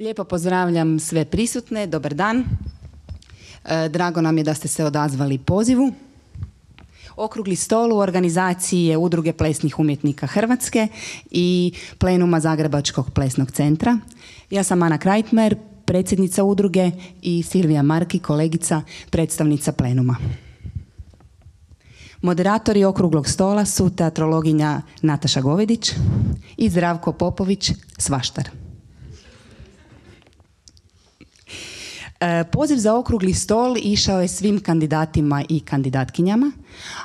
Lijepo pozdravljam sve prisutne, dobar dan. Drago nam je da ste se odazvali pozivu. Okrugli stol u organizaciji je Udruge plesnih umjetnika Hrvatske i plenuma Zagrebačkog plesnog centra. Ja sam Ana Krajtmer, predsjednica udruge, i Silvija Marki, kolegica, predstavnica plenuma. Moderatori okruglog stola su teatrologinja Nataša Govedić i Zdravko Popović, svaštar. Poziv za okrugli stol išao je svim kandidatima i kandidatkinjama,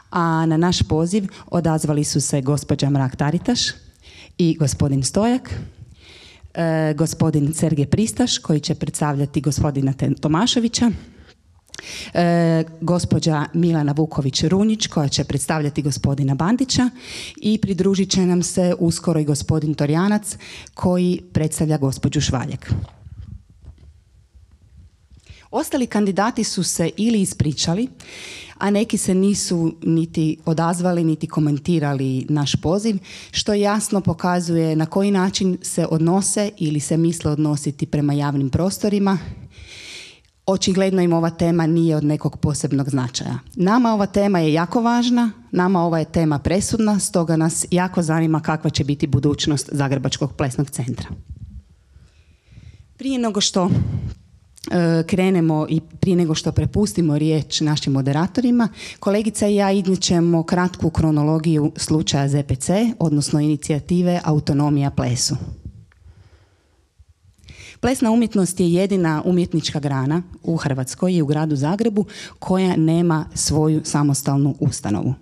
a na naš poziv odazvali su se gospođa Mrak-Taritaš i gospodin Stojak, gospodin Sergej Pristaš koji će predstavljati gospodina Tomaševića, gospođa Milana Vuković-Runjić koja će predstavljati gospodina Bandića i pridružit će nam se uskoro i gospodin Torjanac koji predstavlja gospođu Švaljek. Ostali kandidati su se ili ispričali, a neki se nisu niti odazvali, niti komentirali naš poziv, što jasno pokazuje na koji način se odnose ili se misle odnositi prema javnim prostorima. Očigledno im ova tema nije od nekog posebnog značaja. Nama ova tema je jako važna, nama ova je tema presudna, stoga nas jako zanima kakva će biti budućnost Zagrebačkog plesnog centra. Prije nego što krenemo i prije nego što prepustimo riječ našim moderatorima, kolegica i ja iznijećemo kratku kronologiju slučaja ZPC, odnosno inicijative Autonomija plesu. Plesna umjetnost je jedina umjetnička grana u Hrvatskoj i u gradu Zagrebu koja nema svoju samostalnu ustanovu.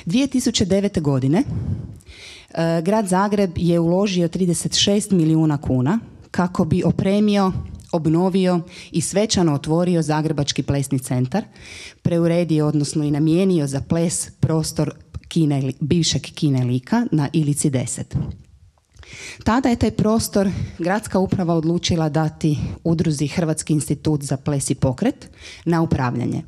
2009. godine grad Zagreb je uložio 36 milijuna kuna kako bi opremio, obnovio i svečano otvorio Zagrebački plesni centar, preuredio, odnosno i namijenio za ples prostor bivšeg kina Lika na Ilici 10. Tada je taj prostor gradska uprava odlučila dati udruzi Hrvatski institut za ples i pokret na upravljanje.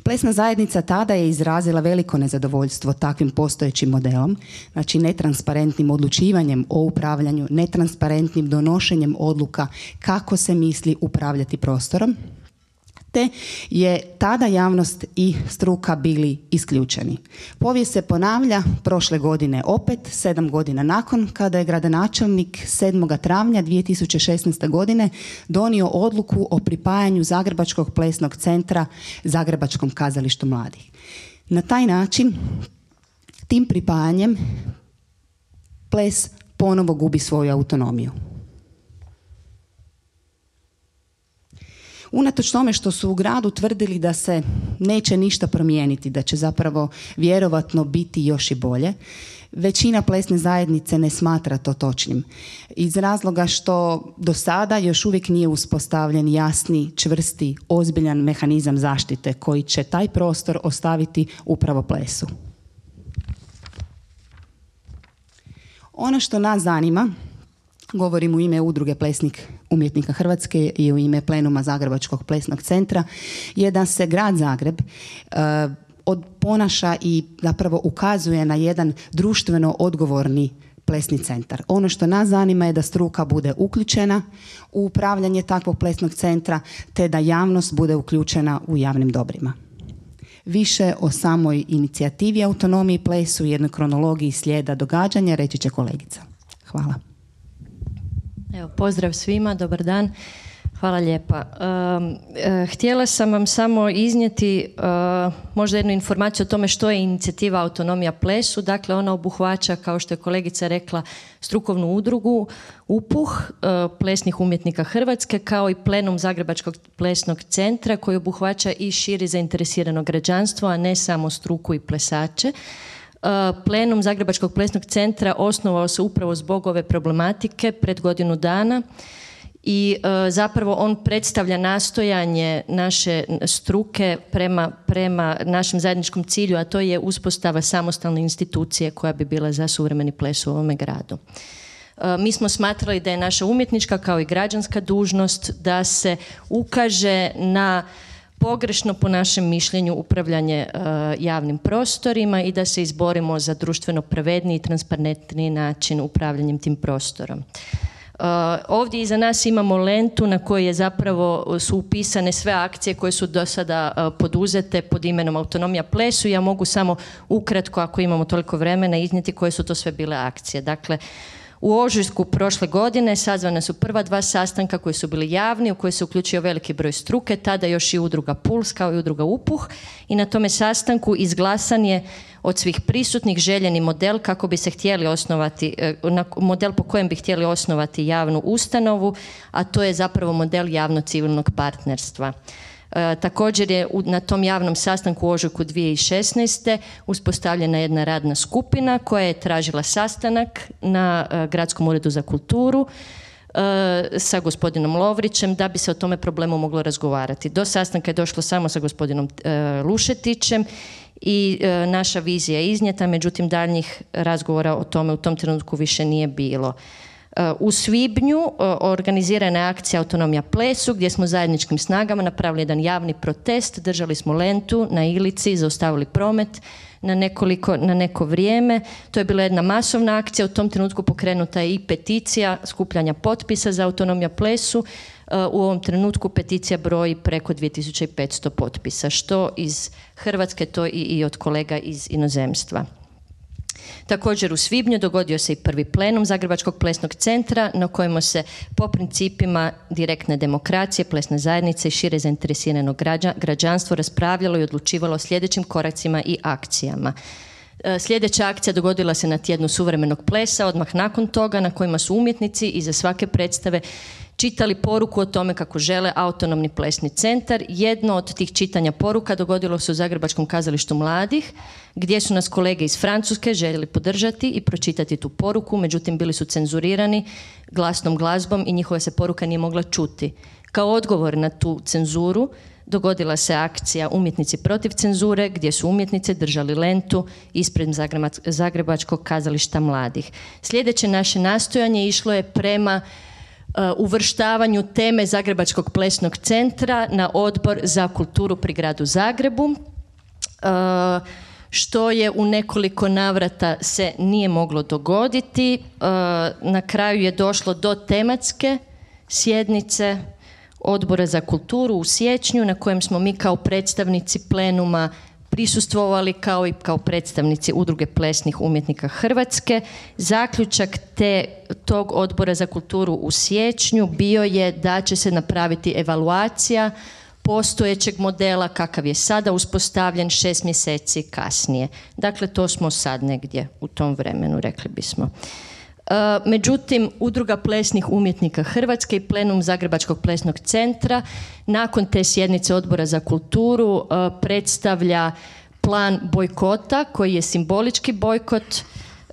Plesna zajednica tada je izrazila veliko nezadovoljstvo takvim postojećim modelom, znači netransparentnim odlučivanjem o upravljanju, netransparentnim donošenjem odluka kako se misli upravljati prostorom, te je tada javnost i struka bili isključeni. Povijest se ponavlja prošle godine opet, 7 godina nakon, kada je gradonačelnik 7. travnja 2016. godine donio odluku o pripajanju Zagrebačkog plesnog centra Zagrebačkom kazalištu mladih. Na taj način, tim pripajanjem, ples ponovo gubi svoju autonomiju. Unatoč tome što su u gradu tvrdili da se neće ništa promijeniti, da će zapravo vjerovatno biti još i bolje, većina plesne zajednice ne smatra to točnim. Iz razloga što do sada još uvijek nije uspostavljen jasni, čvrsti, ozbiljan mehanizam zaštite koji će taj prostor ostaviti upravo plesu. Ono što nas zanima, govorim u ime Udruge plesnih umjetnika Hrvatske i u ime plenuma Zagrebačkog plesnog centra, je da se grad Zagreb ponaša i zapravo ukazuje na jedan društveno odgovorni plesni centar. Ono što nas zanima je da struka bude uključena u upravljanje takvog plesnog centra, te da javnost bude uključena u javnim dobrima. Više o samoj inicijativi Autonomiji plesu i jednoj kronologiji slijeda događanja reći će kolegica. Hvala. Evo, pozdrav svima, dobar dan. Hvala lijepa. Htjela sam vam samo iznijeti možda jednu informaciju o tome što je inicijativa Autonomija plesu. Dakle, ona obuhvaća, kao što je kolegica rekla, strukovnu udrugu UPUH, plesnih umjetnika Hrvatske, kao i plenum Zagrebačkog plesnog centra koji obuhvaća i širi zainteresirano građanstvo, a ne samo struku i plesače. Plenum Zagrebačkog plesnog centra osnovao se upravo zbog ove problematike pred godinu dana i zapravo on predstavlja nastojanje naše struke prema našem zajedničkom cilju, a to je uspostava samostalne institucije koja bi bila za suvremeni ples u ovome gradu. Mi smo smatrali da je naša umjetnička kao i građanska dužnost da se ukaže na pogrešno, po našem mišljenju, upravljanje javnim prostorima i da se izborimo za društveno pravedniji i transparentniji način upravljanjem tim prostorom. Ovdje iza nas imamo lentu na kojoj je zapravo su upisane sve akcije koje su do sada poduzete pod imenom Autonomija plesu. Ja mogu samo ukratko, ako imamo toliko vremena, iznijeti koje su to sve bile akcije. Dakle, u ožujku prošle godine sazvana su prva 2 sastanka koji su bili javni, u koje se uključio veliki broj struke, tada još i udruga Puls kao i udruga Upuh, i na tome sastanku izglasan je od svih prisutnih željeni model kako bi se htjeli osnovati, model po kojem bi htjeli osnovati javnu ustanovu, a to je zapravo model javno-civilnog partnerstva. Također je na tom javnom sastanku u ožujku 2016. uspostavljena jedna radna skupina koja je tražila sastanak na Gradskom uredu za kulturu sa gospodinom Lovrićem da bi se o tome problemu moglo razgovarati. Do sastanka je došlo samo sa gospodinom Lušetićem i naša vizija je iznijeta, međutim daljnjih razgovora o tome u tom trenutku više nije bilo. U svibnju organizirana je akcija Autonomija plesu gdje smo zajedničkim snagama napravili jedan javni protest, držali smo lentu na Ilici, zaustavili promet na neko vrijeme. To je bila jedna masovna akcija, u tom trenutku pokrenuta je i peticija skupljanja potpisa za Autonomija plesu. U ovom trenutku peticija broji preko 2500 potpisa, što iz Hrvatske, to i od kolega iz inozemstva. Također u svibnju dogodio se i prvi plenum Zagrebačkog plesnog centra na kojemu se po principima direktne demokracije, plesne zajednice i šire zainteresiranog građanstvo raspravljalo i odlučivalo o sljedećim koracima i akcijama. Sljedeća akcija dogodila se na tjednu suvremenog plesa, odmah nakon toga, na kojima su umjetnici iza svake predstave čitali poruku o tome kako žele autonomni plesni centar. Jedno od tih čitanja poruka dogodilo se u Zagrebačkom kazalištu mladih, gdje su nas kolege iz Francuske željeli podržati i pročitati tu poruku, međutim bili su cenzurirani glasnom glazbom i njihova se poruka nije mogla čuti. Kao odgovor na tu cenzuru dogodila se akcija Umjetnici protiv cenzure, gdje su umjetnice držali lentu ispred Zagrebačkog kazališta mladih. Sljedeće naše nastojanje išlo je prema uvrštavanju teme Zagrebačkog plesnog centra na Odbor za kulturu pri gradu Zagrebu, što je u nekoliko navrata se nije moglo dogoditi. Na kraju je došlo do tematske sjednice Odbora za kulturu u siječnju, na kojem smo mi kao predstavnici plenuma prisustvovali kao i kao predstavnici Udruge plesnih umjetnika Hrvatske. Zaključak tog Odbora za kulturu u siječnju bio je da će se napraviti evaluacija postojećeg modela kakav je sada uspostavljen 6 mjeseci kasnije. Dakle, to smo sad negdje u tom vremenu, rekli bismo. Međutim, Udruga plesnih umjetnika Hrvatske i plenum Zagrebačkog plesnog centra nakon te sjednice Odbora za kulturu predstavlja plan bojkota koji je simbolički bojkot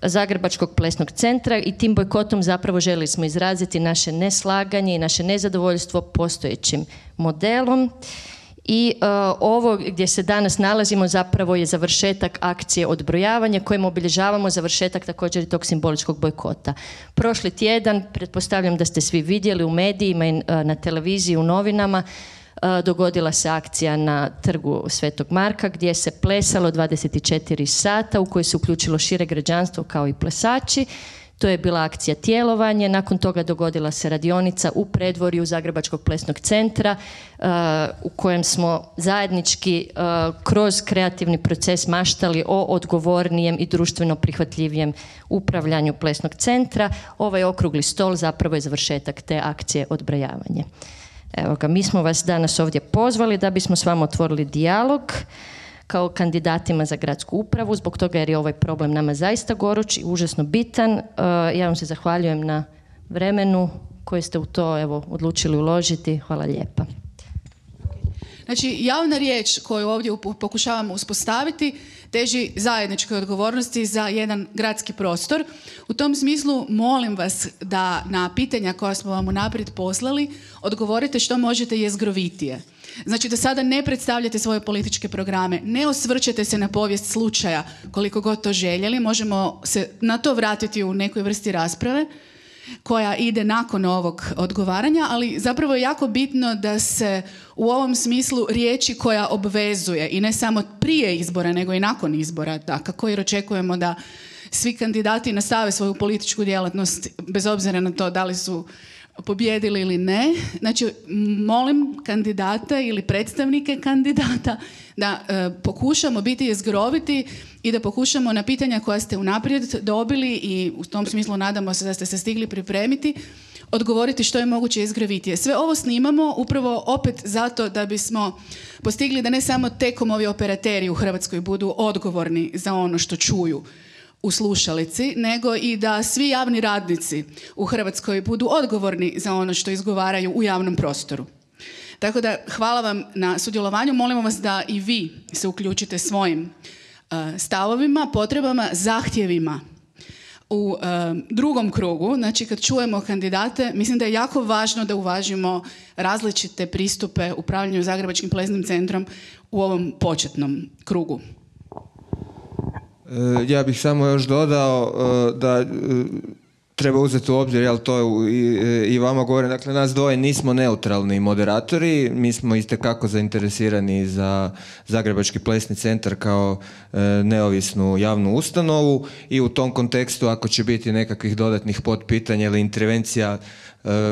Zagrebačkog plesnog centra i tim bojkotom zapravo željeli smo izraziti naše neslaganje i naše nezadovoljstvo postojećim modelom. I ovo gdje se danas nalazimo zapravo je završetak akcije odbrojavanja kojim obilježavamo završetak također i tog simboličkog bojkota. Prošli tjedan, pretpostavljam da ste svi vidjeli u medijima i na televiziji, u novinama, dogodila se akcija na trgu Svetog Marka gdje se plesalo 24 sata u kojoj se uključilo šire građanstvo kao i plesači. To je bila akcija Tjelovanje, nakon toga dogodila se radionica u predvorju Zagrebačkog plesnog centra u kojem smo zajednički kroz kreativni proces maštali o odgovornijem i društveno prihvatljivijem upravljanju plesnog centra. Ovaj okrugli stol zapravo je završetak te akcije odbrojavanje. Evo ga, mi smo vas danas ovdje pozvali da bismo s vama otvorili dijalog kao kandidatima za gradsku upravu, zbog toga jer je ovaj problem nama zaista goruć i užasno bitan. Ja vam se zahvaljujem na vremenu koje ste u to odlučili uložiti. Hvala lijepa. Znači, javna riječ koju ovdje pokušavamo uspostaviti teži zajedničkoj odgovornosti za jedan gradski prostor. U tom smislu molim vas da na pitanja koja smo vam unaprijed poslali odgovorite što možete jezgrovitije. Znači da sada ne predstavljate svoje političke programe, ne osvrćete se na povijest slučaja koliko god to željeli, možemo se na to vratiti u nekoj vrsti rasprave koja ide nakon ovog odgovaranja, ali zapravo je jako bitno da se u ovom smislu riječi koja obvezuje i ne samo prije izbora nego i nakon izbora, dakako, jer očekujemo da svi kandidati nastave svoju političku djelatnost bez obzira na to da li su pobijedili ili ne. Znači, molim kandidata ili predstavnike kandidata da pokušamo biti jezgroviti i da pokušamo na pitanja koja ste unaprijed dobili i u tom smislu nadamo se da ste se stigli pripremiti, odgovoriti što je moguće jezgrovitije. Sve ovo snimamo upravo opet zato da bismo postigli da ne samo T-Comovi operateri u Hrvatskoj budu odgovorni za ono što čuju u slušalici, nego i da svi javni radnici u Hrvatskoj budu odgovorni za ono što izgovaraju u javnom prostoru. Tako da hvala vam na sudjelovanju, molimo vas da i vi se uključite svojim stavovima, potrebama, zahtjevima. U drugom krugu, znači kad čujemo kandidate, mislim da je jako važno da uvažimo različite pristupe upravljanju Zagrebačkim plesnim centrom u ovom početnom krugu. Ja bih samo još dodao da treba uzeti u obzir, jel to i vama govorim, dakle nas dvoje nismo neutralni moderatori, mi smo itekako zainteresirani za Zagrebački plesni centar kao neovisnu javnu ustanovu i u tom kontekstu ako će biti nekakvih dodatnih potpitanja ili intervencija,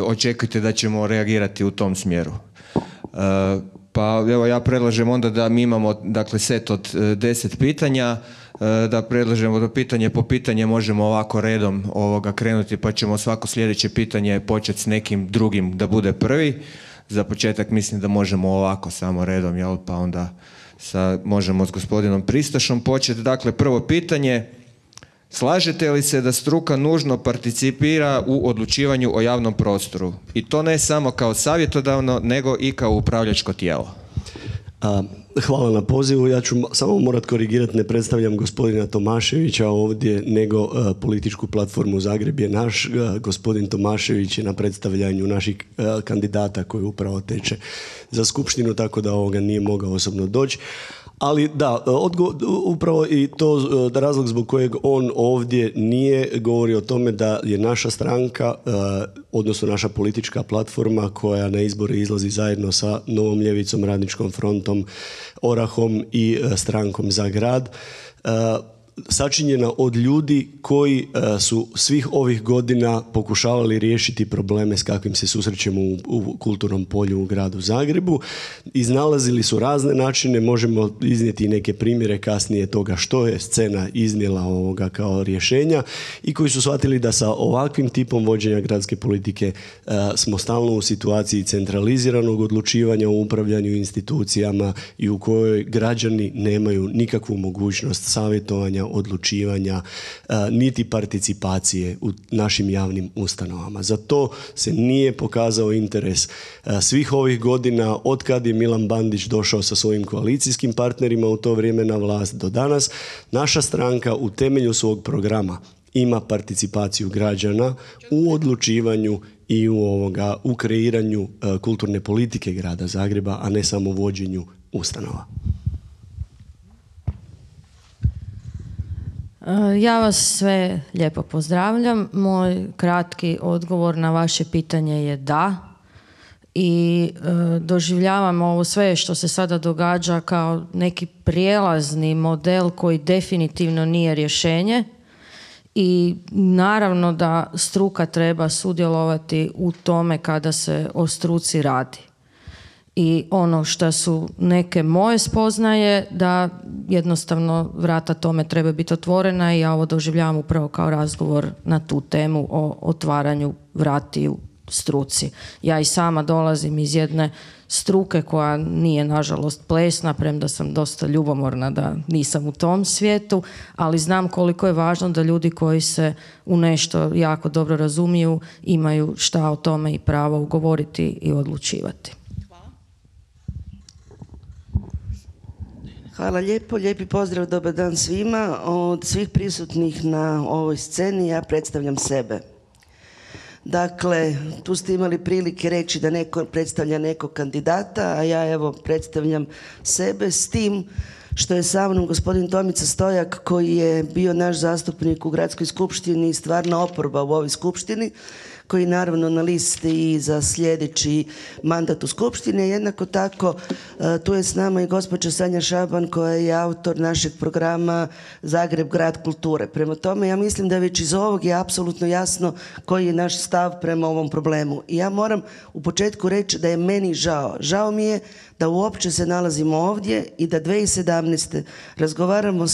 očekujte da ćemo reagirati u tom smjeru. Pa evo ja predlažem onda da mi imamo dakle set od 10 pitanja, da predlažemo da pitanje po pitanje možemo ovako redom krenuti, pa ćemo svako sljedeće pitanje početi s nekim drugim da bude prvi. Za početak mislim da možemo ovako samo redom, jel? Pa onda možemo s gospodinom Pristašom početi. Dakle, prvo pitanje, slažete li se da struka nužno participira u odlučivanju o javnom prostoru? I to ne samo kao savjetodavno, nego i kao upravljačko tijelo. Hvala na pozivu. Ja ću samo morat korigirati, ne predstavljam gospodina Tomaševića ovdje, nego političku platformu Zagreb je naš. Gospodin Tomašević je na predstavljanju naših kandidata koji upravo teče za skupštinu, tako da ovoga nije mogao osobno doći. Ali da, upravo i to razlog zbog kojeg on ovdje nije govori o tome da je naša stranka, odnosno naša politička platforma koja na izbore izlazi zajedno sa Novom ljevicom, Radničkom frontom, Orahom i strankom Za grad, sačinjena od ljudi koji su svih ovih godina pokušavali riješiti probleme s kakvim se susrećemo u kulturnom polju u gradu Zagrebu. Iznalazili su razne načine, možemo iznijeti neke primjere kasnije toga što je scena iznijela ovoga kao rješenja i koji su shvatili da sa ovakvim tipom vođenja gradske politike smo stalno u situaciji centraliziranog odlučivanja u upravljanju institucijama i u kojoj građani nemaju nikakvu mogućnost savjetovanja, odlučivanja, niti participacije u našim javnim ustanovama. Za to se nije pokazao interes svih ovih godina od kad je Milan Bandić došao sa svojim koalicijskim partnerima u to vrijeme na vlast do danas. Naša stranka u temelju svog programa ima participaciju građana u odlučivanju i u kreiranju kulturne politike grada Zagreba, a ne samo vođenju ustanova. Ja vas sve lijepo pozdravljam. Moj kratki odgovor na vaše pitanje je da. I doživljavam ovo sve što se sada događa kao neki prijelazni model koji definitivno nije rješenje. I naravno da struka treba sudjelovati u tome kada se o struci radi. I ono što su neke moje spoznaje da jednostavno vrata tome treba biti otvorena i ja ovo doživljavam upravo kao razgovor na tu temu o otvaranju vratiju struci. Ja i sama dolazim iz jedne struke koja nije nažalost plesna, premda sam dosta ljubomorna da nisam u tom svijetu, ali znam koliko je važno da ljudi koji se u nešto jako dobro razumiju imaju šta o tome i pravo ugovoriti i odlučivati. Hvala lijepo, lijepi pozdrav, dobar dan svima. Od svih prisutnih na ovoj sceni ja predstavljam sebe. Dakle, tu ste imali prilike reći da neko predstavlja nekog kandidata, a ja evo predstavljam sebe s tim što je sa mnom gospodin Tomica Stojak koji je bio naš zastupnik u gradskoj skupštini i stvarna oporba u ovoj skupštini, koji naravno na listi i za sljedeći mandat u Skupštini. Jednako tako tu je s nama i gospođa Sanja Šaban koja je autor našeg programa Zagreb grad kulture. Prema tome ja mislim da već iz ovog je apsolutno jasno koji je naš stav prema ovom problemu. I ja moram u početku reći da je meni žao. Žao mi je da uopće se nalazimo ovdje i da 2017. razgovaramo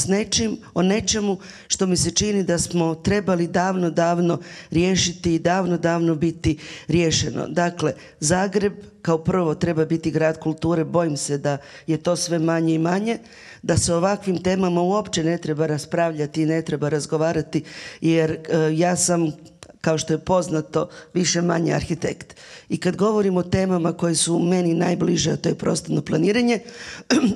o nečemu što mi se čini da smo trebali davno riješiti i davno biti riješeno. Dakle, Zagreb kao prvo treba biti grad kulture, bojim se da je to sve manje i manje, da se o ovakvim temama uopće ne treba raspravljati i ne treba razgovarati jer ja sam, kao što je poznato, više manje arhitekt. I kad govorim o temama koje su meni najbliže, a to je prostorno planiranje,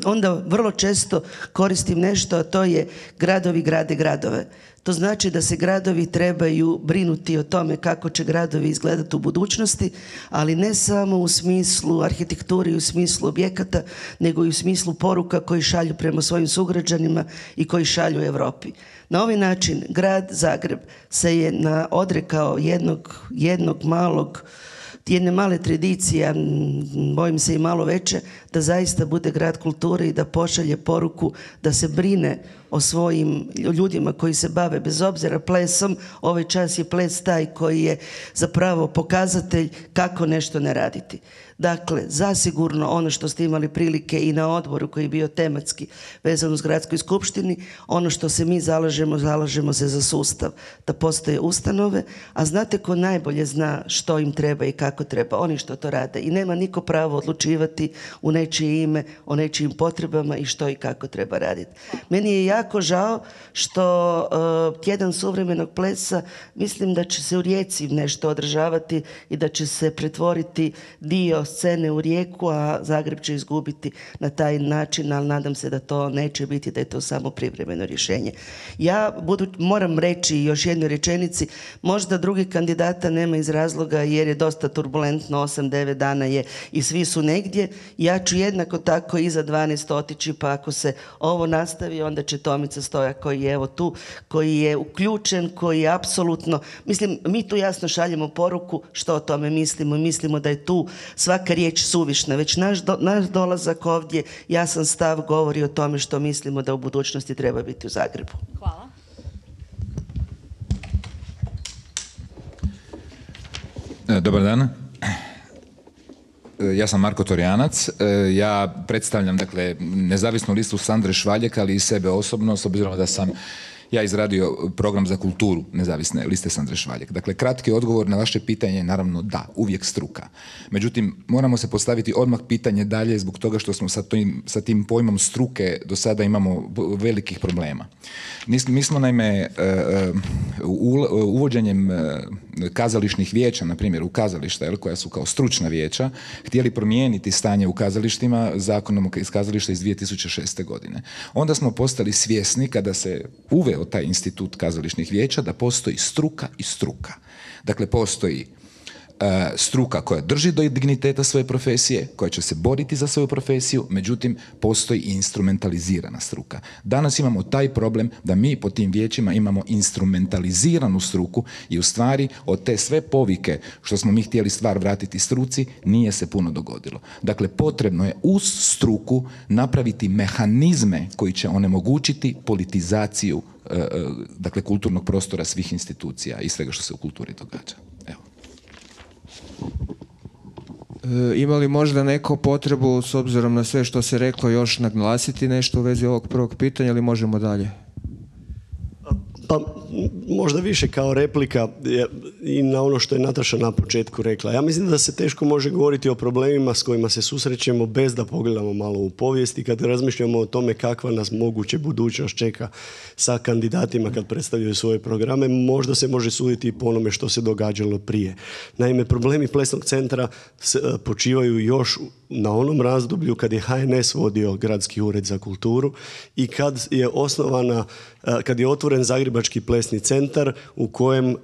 onda vrlo često koristim nešto, a to je gradovi grade gradove. To znači da se gradovi trebaju brinuti o tome kako će gradovi izgledati u budućnosti, ali ne samo u smislu arhitekture i u smislu objekata, nego i u smislu poruka koji šalju prema svojim sugrađanima i koji šalju Europi. Na ovaj način grad Zagreb se je odrekao jedne male tradicije, bojim se i malo veće, da zaista bude grad kulture i da pošalje poruku da se brine o svojim ljudima koji se bave bez obzira plesom. Ovaj čas je ples taj koji je zapravo pokazatelj kako nešto ne raditi. Dakle, zasigurno ono što ste imali prilike i na odboru koji je bio tematski vezan uz gradskoj skupštini, ono što se mi zalažemo se za sustav, da postoje ustanove, a znate ko najbolje zna što im treba i kako treba? Oni što to rade. I nema niko pravo odlučivati u nečije ime, o nečijim potrebama i što i kako treba raditi. Meni je jako žao što tjedan suvremenog plesa mislim da će se u Rijeci nešto održavati i da će se pretvoriti dio scene u Rijeku, a Zagreb će izgubiti na taj način, ali nadam se da to neće biti, da je to samo privremeno rješenje. Ja moram reći još jednoj rečenici, možda drugih kandidata nema iz razloga jer je dosta turbulentno, 8-9 dana je i svi su negdje. Ja ću jednako tako iza 12 otići, pa ako se ovo nastavi, onda će Tomica Stojak koji je evo tu, koji je uključen, koji je apsolutno, mislim, mi tu jasno šaljemo poruku što o tome mislimo. Mislimo da je tu svaka riječ suvišna. Već naš dolazak ovdje, jasan stav govori o tome što mislimo da u budućnosti treba biti u Zagrebu. Hvala. Dobar dan. Ja sam Marko Torjanac. Ja predstavljam nezavisnu listu Sandre Švaljek, ali i sebe osobno, s obzirom da sam ja izradio program za kulturu nezavisne liste Sandre Švaljek. Dakle, kratki odgovor na vaše pitanje je naravno da, uvijek struka. Međutim, moramo se postaviti odmah pitanje dalje zbog toga što smo sa tim pojmom struke do sada imamo velikih problema. Mi smo naime uvođenjem kazališnih vijeća, na primjer u kazališta, koja su kao stručna vijeća, htjeli promijeniti stanje u kazalištima zakonom iz kazališta iz 2006. godine. Onda smo postali svjesni kada se uveo taj institut kazališnih vijeća da postoji struka i struka. Dakle, postoji struka koja drži do digniteta svoje profesije, koja će se boriti za svoju profesiju, međutim postoji i instrumentalizirana struka. Danas imamo taj problem da mi po tim vijećima imamo instrumentaliziranu struku i u stvari od te sve povike što smo mi htjeli stvar vratiti struci nije se puno dogodilo. Dakle, potrebno je uz struku napraviti mehanizme koji će onemogućiti politizaciju kulturnog prostora svih institucija i svega što se u kulturi događa. Evo. Ima li možda neko potrebu, s obzirom na sve što se reklo, još naglasiti nešto u vezi ovog prvog pitanja ili možemo dalje? Pa možda više kao replika i na ono što je Nataša na početku rekla. Ja mislim da se teško može govoriti o problemima s kojima se susrećemo bez da pogledamo malo u povijest i kad razmišljamo o tome kakva nas moguće budućnost čeka sa kandidatima kad predstavljaju svoje programe, možda se može suditi i po onome što se događalo prije. Naime, problemi Plesnog centra počivaju još na onom razdoblju kad je HNS vodio Gradski ured za kulturu i kad je otvoren Zagrebački plesni centar u kojem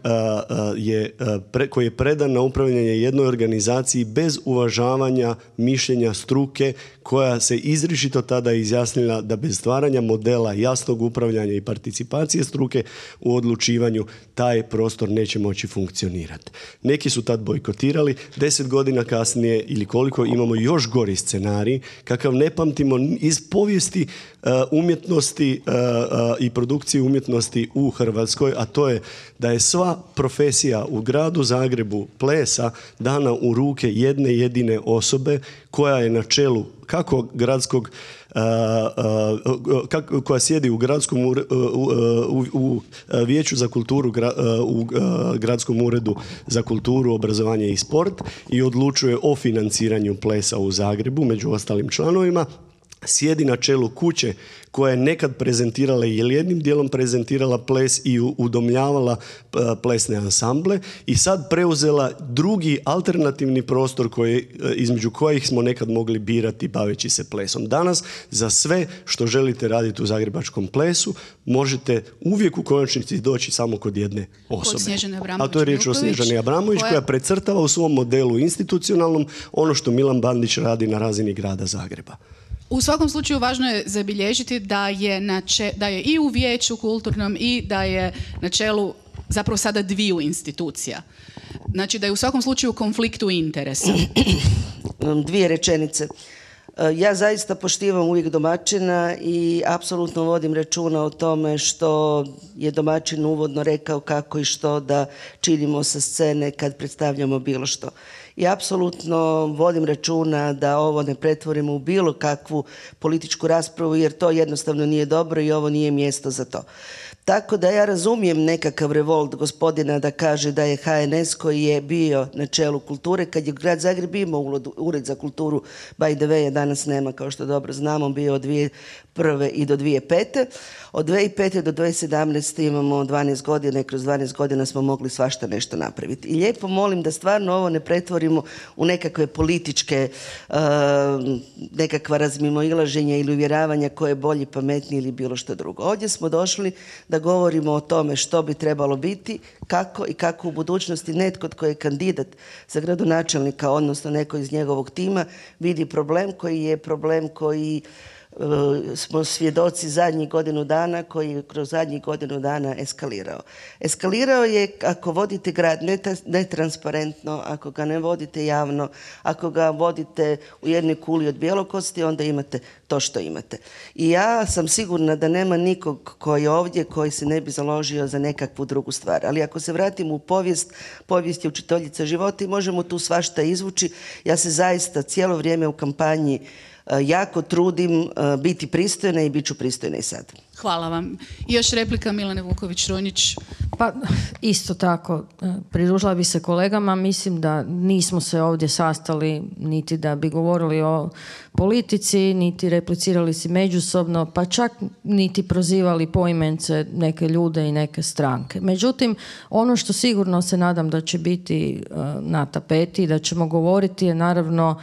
koji je predan na upravljanje jednoj organizaciji bez uvažavanja mišljenja struke koja se izričito tada izjasnila da bez stvaranja modela jasnog upravljanja i participacije struke u odlučivanju taj prostor neće moći funkcionirati. Neki su tad bojkotirali, 10 godina kasnije ili koliko imamo još gori scenarij kakav ne pamtimo iz povijesti umjetnosti i produkcije umjetnosti u Hrvatskoj, a to je da je sva profesija u gradu Zagrebu plesa dana u ruke jedne jedine osobe koja je na čelu kako gradskog koja sjedi u gradskom u vijeću za kulturu u gradskom uredu za kulturu, obrazovanje i sport i odlučuje o financiranju plesa u Zagrebu među ostalim članovima. Sjedi na čelu kuće koja je nekad prezentirala ili jednim dijelom prezentirala ples i udomljavala plesne ansamble i sad preuzela drugi alternativni prostor između kojih smo nekad mogli birati baveći se plesom. Danas za sve što želite raditi u zagrebačkom plesu možete uvijek u konačnici doći samo kod jedne osobe. A to je riječ o Snježani Abramović koja precrtava u svom modelu institucionalnom ono što Milan Bandić radi na razini grada Zagreba. U svakom slučaju važno je zabilježiti da je i u vijeću kulturnom i da je na čelu zapravo sada dviju institucija. Znači da je u svakom slučaju u konfliktu interesa. Dvije rečenice. Ja zaista poštivam uvijek domaćina i apsolutno vodim računa o tome što je domaćin uvodno rekao kako i što da činimo sa scene kad predstavljamo bilo što. I apsolutno vodim računa da ovo ne pretvorimo u bilo kakvu političku raspravu jer to jednostavno nije dobro i ovo nije mjesto za to. Tako da ja razumijem nekakav revolt gospodina da kaže da je HNS koji je bio na čelu kulture, kad je grad Zagreb imao ured za kulturu, by the way, je danas nema, kao što dobro znamo, bio od 2001. i do 2005. Od 2005. do 2017. imamo 12 godina i kroz 12 godina smo mogli svašta nešto napraviti. I lijepo molim da stvarno ovo ne pretvorimo u nekakve političke nekakva razmimoilaženja ili uvjeravanja ko je bolji, pametniji ili bilo što drugo. Ovdje smo došli da govorimo o tome što bi trebalo biti, kako i kako u budućnosti netko tko je kandidat za gradonačelnika, odnosno neko iz njegovog tima, vidi problem koji smo svjedoci zadnjih godinu dana, koji je kroz zadnjih godinu dana eskalirao. Eskalirao je ako vodite grad netransparentno, ako ga ne vodite javno, ako ga vodite u jednoj kuli od bjelokosti, onda imate to što imate. I ja sam sigurna da nema nikog koji je ovdje koji se ne bi založio za nekakvu drugu stvar. Ali ako se vratimo u povijest je učiteljica života i možemo tu svašta izvući. Ja se zaista cijelo vrijeme u kampanji jako trudim biti pristojna i bit ću pristojna i sad. Hvala vam. I još replika Milane Vuković-Runjić. Pa isto tako, pridružila bi se kolegama, mislim da nismo se ovdje sastali niti da bi govorili o politici, niti replicirali si međusobno, pa čak niti prozivali poimence neke ljude i neke stranke. Međutim, ono što sigurno se nadam da će biti na tapeti, da ćemo govoriti je naravno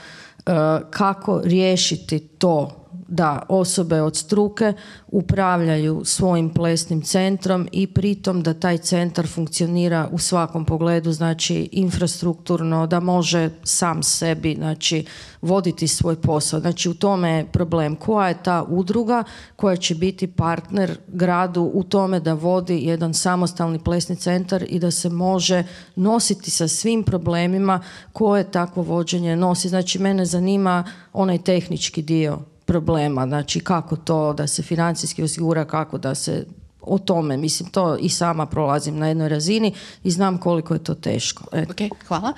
kako riješiti to da osobe od struke upravljaju svojim plesnim centrom i pritom da taj centar funkcionira u svakom pogledu, znači infrastrukturno, da može sam sebi, znači, voditi svoj posao. Znači u tome je problem. Koja je ta udruga koja će biti partner gradu u tome da vodi jedan samostalni plesni centar i da se može nositi sa svim problemima koje takvo vođenje nosi. Znači mene zanima onaj tehnički dio problema, znači kako to da se financijski osigura, kako da se o tome, mislim, to i sama prolazim na jednoj razini i znam koliko je to teško. Okay, hvala.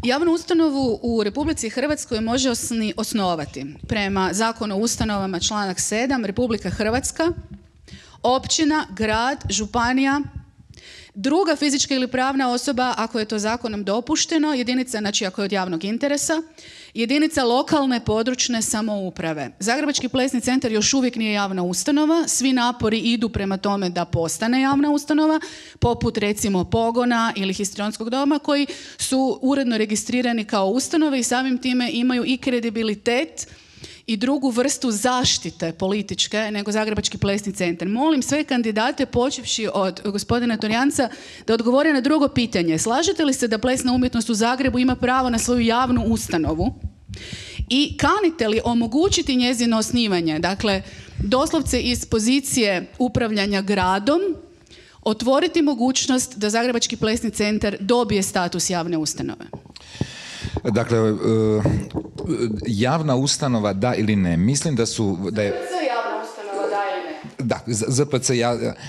Javnu ustanovu u Republici Hrvatskoj može osnovati prema Zakonu o ustanovama članak 7 Republika Hrvatska, općina, grad, županija, druga fizička ili pravna osoba ako je to zakonom dopušteno, jedinica, znači ako je od javnog interesa, jedinica lokalne područne samouprave. Zagrebački plesni centar još uvijek nije javna ustanova, svi napori idu prema tome da postane javna ustanova, poput recimo Pogona ili Histrionskog doma koji su uredno registrirani kao ustanove i samim time imaju i kredibilitet i drugu vrstu zaštite političke nego Zagrebački plesni centar. Molim sve kandidate, počevši od gospodina Torjanca, da odgovore na drugo pitanje. Slažete li se da plesna umjetnost u Zagrebu ima pravo na svoju javnu ustanovu? I kanite li omogućiti njezino osnivanje? Dakle, doslovce iz pozicije upravljanja gradom, otvoriti mogućnost da Zagrebački plesni centar dobije status javne ustanove. Dakle, javna ustanova da ili ne? Mislim da je... ZPC javna ustanova da ili ne? Da, ZPC,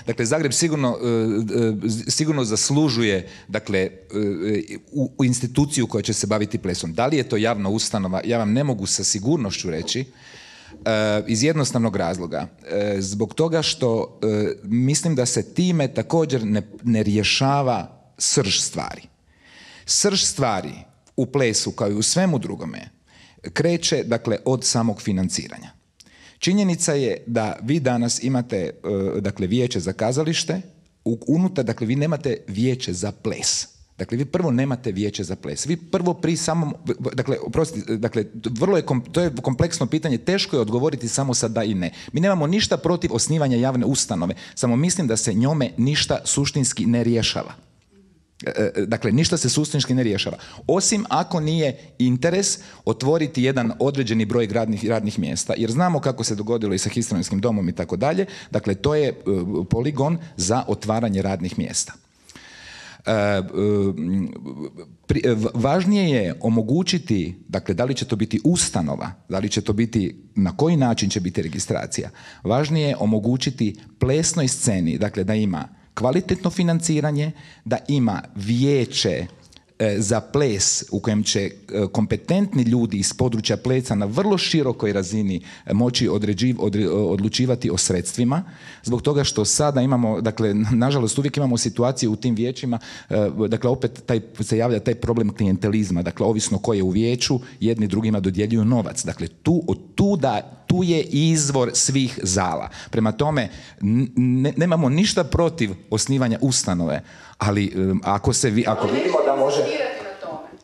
dakle, Zagreb sigurno zaslužuje, dakle, u instituciju koja će se baviti plesom. Da li je to javna ustanova? Ja vam ne mogu sa sigurnošću reći, iz jednostavnog razloga. Zbog toga što mislim da se time također ne rješava srž stvari. Srž stvari u plesu, kao i u svemu drugome, kreće, dakle, od samog financiranja. Činjenica je da vi danas imate, dakle, vijeće za kazalište, unutar, dakle, vi nemate vijeće za ples. Dakle, vi prvo nemate vijeće za ples. Vi prvo pri samom, dakle, oprostite, dakle, to je kompleksno pitanje, teško je odgovoriti samo sa da i ne. Mi nemamo ništa protiv osnivanja javne ustanove, samo mislim da se njome ništa suštinski ne rješava. Dakle, ništa se suštinski ne rješava. Osim ako nije interes otvoriti jedan određeni broj radnih mjesta. Jer znamo kako se dogodilo i sa historijskim domom i tako dalje. Dakle, to je poligon za otvaranje radnih mjesta. Važnije je omogućiti, dakle, da li će to biti ustanova, da li će to biti, na koji način će biti registracija. Važnije je omogućiti plesnoj sceni, dakle, da ima kvalitetno financiranje, da ima vijeće za ples u kojem će kompetentni ljudi iz područja plesa na vrlo širokoj razini moći odlučivati o sredstvima, zbog toga što sada imamo, dakle, nažalost uvijek imamo situaciju u tim vijećima, dakle, opet se javlja taj problem klijentelizma, dakle, ovisno ko je u vijeću, jedni drugima dodjeljuju novac. Dakle, tu je izvor svih zala. Prema tome, nemamo ništa protiv osnivanja ustanove, ali ako vidimo da može...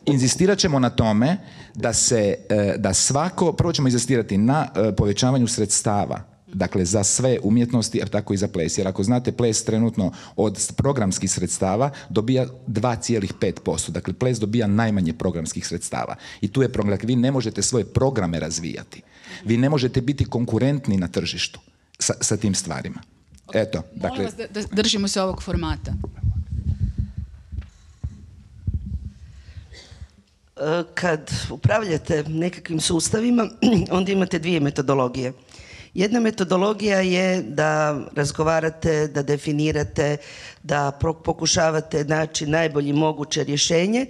Inzistirat ćemo na tome da svako, prvo ćemo inzistirati na povećavanju sredstava, dakle, za sve umjetnosti, a tako i za ples. Jer ako znate, ples trenutno od programskih sredstava dobija 2,5%. Dakle, ples dobija najmanje programskih sredstava. I tu je problem. Dakle, vi ne možete svoje programe razvijati. Vi ne možete biti konkurentni na tržištu sa tim stvarima. Eto, dakle... Molim vas da držimo se ovog formata. Kad upravljate nekakvim sustavima, onda imate dvije metodologije. Jedna metodologija je da razgovarate, da definirate, da pokušavate naći najbolje moguće rješenje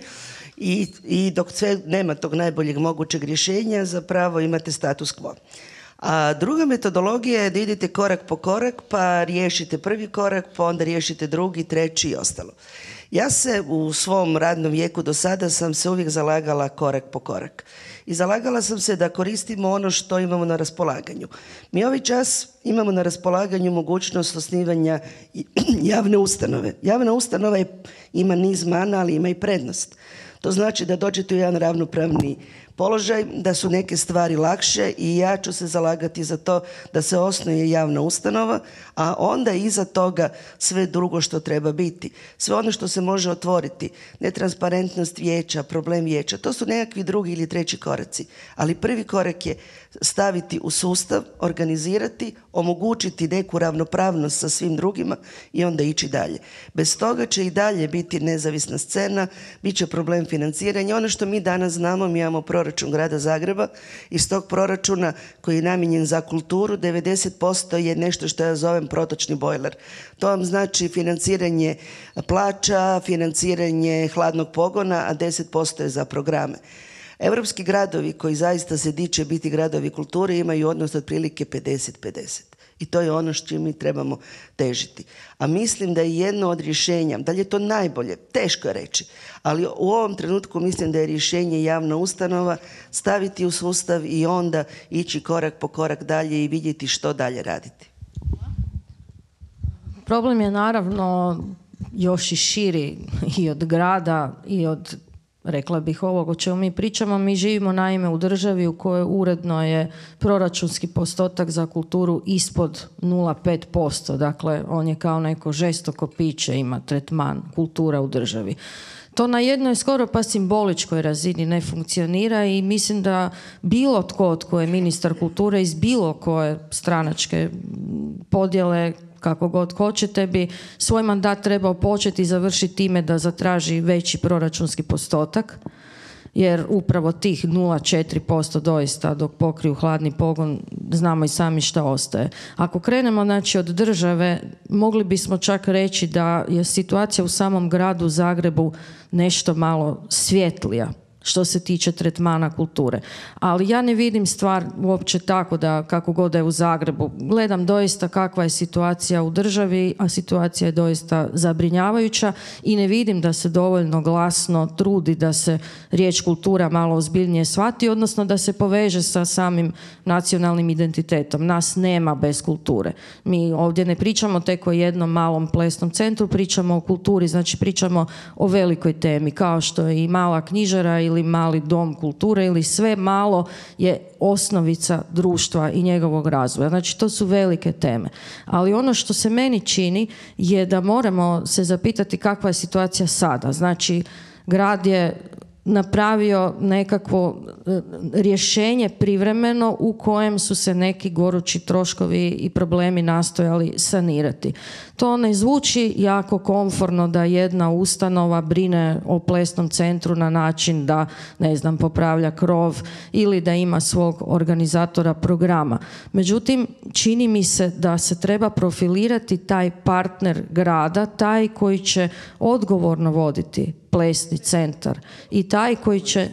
i dok sve nema tog najboljeg mogućeg rješenja, zapravo imate status quo. A druga metodologija je da idete korak po korak, pa riješite prvi korak, pa onda riješite drugi, treći i ostalo. Ja se u svom radnom vijeku do sada sam se uvijek zalagala korak po korak. I zalagala sam se da koristimo ono što imamo na raspolaganju. Mi ovaj čas imamo na raspolaganju mogućnost osnivanja javne ustanove. Javna ustanova ima niz mana, ali ima i prednost. To znači da dođete u jedan ravnopravni položaj, da su neke stvari lakše i ja ću se zalagati za to da se osnuje javna ustanova, a onda iza toga sve drugo što treba biti. Sve ono što se može otvoriti, netransparentnost vijeća, problem vijeća, to su nekakvi drugi ili treći koraci. Ali prvi korak je staviti u sustav, organizirati, omogućiti neku ravnopravnost sa svim drugima i onda ići dalje. Bez toga će i dalje biti nezavisna scena, bit će problem financiranja. Ono što mi danas znamo, mi imamo proračun grada Zagreba. Iz tog proračuna koji je namijenjen za kulturu, 90% je nešto što ja zovem protočni bojler. To vam znači financiranje plaća, financiranje hladnog pogona, a 10% je za programe. Europski gradovi koji zaista se diče biti gradovi kulture imaju odnos otprilike 50-50. I to je ono s čim mi trebamo težiti. A mislim da je jedno od rješenja, da li je to najbolje, teško je reći, ali u ovom trenutku mislim da je rješenje javna ustanova, staviti u sustav i onda ići korak po korak dalje i vidjeti što dalje raditi. Problem je naravno još i širi i od grada i od rekla bih, ovog o čemu mi pričamo. Mi živimo naime u državi u kojoj uredno je proračunski postotak za kulturu ispod 0,5%. Dakle, on je kao neko žestoko piće, ima tretman kultura u državi. To na jednoj skoro pa simboličkoj razini ne funkcionira i mislim da bilo tko je ministar kulture iz bilo koje stranačke podjele, kako god hoćete, bi svoj mandat trebao početi i završiti time da zatraži veći proračunski postotak, jer upravo tih 0,4% doista dok pokriju hladni pogon znamo i sami šta ostaje. Ako krenemo znači od države, mogli bismo čak reći da je situacija u samom gradu Zagrebu nešto malo svjetlija što se tiče tretmana kulture. Ali ja ne vidim stvar uopće tako da kako god je u Zagrebu. Gledam doista kakva je situacija u državi, a situacija je doista zabrinjavajuća i ne vidim da se dovoljno glasno trudi da se riječ kultura malo ozbiljnije shvati, odnosno da se poveže sa samim nacionalnim identitetom. Nas nema bez kulture. Mi ovdje ne pričamo tek o jednom malom plesnom centru, pričamo o kulturi, znači pričamo o velikoj temi, kao što je i mala knjižara ili mali dom kulture ili sve malo je osnovica društva i njegovog razvoja. Znači, to su velike teme. Ali ono što se meni čini je da moramo se zapitati kakva je situacija sada. Znači, grad je napravio nekakvo rješenje privremeno u kojem su se neki gorući troškovi i problemi nastojali sanirati. To ne zvuči jako komforno da jedna ustanova brine o plesnom centru na način da, ne znam, popravlja krov ili da ima svog organizatora programa. Međutim, čini mi se da se treba profilirati taj partner grada, taj koji će odgovorno voditi plesni centar i taj koji će...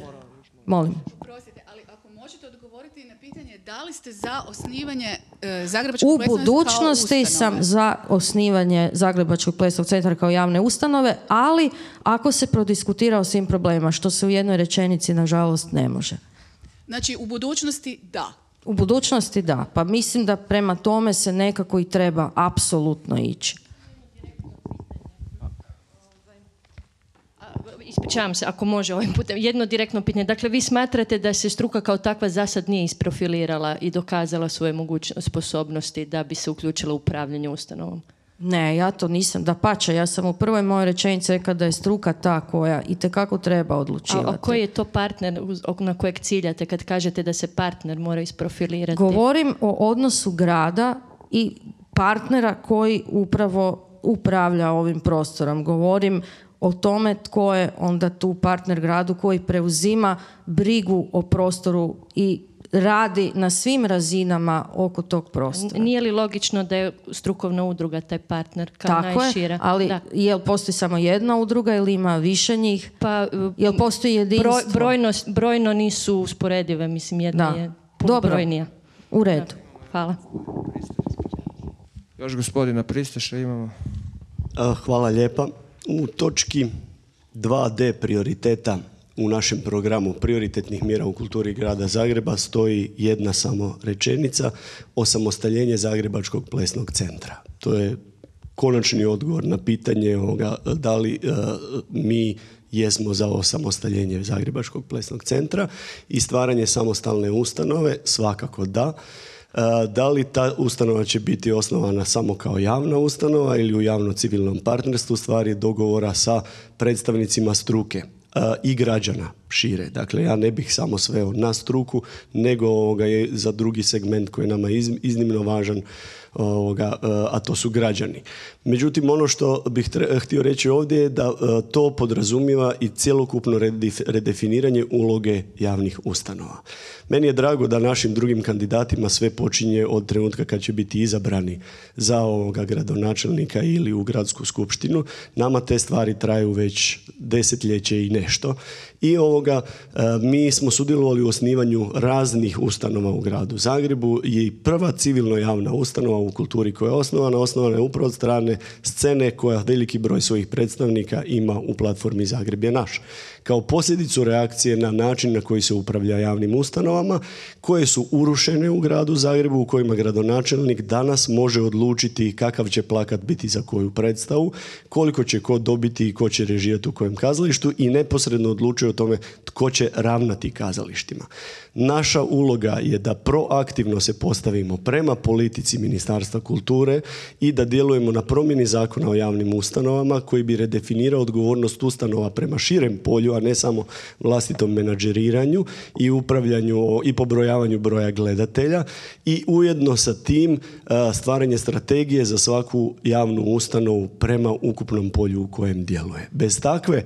Molim. Prostite, ali ako možete odgovoriti na pitanje da li ste za osnivanje Zagrebačkog U plesnog budućnosti sam za osnivanje Zagrebačkog plesnog centra kao javne ustanove, ali ako se prodiskutira o svim problemima, što se u jednoj rečenici nažalost ne može. Znači, u budućnosti da. U budućnosti da, pa mislim da prema tome se nekako i treba apsolutno ići. Ispričavam se, ako može ovim putem. Jedno direktno pitanje. Dakle, vi smatrate da se struka kao takva za sad nije isprofilirala i dokazala svoje sposobnosti da bi se uključila u upravljanje ustanovom? Ne, ja to nisam. Dapače, ja sam u prvoj mojoj rečenici rekla da je struka ta koja itekako treba odlučivati. A koji je to partner na kojeg ciljate kad kažete da se partner mora isprofilirati? Govorim o odnosu grada i partnera koji upravo upravlja ovim prostorom. Govorim o tome tko je onda tu partner gradu koji preuzima brigu o prostoru i radi na svim razinama oko tog prostora. Nije li logično da je strukovna udruga taj partner kao tako najšira? Je, ali da. Jel postoji samo jedna udruga ili ima više njih? Pa, jel postoji jedinstvo? Brojno nisu usporedive, mislim jedna je puno brojnija. U redu. Da. Hvala. Još gospodina Pristaša imamo. Hvala lijepa. U točki 2D prioriteta u našem programu prioritetnih mjera u kulturi grada Zagreba stoji jedna samo rečenica: osamostaljenje Zagrebačkog plesnog centra. To je konačni odgovor na pitanje da li mi jesmo za osamostaljenje Zagrebačkog plesnog centra i stvaranje samostalne ustanove, svakako da. Da li ta ustanova će biti osnovana samo kao javna ustanova ili u javno-civilnom partnerstvu, stvari dogovora sa predstavnicima struke i građana šire. Dakle, ja ne bih samo sveo na struku, nego je za drugi segment koji je nama iznimno važan, a to su građani. Međutim, ono što bih htio reći ovdje je da to podrazumijeva i cjelokupno redefiniranje uloge javnih ustanova. Meni je drago da našim drugim kandidatima sve počinje od trenutka kad će biti izabrani za gradonačelnika ili u gradsku skupštinu. Nama te stvari traju već desetljeće i nešto. I mi smo sudjelovali u osnivanju raznih ustanova u gradu Zagrebu i prva civilno javna ustanova u kulturi koja je osnovana je upravo od strane scene koja veliki broj svojih predstavnika ima u platformi Zagreb je naš. Kao posljedicu reakcije na način na koji se upravlja javnim ustanovama koje su urušene u gradu Zagrebu, u kojima gradonačelnik danas može odlučiti kakav će plakat biti za koju predstavu, koliko će ko dobiti i ko će režirati u kojem kazalištu i neposredno odlučuje o tome tko će ravnati kazalištima. Naša uloga je da proaktivno se postavimo prema politici Ministarstva kulture i da djelujemo na promjeni Zakona o javnim ustanovama koji bi redefinirao odgovornost ustanova prema širem polju, a ne samo vlastitom menadžeriranju i upravljanju i pobrojavanju broja gledatelja i ujedno sa tim stvaranje strategije za svaku javnu ustanovu prema ukupnom polju u kojem djeluje. Bez takve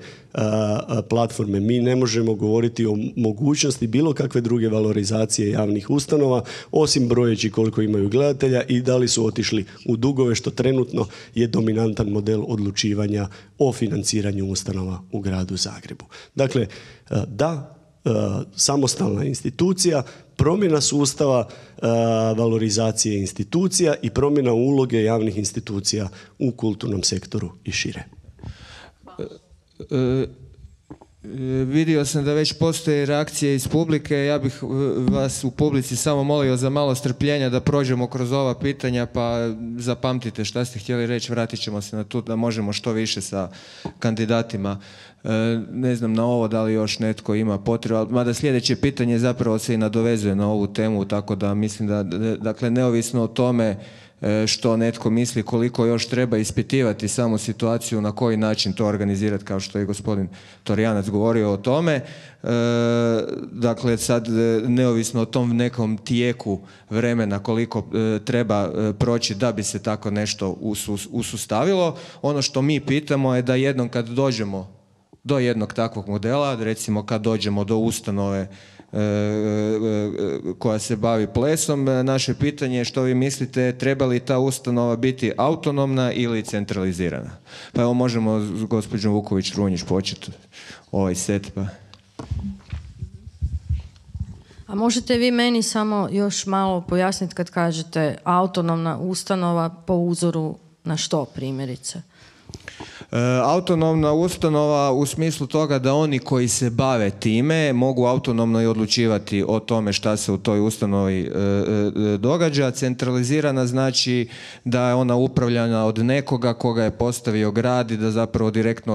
platforme mi ne možemo govoriti o mogućnosti bilo kakve druge valorizacije javnih ustanova osim brojeći koliko imaju gledatelja i da li su otišli u dugove, što trenutno je dominantan model odlučivanja o financiranju ustanova u gradu Zagrebu. Dakle, samostalna institucija, promjena sustava valorizacije institucija i promjena uloge javnih institucija u kulturnom sektoru i šire. Vidio sam da već postoje reakcije iz publike. Ja bih vas u publici samo molio za malo strpljenja da prođemo kroz ova pitanja, pa zapamtite šta ste htjeli reći, vratit ćemo se na to da možemo što više sa kandidatima. Ne znam na ovo da li još netko ima potrebu, mada sljedeće pitanje zapravo se i nadovezuje na ovu temu, tako da mislim da, dakle, neovisno o tome što netko misli koliko još treba ispitivati samu situaciju, na koji način to organizirati, kao što je gospodin Torjanac govorio o tome. Dakle, sad neovisno o tom nekom tijeku vremena koliko treba proći da bi se tako nešto usustavilo, ono što mi pitamo je da jednom kad dođemo do jednog takvog modela, recimo kad dođemo do ustanove koja se bavi plesom, naše pitanje je što vi mislite, treba li ta ustanova biti autonomna ili centralizirana? Pa evo možemo s gospođom Vuković-Runjić početi ovaj set. Pa. A možete vi meni samo još malo pojasniti kad kažete autonomna ustanova po uzoru na što primjerice? Autonomna ustanova u smislu toga da oni koji se bave time mogu autonomno i odlučivati o tome šta se u toj ustanovi događa. Centralizirana znači da je ona upravljana od nekoga koga je postavio grad i da zapravo direktno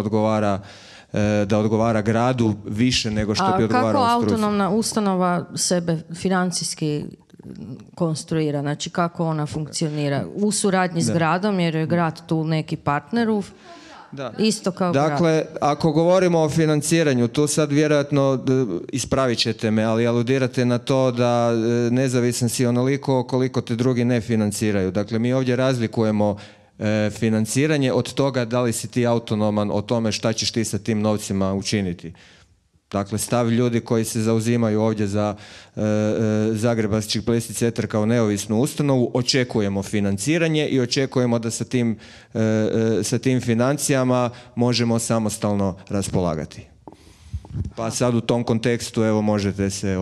odgovara gradu više nego što bi odgovarao struci. A kako autonomna ustanova sebe financijski konstruira? Znači kako ona funkcionira? U suradnji s gradom, jer je grad tu neki partner Da. Isto kao dakle, ako govorimo o financiranju, tu sad vjerojatno, ispravit ćete me, ali aludirate na to da nezavisan si onoliko koliko te drugi ne financiraju. Dakle, mi ovdje razlikujemo financiranje od toga da li si ti autonoman o tome šta ćeš ti sa tim novcima učiniti. Dakle, stav ljudi koji se zauzimaju ovdje za Zagrebački plesni centar kao neovisnu ustanovu, očekujemo financiranje i očekujemo da sa tim financijama možemo samostalno raspolagati. Pa sad u tom kontekstu, evo, možete se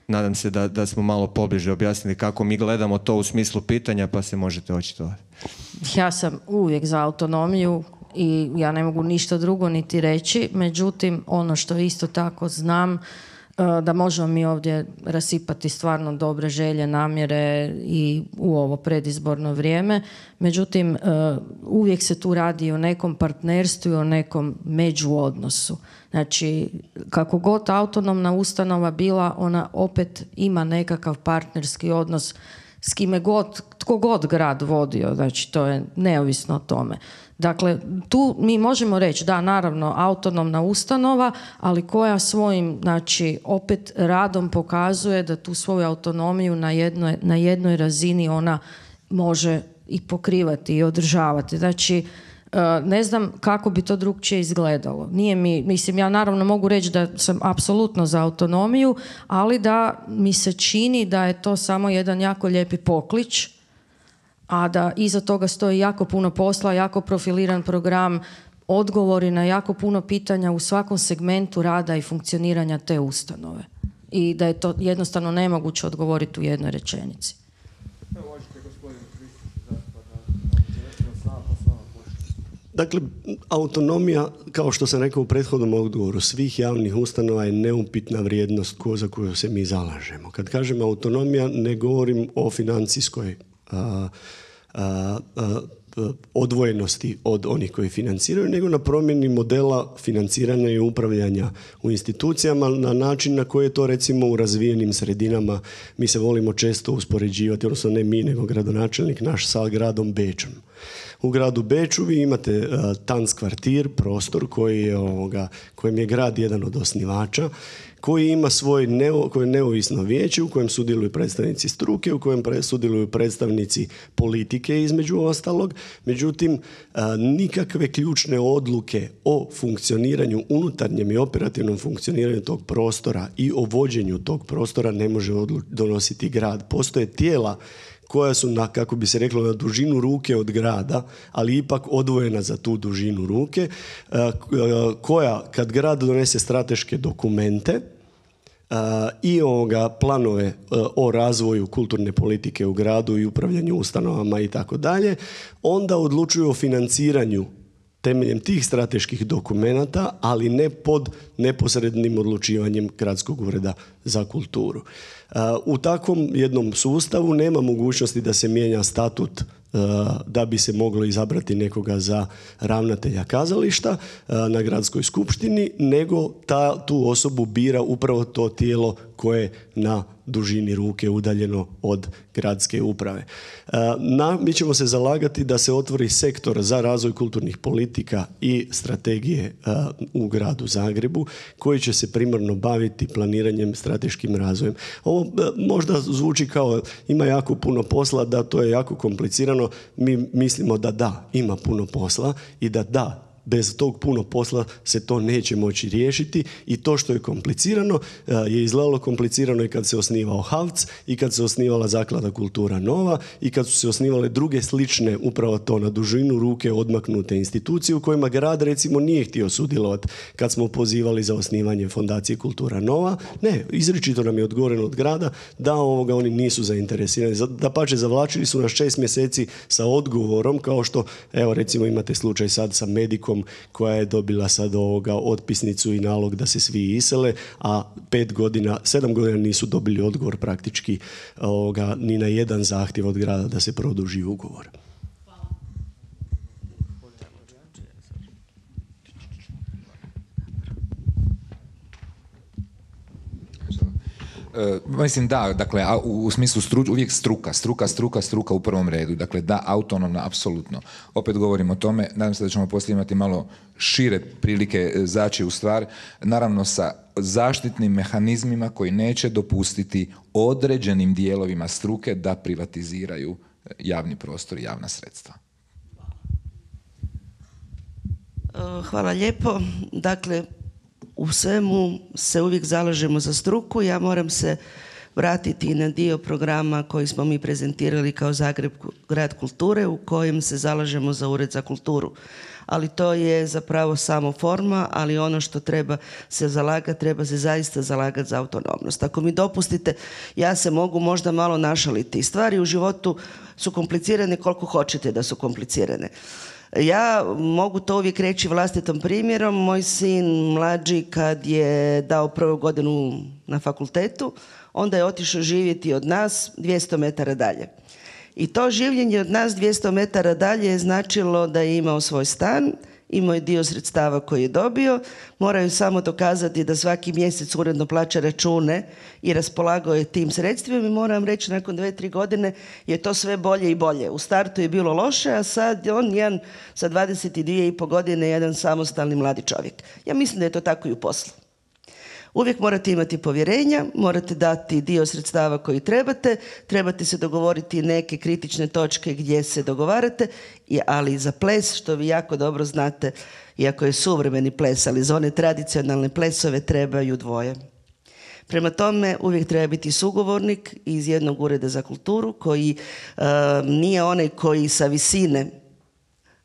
nadam se da smo malo pobliže objasnili kako mi gledamo to u smislu pitanja, pa se možete očitovati. Ja sam uvijek za autonomiju i ja ne mogu ništa drugo niti reći, međutim ono što isto tako znam da možemo mi ovdje rasipati stvarno dobre želje, namjere i u ovo predizborno vrijeme, međutim uvijek se tu radi o nekom partnerstvu i o nekom međuodnosu. Znači, kako god autonomna ustanova bila, ona opet ima nekakav partnerski odnos s kime god, tko god grad vodio, znači to je neovisno o tome. Dakle, tu mi možemo reći da, naravno, autonomna ustanova, ali koja svojim, znači, opet radom pokazuje da tu svoju autonomiju na jednoj razini ona može i pokrivati i održavati. Znači, ne znam kako bi to drugčije izgledalo. Mislim, ja naravno mogu reći da sam apsolutno za autonomiju, ali da mi se čini da je to samo jedan jako lijepi poklič, a da iza toga stoji jako puno posla, jako profiliran program, odgovori na jako puno pitanja u svakom segmentu rada i funkcioniranja te ustanove. I da je to jednostavno nemoguće odgovoriti u jednoj rečenici. Možete, gospodine. Dakle, autonomija, kao što sam rekao u prethodnom odgovoru, svih javnih ustanova je neupitna vrijednost za koju se mi zalažemo. Kad kažem autonomija, ne govorim o financijskoj odvojenosti od onih koji financiraju, nego na promjeni modela financiranja i upravljanja u institucijama na način na koji je to recimo u razvijenim sredinama. Mi se volimo često uspoređivati, odnosno ne mi, nego gradonačelnik naš sa gradom Bečom. U gradu Beču vi imate Tanzkvartir, prostor kojem je grad jedan od osnivača, koji ima svoje neovisno vijeće u kojem sudjeluju predstavnici struke, u kojem sudjeluju predstavnici politike između ostalog. Međutim, nikakve ključne odluke o funkcioniranju, unutarnjem i operativnom funkcioniranju tog prostora i o vođenju tog prostora ne može donositi grad. Postoje tijela koja su, kako bi se reklo, na dužinu ruke od grada, ali ipak odvojena za tu dužinu ruke, koja, kad grad donese strateške dokumente i planove o razvoju kulturne politike u gradu i upravljanju ustanovama i tako dalje, onda odlučuju o financiranju temeljem tih strateških dokumenata, ali ne pod neposrednim odlučivanjem Gradskog ureda za kulturu. U takvom jednom sustavu nema mogućnosti da se mijenja statut da bi se moglo izabrati nekoga za ravnatelja kazališta na gradskoj skupštini, nego tu osobu bira upravo to tijelo koje je na dužini ruke udaljeno od gradske uprave. Mi ćemo se zalagati da se otvori sektor za razvoj kulturnih politika i strategije u gradu Zagrebu, koji će se primarno baviti planiranjem, strateškim razvojem. Ovo možda zvuči kao ima jako puno posla, da to je jako komplicirano. Mi mislimo da ima puno posla i da bez tog puno posla se to neće moći riješiti, i to što je komplicirano je izgledalo komplicirano i kad se osnivao HAVC i kad se osnivala Zaklada Kultura Nova i kad su se osnivale druge slične, upravo to, na dužinu ruke odmaknute institucije u kojima grad recimo nije htio sudjelovati kad smo pozivali za osnivanje Fondacije Kultura Nova. Ne, izričito nam je odgovoreno od grada da oni nisu zainteresirani. Dapače, zavlačili su nas 6 mjeseci sa odgovorom, kao što evo recimo imate slučaj sad sa Medikom koja je dobila sad otpisnicu i nalog da se svi isele, a 7 godina nisu dobili odgovor praktički ni na jedan zahtjev od grada da se produži ugovor. Mislim da, dakle, u smislu uvijek struka u prvom redu. Dakle, da, autonomna, apsolutno. Opet govorim o tome, nadam se da ćemo poslije imati malo šire prilike zaći u stvar, naravno sa zaštitnim mehanizmima koji neće dopustiti određenim dijelovima struke da privatiziraju javni prostor i javna sredstva. Hvala lijepo. Dakle, u svemu se uvijek zalažemo za struku. Ja moram se vratiti na dio programa koji smo mi prezentirali kao Zagreb grad kulture, u kojem se zalažemo za Ured za kulturu. Ali to je zapravo samo forma, ali ono što treba se zalagati, treba se zaista zalagati za autonomnost. Ako mi dopustite, ja se mogu možda malo našaliti. Stvari u životu su komplicirane koliko hoćete da su komplicirane. Ja mogu to uvijek reći vlastitom primjerom. Moj sin mlađi kad je dao prvu godinu na fakultetu, onda je otišao živjeti od nas 200 metara dalje. I to življenje od nas 200 metara dalje je značilo da je imao svoj stan, imao je dio sredstava koji je dobio, moraju samo dokazati da svaki mjesec uredno plaća račune i raspolagao je tim sredstvima, i moram reći nakon 2-3 godine je to sve bolje i bolje. U startu je bilo loše, a sad on jedan sa 22,5 godine jedan samostalni mladi čovjek. Ja mislim da je to tako i u poslu. Uvijek morate imati povjerenja, morate dati dio sredstava koji trebate se dogovoriti neke kritične točke gdje se dogovarate, ali za ples, što vi jako dobro znate, iako je suvremeni ples, ali za one tradicionalne plesove trebaju dvoje. Prema tome, uvijek treba biti sugovornik iz jednog ureda za kulturu koji nije onaj koji sa visine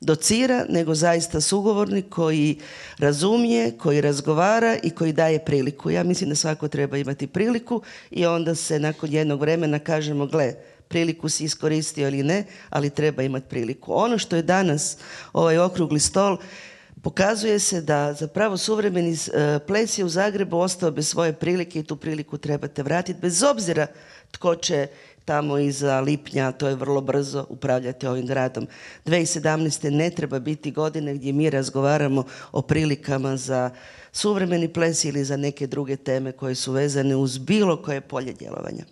docira, nego zaista sugovornik koji razumije, koji razgovara i koji daje priliku. Ja mislim da svako treba imati priliku i onda se nakon jednog vremena kažemo, gle, priliku si iskoristio ili ne, ali treba imati priliku. Ono što je danas ovaj okrugli stol, pokazuje se da zapravo suvremeni ples je u Zagrebu ostao bez svoje prilike i tu priliku trebate vratiti, bez obzira tko će tamo iza lipnja, to je vrlo brzo, upravljati ovim gradom. 2017. ne treba biti godine gdje mi razgovaramo o prilikama za suvremeni ples ili za neke druge teme koje su vezane uz bilo koje polje djelovanja.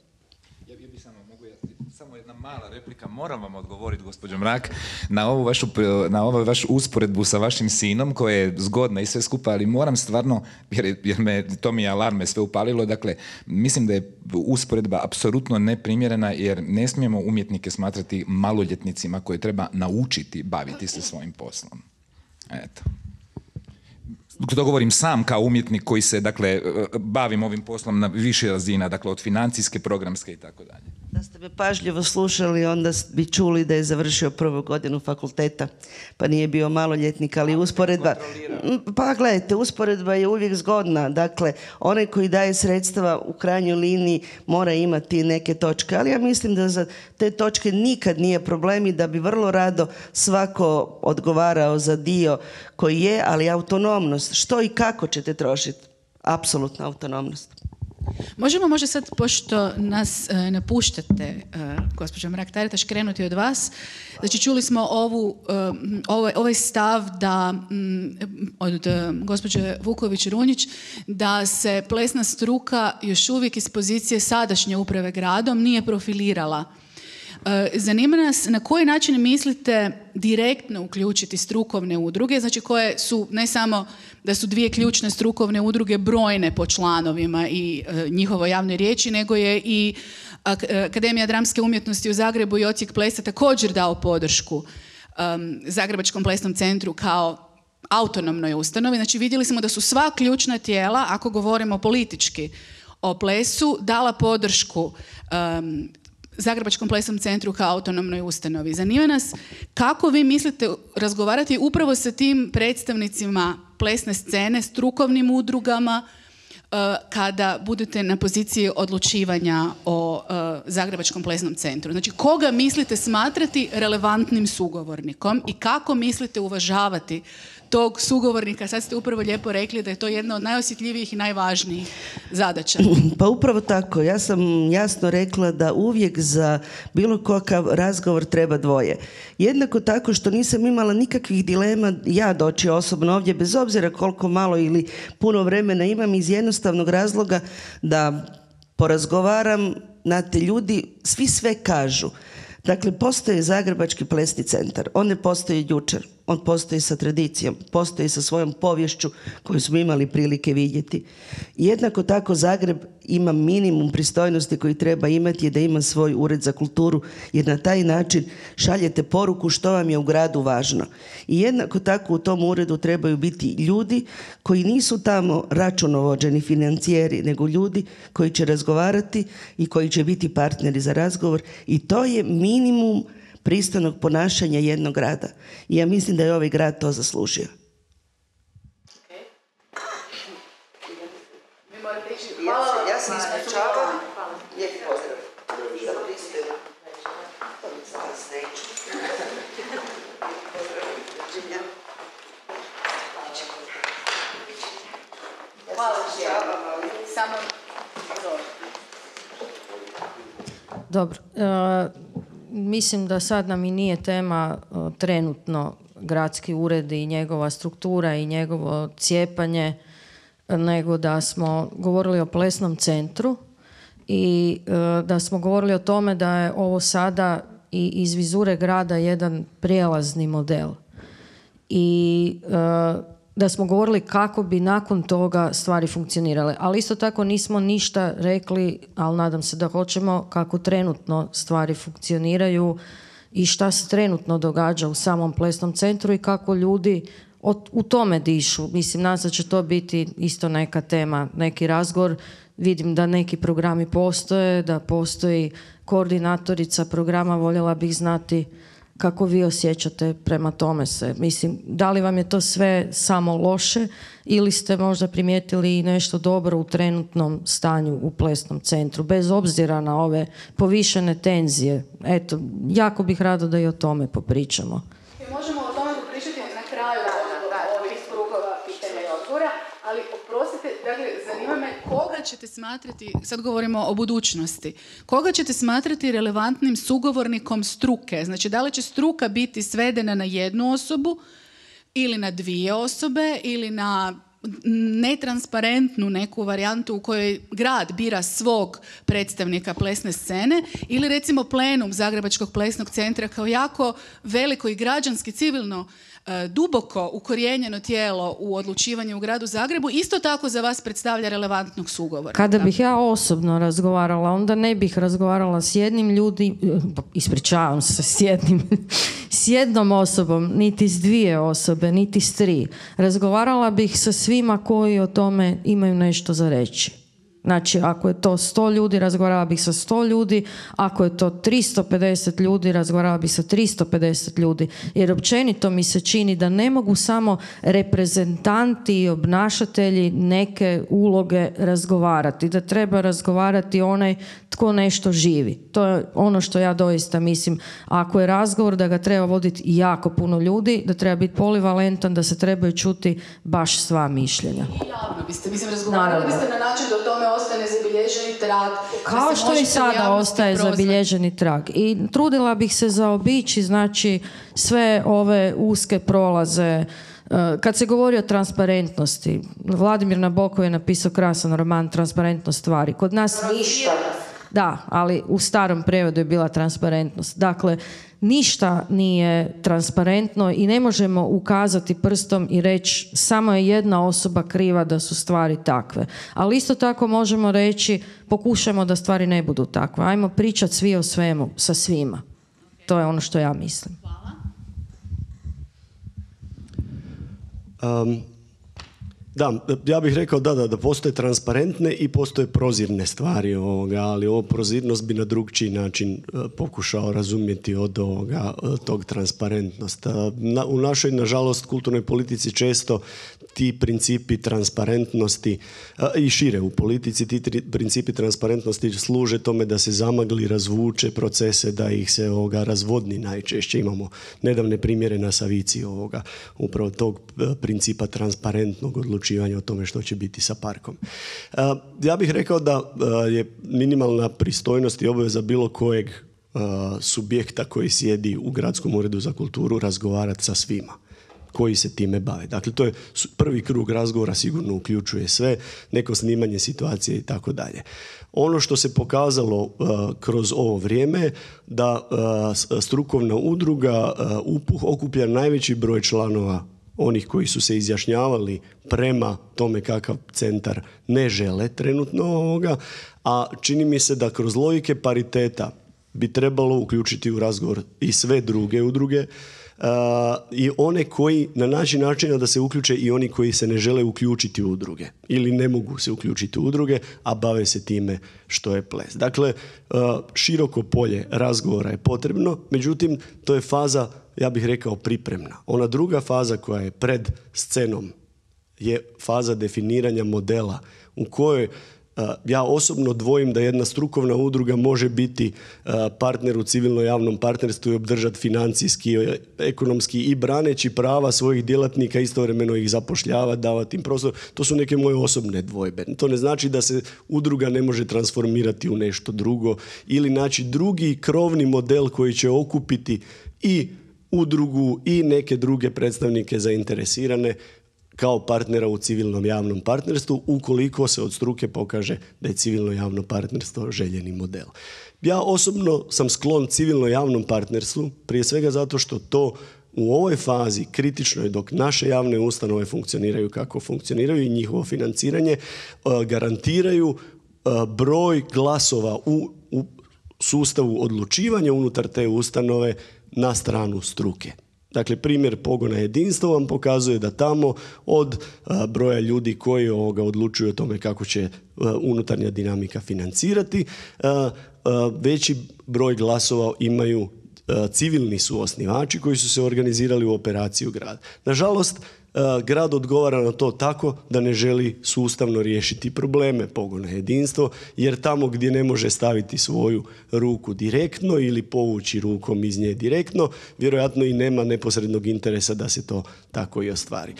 Samo jedna mala replika, moram vam odgovoriti, gospođo Mrak, na ovu vašu usporedbu sa vašim sinom, koja je zgodna i sve skupa, ali moram stvarno, jer to mi je alarme sve upalilo, dakle, mislim da je usporedba apsolutno neprimjerena, jer ne smijemo umjetnike smatrati maloljetnicima koje treba naučiti baviti se svojim poslom. Eto. To govorim sam kao umjetnik koji se, dakle, bavim ovim poslom na više razina, dakle, od financijske, programske i tako dalje. Da ste me pažljivo slušali, onda bi čuli da je završio prvu godinu fakulteta, pa nije bio maloljetnik, ali usporedba... Pa gledajte, usporedba je uvijek zgodna. Dakle, onaj koji daje sredstva u krajnjoj liniji mora imati neke točke, ali ja mislim da za te točke nikad nije problem i da bi vrlo rado svako odgovarao za dio koji je, ali autonomnost, što i kako ćete trošiti, apsolutna autonomnost. Možemo možda sad, pošto nas napuštate, gospođo Mrak-Taritaš, krenuti od vas. Znači, čuli smo ovaj stav da, od gospođe Vuković-Runjić, da se plesna struka još uvijek iz pozicije sadašnje uprave gradom nije profilirala. Zanima nas na koji način mislite direktno uključiti strukovne udruge, znači koje su ne samo da su dvije ključne strukovne udruge brojne po članovima i njihovoj javnoj riječi, nego je i Akademija dramske umjetnosti u Zagrebu i Odsjek plesa također dao podršku Zagrebačkom plesnom centru kao autonomnoj ustanovi. Znači, vidjeli smo da su sva ključna tijela, ako govorimo politički o plesu, dala podršku Zagrebačkom plesnom centru kao autonomnoj ustanovi. Zanima nas kako vi mislite razgovarati upravo sa tim predstavnicima plesne scene, strukovnim udrugama, kada budete na poziciji odlučivanja o Zagrebačkom plesnom centru. Znači, koga mislite smatrati relevantnim sugovornikom i kako mislite uvažavati tog sugovornika? Sad ste upravo lijepo rekli da je to jedna od najosjetljivijih i najvažnijih zadaća. Pa upravo tako. Ja sam jasno rekla da uvijek za bilo kakav razgovor treba dvoje. Jednako tako što nisam imala nikakvih dilema ja doći osobno ovdje, bez obzira koliko malo ili puno vremena imam, iz jednostavnog razloga da porazgovaram, znate, ljudi svi sve kažu. Dakle, postoji Zagrebački plesni centar. On ne postoji jučer. On postoji sa tradicijom, postoji sa svojom povješću koju smo imali prilike vidjeti. Jednako tako Zagreb ima minimum pristojnosti koji treba imati, je da ima svoj ured za kulturu, jer na taj način šaljete poruku što vam je u gradu važno. I jednako tako u tom uredu trebaju biti ljudi koji nisu tamo računovođeni financijeri, nego ljudi koji će razgovarati i koji će biti partneri za razgovor, i to je minimum pristojnog ponašanja jednog grada. I ja mislim da je ovaj grad to zaslužio. Ja se ispričavam. Lijepi pozdrav. Za pristojno. Dobro. Mislim da sad nam i nije tema trenutno gradski ured i njegova struktura i njegovo cijepanje, nego da smo govorili o plesnom centru i da smo govorili o tome da je ovo sada i iz vizure grada jedan prijelazni model. I da smo govorili kako bi nakon toga stvari funkcionirale. Ali isto tako nismo ništa rekli, ali nadam se da hoćemo, kako trenutno stvari funkcioniraju i šta se trenutno događa u samom plesnom centru i kako ljudi u tome dišu. Mislim, nadam se da će to biti isto neka tema, neki razgovor. Vidim da neki programi postoje, da postoji koordinatorica programa, voljela bih znati kako vi osjećate prema tome se. Mislim, da li vam je to sve samo loše ili ste možda primijetili i nešto dobro u trenutnom stanju u plesnom centru, bez obzira na ove povišene tenzije. Eto, jako bih rado da i o tome popričamo. Možemo o tome popričati na kraju ovih krugova pitanja i odgovora, ali oprostite, dakle, zanima me koga ćete smatrati, sad govorimo o budućnosti, koga ćete smatrati relevantnim sugovornikom struke? Znači, da li će struka biti svedena na jednu osobu ili na dvije osobe ili na netransparentnu neku varijantu u kojoj grad bira svog predstavnika plesne scene ili recimo plenum Zagrebačkog plesnog centra kao jako veliko i građanski civilno duboko ukorijenjeno tijelo u odlučivanju u gradu Zagrebu isto tako za vas predstavlja relevantnog sugovora. Kada bih ja osobno razgovarala, onda ne bih razgovarala s jednim ispričavam se, s jednom osobom, niti s dvije osobe, niti s tri. Razgovarala bih sa svima koji o tome imaju nešto za reći. Znači, ako je to 100 ljudi, razgovarala bih sa 100 ljudi, ako je to 350 ljudi, razgovarala bih sa 350 ljudi, jer općenito mi se čini da ne mogu samo reprezentanti i obnašatelji neke uloge razgovarati, da treba razgovarati onaj tko nešto živi. To je ono što ja doista mislim. Ako je razgovor, da ga treba voditi jako puno ljudi, da treba biti polivalentan, da se trebaju čuti baš sva mišljenja. I javno biste, razgovarali biste na način da o tome ostane zabilježeni trag. Kao što i sada ostaje zabilježeni trag. I trudila bih se zaobići, znači, sve ove uske prolaze. Kad se govori o transparentnosti, Vladimir Nabokov je napisao krasan roman Transparentnost stvari. Kod nas ništa. Da, ali u starom prevodu je bila transparentnost. Dakle, ništa nije transparentno i ne možemo ukazati prstom i reći samo je jedna osoba kriva da su stvari takve. Ali isto tako možemo reći pokušajmo da stvari ne budu takve. Ajmo pričati svi o svemu sa svima. To je ono što ja mislim. Da, ja bih rekao da postoje transparentne i postoje prozirne stvari ali ovo prozirnost bi na drugčiji način pokušao razumjeti od tog transparentnost. U našoj, nažalost, kulturnoj politici često ti principi transparentnosti i šire u politici, ti principi transparentnosti služe tome da se zamagli, razvuče procese, da ih se razvodni najčešće. Imamo nedavne primjere na Savici upravo tog principa transparentnog odlučivanja o tome što će biti sa parkom. Ja bih rekao da je minimalna pristojnost i obaveza bilo kojeg subjekta koji sjedi u Gradskom uredu za kulturu razgovarati sa svima koji se time bave. Dakle, to je prvi krug razgovora, sigurno uključuje sve, neko snimanje situacije i tako dalje. Ono što se pokazalo kroz ovo vrijeme, da strukovna udruga UPUH okuplja najveći broj članova onih koji su se izjašnjavali prema tome kakav centar ne žele trenutno a čini mi se da kroz logike pariteta bi trebalo uključiti u razgovor i sve druge udruge, i one koji na način da se uključe i oni koji se ne žele uključiti u udruge ili ne mogu se uključiti u udruge, a bave se time što je ples. Dakle, široko polje razgovora je potrebno, međutim, to je faza, ja bih rekao, pripremna. Ona druga faza koja je pred scenom je faza definiranja modela u kojoj ja osobno dvojim da jedna strukovna udruga može biti partner u civilno-javnom partnerstvu i obdržati financijski, ekonomski i braneći prava svojih djelatnika, istovremeno ih zapošljavati, davati im prostor. To su neke moje osobne dvojbe. To ne znači da se udruga ne može transformirati u nešto drugo ili naći drugi krovni model koji će okupiti i udrugu i neke druge predstavnike zainteresirane kao partnera u civilnom javnom partnerstvu, ukoliko se od struke pokaže da je civilno javno partnerstvo željeni model. Ja osobno sam sklon civilno javnom partnerstvu, prije svega zato što to u ovoj fazi kritičnoj, dok naše javne ustanove funkcioniraju kako funkcioniraju i njihovo financiranje, garantiraju broj glasova u sustavu odlučivanja unutar te ustanove na stranu struke. Dakle, primjer pogona jedinstva vam pokazuje da tamo od broja ljudi koji odlučuju o tome kako će unutarnja dinamika financirati, veći broj glasova imaju civilni su osnivači koji su se organizirali u operaciju grad. Nažalost, grad odgovara na to tako da ne želi sustavno riješiti probleme pogona jedinstvo, jer tamo gdje ne može staviti svoju ruku direktno ili povući rukom iz nje direktno, vjerojatno i nema neposrednog interesa da se to tako i ostvari.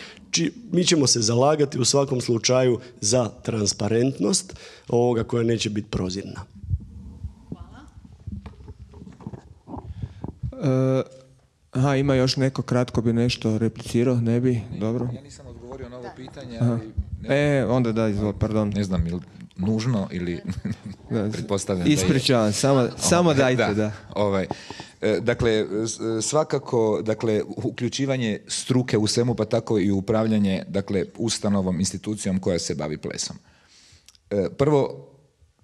Mi ćemo se zalagati u svakom slučaju za transparentnost ovoga koja neće biti prozirna. Aha, ima još neko, kratko bi nešto replicirao, ne bi? Dobro. Ja nisam odgovorio na ovo pitanje, ali... onda da, izvoli, pardon. Ne znam, ili nužno ili pretpostavljam da je. Ispričavam, samo dajte, da. Dakle, svakako, dakle, uključivanje struke u svemu, pa tako i upravljanje, dakle, ustanovom, institucijom koja se bavi plesom. Prvo,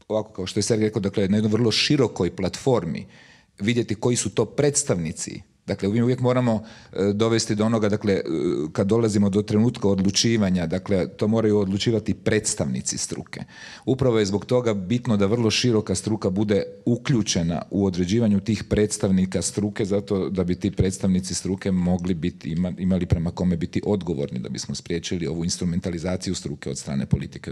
ovako kao što je Sergej rekao, dakle, na jednoj vrlo širokoj platformi vidjeti koji su to predstavnici. Dakle, mi uvijek moramo dovesti do onoga, dakle, kad dolazimo do trenutka odlučivanja, dakle, to moraju odlučivati predstavnici struke. Upravo je zbog toga bitno da vrlo široka struka bude uključena u određivanju tih predstavnika struke, zato da bi ti predstavnici struke mogli biti, imali prema kome biti odgovorni, da bismo spriječili ovu instrumentalizaciju struke od strane politike,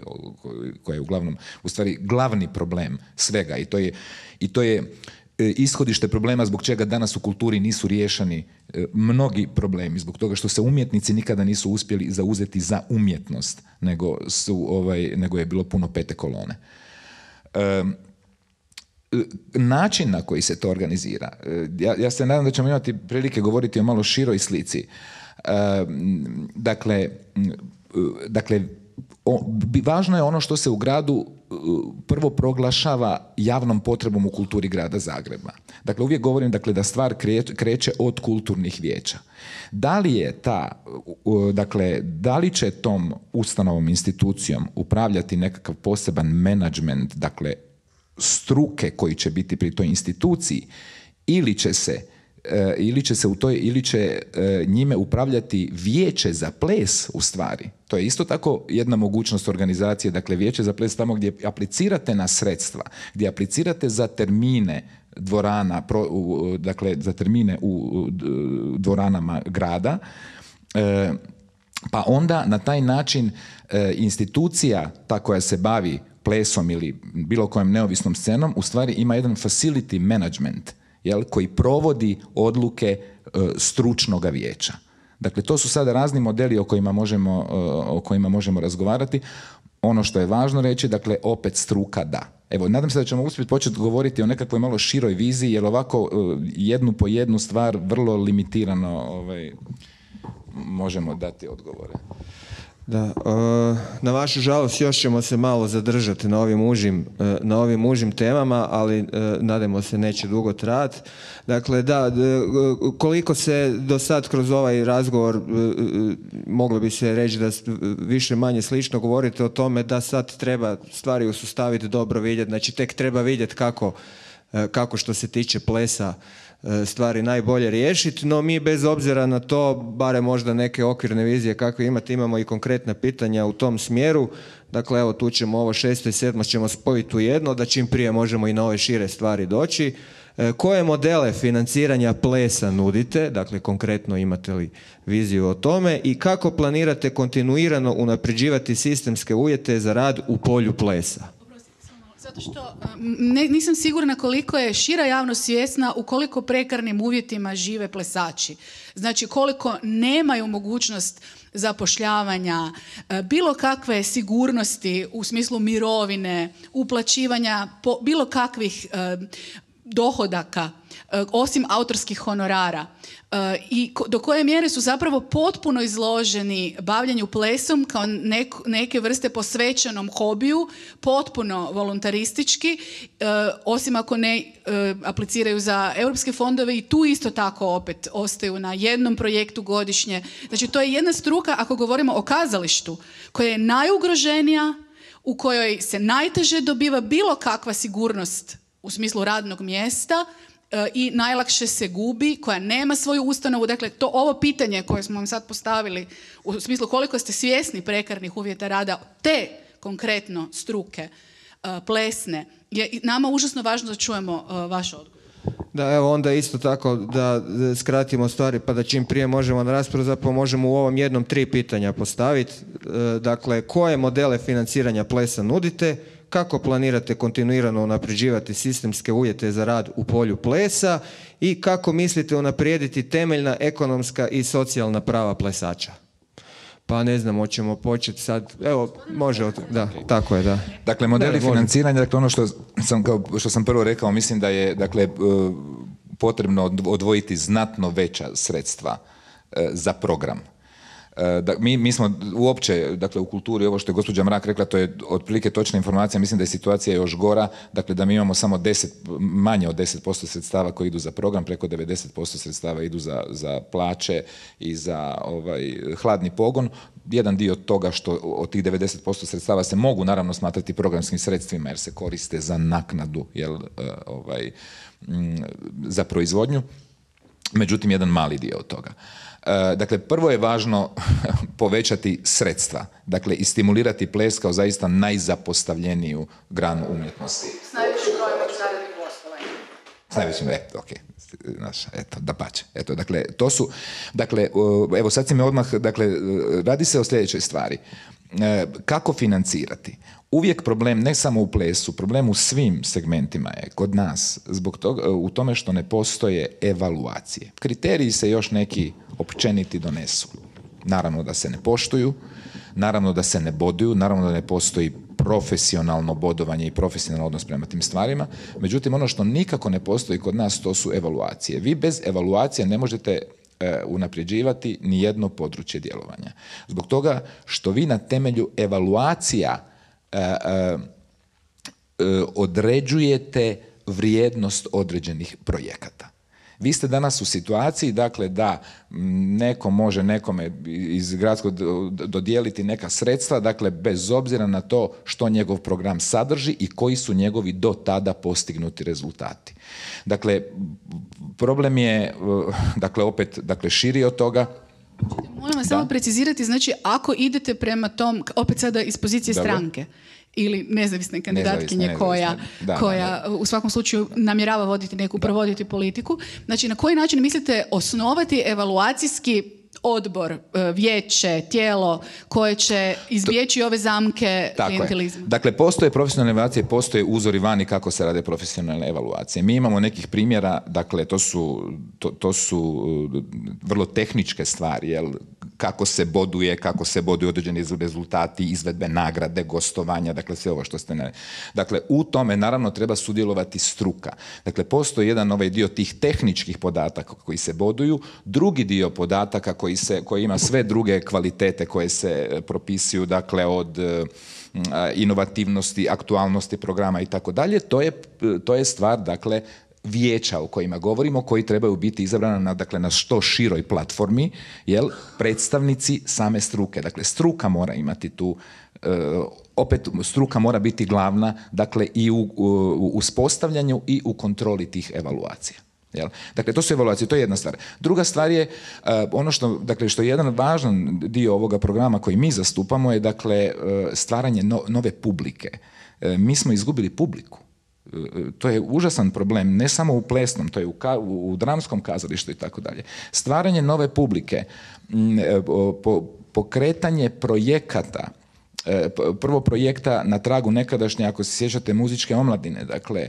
koja je uglavnom, u stvari, glavni problem svega. I to je ishodište problema zbog čega danas u kulturi nisu riješeni mnogi problemi, zbog toga što se umjetnici nikada nisu uspjeli zauzeti za umjetnost, nego je bilo puno pete kolone. Način na koji se to organizira, ja se nadam da ćemo imati prilike govoriti o malo široj slici. Dakle, važno je ono što se u gradu prvo proglašava javnom potrebom u kulturi grada Zagreba. Dakle, uvijek govorim, dakle, da stvar kreće od kulturnih vijeća. Da li će tom ustanovom institucijom upravljati nekakav poseban menadžment, dakle, struke koji će biti pri toj instituciji, ili će njime upravljati vijeće za ples u stvari. To je isto tako jedna mogućnost organizacije, dakle vijeće za ples tamo gdje aplicirate na sredstva, gdje aplicirate za termine dvorana, dakle za termine u dvoranama grada, pa onda na taj način institucija ta koja se bavi plesom ili bilo kojom neovisnom scenom u stvari ima jedan facility management, koji provodi odluke stručnog vijeća. Dakle, to su sada razni modeli o kojima možemo razgovarati. Ono što je važno reći, dakle, opet struka da. Evo, nadam se da ćemo uspjeti početi govoriti o nekakvoj malo široj viziji, jer ovako jednu po jednu stvar vrlo limitirano možemo dati odgovore. Da, na vašu žalost još ćemo se malo zadržati na ovim užim temama, ali nadamo se neće dugo trajati. Dakle, da, koliko se do sad kroz ovaj razgovor moglo bi se reći da više manje slično govorite o tome da sad treba stvari usustaviti, dobro vidjeti, znači tek treba vidjeti kako što se tiče plesa stvari najbolje riješiti, no mi bez obzira na to, bare možda neke okvirne vizije kakve imate, imamo i konkretna pitanja u tom smjeru. Dakle, evo tu ćemo ovo 6. i 7. ćemo spojiti u jedno, da čim prije možemo i na ove šire stvari doći. Koje modele financiranja plesa nudite, dakle konkretno imate li viziju o tome, i kako planirate kontinuirano unapređivati sistemske uvjete za rad u polju plesa? Zato što nisam sigurna koliko je šira javnost svjesna u koliko prekarnim uvjetima žive plesači. Znači koliko nemaju mogućnost zapošljavanja, bilo kakve sigurnosti u smislu mirovine, uplaćivanja bilo kakvih dohodaka, osim autorskih honorara. I do koje mjere su zapravo potpuno izloženi bavljanju plesom kao neke vrste posvećenom hobiju, potpuno voluntaristički, osim ako ne apliciraju za europske fondove, i tu isto tako opet ostaju na jednom projektu godišnje. Znači to je jedna struka, ako govorimo o kazalištu, koja je najugroženija, u kojoj se najteže dobiva bilo kakva sigurnost u smislu radnog mjesta i najlakše se gubi, koja nema svoju ustanovu. Dakle, ovo pitanje koje smo vam sad postavili u smislu koliko ste svjesni prekarnih uvjeta rada te konkretno struke plesne, je nama užasno važno da čujemo vaš odgovor. Da, evo onda isto tako da skratimo stvari pa da čim prije možemo na raspravu, zapravo možemo u ovom jednom 3 pitanja postaviti. Dakle, koje modele financiranja plesa nudite, kako planirate kontinuirano unapređivati sistemske uvjete za rad u polju plesa i kako mislite unaprijediti temeljna ekonomska i socijalna prava plesača? Pa ne znam, hoćemo početi sad, evo, može, da, tako je, da. Dakle, modeli financiranja, dakle, ono što sam prvo rekao, mislim da je, dakle, potrebno odvojiti znatno veća sredstva za program. Mi smo uopće, dakle, u kulturi, ovo što je gospođa Mrak rekla, to je otprilike točna informacija, mislim da je situacija još gora, dakle, da mi imamo samo manje od 10% sredstava koji idu za program, preko 90% sredstava idu za plaće i za hladni pogon. Jedan dio toga što od tih 90% sredstava se mogu naravno smatrati programskim sredstvima jer se koriste za naknadu, za proizvodnju, međutim jedan mali dio od toga. Dakle, prvo je važno povećati sredstva, dakle, i stimulirati ples kao zaista najzapostavljeniju granu umjetnosti. S najvećim brojem međunarodnih gostovanja. S najvećim, dapače. Dakle, to su, dakle, evo sad si me odmah, dakle, radi se o sljedećoj stvari. Kako financirati? Uvijek problem, ne samo u plesu, problem u svim segmentima je kod nas zbog toga, u tome što ne postoje evaluacije. Kriteriji se još neki općeniti donesu. Naravno da se ne poštuju, naravno da se ne boduju, naravno da ne postoji profesionalno bodovanje i profesionalno odnos prema tim stvarima. Međutim, ono što nikako ne postoji kod nas, to su evaluacije. Vi bez evaluacije ne možete unapređivati ni jedno područje djelovanja. Zbog toga što vi na temelju evaluacija određujete vrijednost određenih projekata. Vi ste danas u situaciji, dakle, da neko može nekome iz gradskog dodijeliti neka sredstva, dakle, bez obzira na to što njegov program sadrži i koji su njegovi do tada postignuti rezultati. Dakle, problem je, dakle, opet, dakle, širi od toga. Molim vas samo precizirati, znači, ako idete prema tom, opet sada iz pozicije stranke, ili nezavisne kandidatkinje koja u svakom slučaju namjerava voditi neku, provoditi politiku. Znači, na koji način mislite osnovati evaluacijski odbor, vijeće, tijelo koje će izbjeći ove zamke klijentelizma? Dakle, postoje profesionalne evaluacije, postoje uzori vani kako se rade profesionalne evaluacije. Mi imamo nekih primjera, dakle, to su vrlo tehničke stvari, jel? Kako se boduju određeni rezultati, izvedbe nagrade, gostovanja, dakle sve ovo što ste... Dakle, u tome naravno treba sudjelovati struka. Dakle, postoji jedan dio tih tehničkih podataka koji se boduju, drugi dio podataka koji ima sve druge kvalitete koje se propisuju, dakle, od inovativnosti, aktualnosti programa i tako dalje. To je stvar, dakle, vijeća o kojima govorimo, koji trebaju biti izabrana na što široj platformi, jel, predstavnici same struke. Dakle, struka mora imati tu, opet struka mora biti glavna, dakle, i u uspostavljanju i u kontroli tih evaluacija. Jel? Dakle, to su evaluacije, to je jedna stvar. Druga stvar je, ono što je jedan važan dio ovoga programa koji mi zastupamo je, dakle, stvaranje nove publike. Mi smo izgubili publiku. To je užasan problem, ne samo u plesnom, to je u dramskom kazalištu i tako dalje. Stvaranje nove publike, pokretanje projekata, prvo projekta na tragu nekadašnje, ako se sjećate, muzičke omladine, dakle,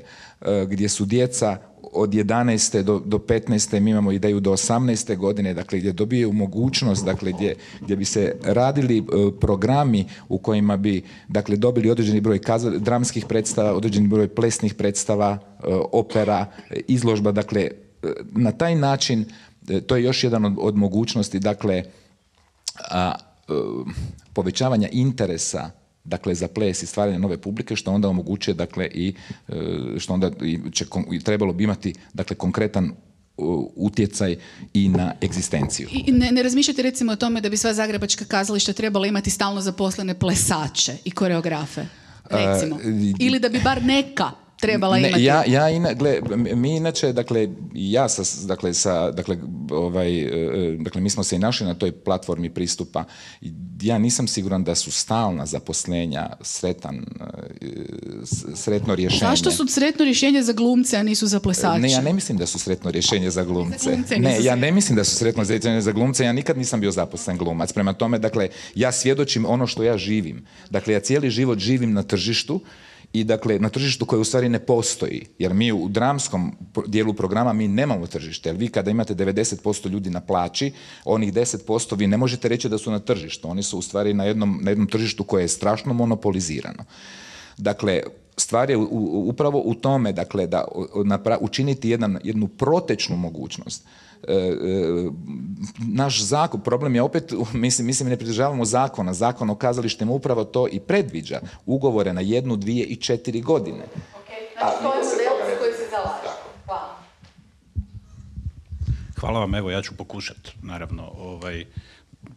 gdje su djeca od 11. do 15. mi imamo ideju do 18. godine, dakle, gdje dobiju mogućnost, dakle, gdje bi se radili programi u kojima bi, dakle, dobili određeni broj dramskih predstava, određeni broj plesnih predstava, opera, izložba, dakle, na taj način, to je još jedan od mogućnosti, dakle, povećavanja interesa, dakle, za ples i stvaranje nove publike, što onda omogućuje, dakle, i što onda trebalo bi imati, dakle, konkretan utjecaj i na egzistenciju. I ne razmišljate recimo o tome da bi sva zagrebačka kazališta trebala imati stalno zaposlene plesače i koreografe, recimo? Ili da bi bar neka trebala imati? Mi inače, dakle, dakle mi smo se i našli na toj platformi pristupa. Ja nisam siguran da su stalna zaposlenja sretno rješenje. Zašto su sretno rješenje za glumce, a nisu za plesače? Ne, ja ne mislim da su sretno rješenje za glumce. Ja ne mislim da su sretno rješenje za glumce. Ja nikad nisam bio zaposlen glumac. Prema tome, dakle, ja svjedočim ono što ja živim. Dakle, ja cijeli život živim na tržištu i dakle na tržištu koje u stvari ne postoji. Jer mi u dramskom dijelu programa mi nemamo tržište. Jer vi kada imate 90% ljudi na plaći, onih 10% vi ne možete reći da su na tržištu. Oni su u stvari na jednom tržištu koje je strašno monopolizirano. Dakle, stvar je upravo u tome, dakle, da učiniti jednu protečnu mogućnost. Naš zakon, problem je opet, mislim ne pridržavamo zakona. Zakon o kazalištima upravo to i predviđa. Ugovore na 1, 2 i 4 godine. Znači, to je model za koji se zalaže. Hvala. Hvala vam, evo ja ću pokušati, naravno,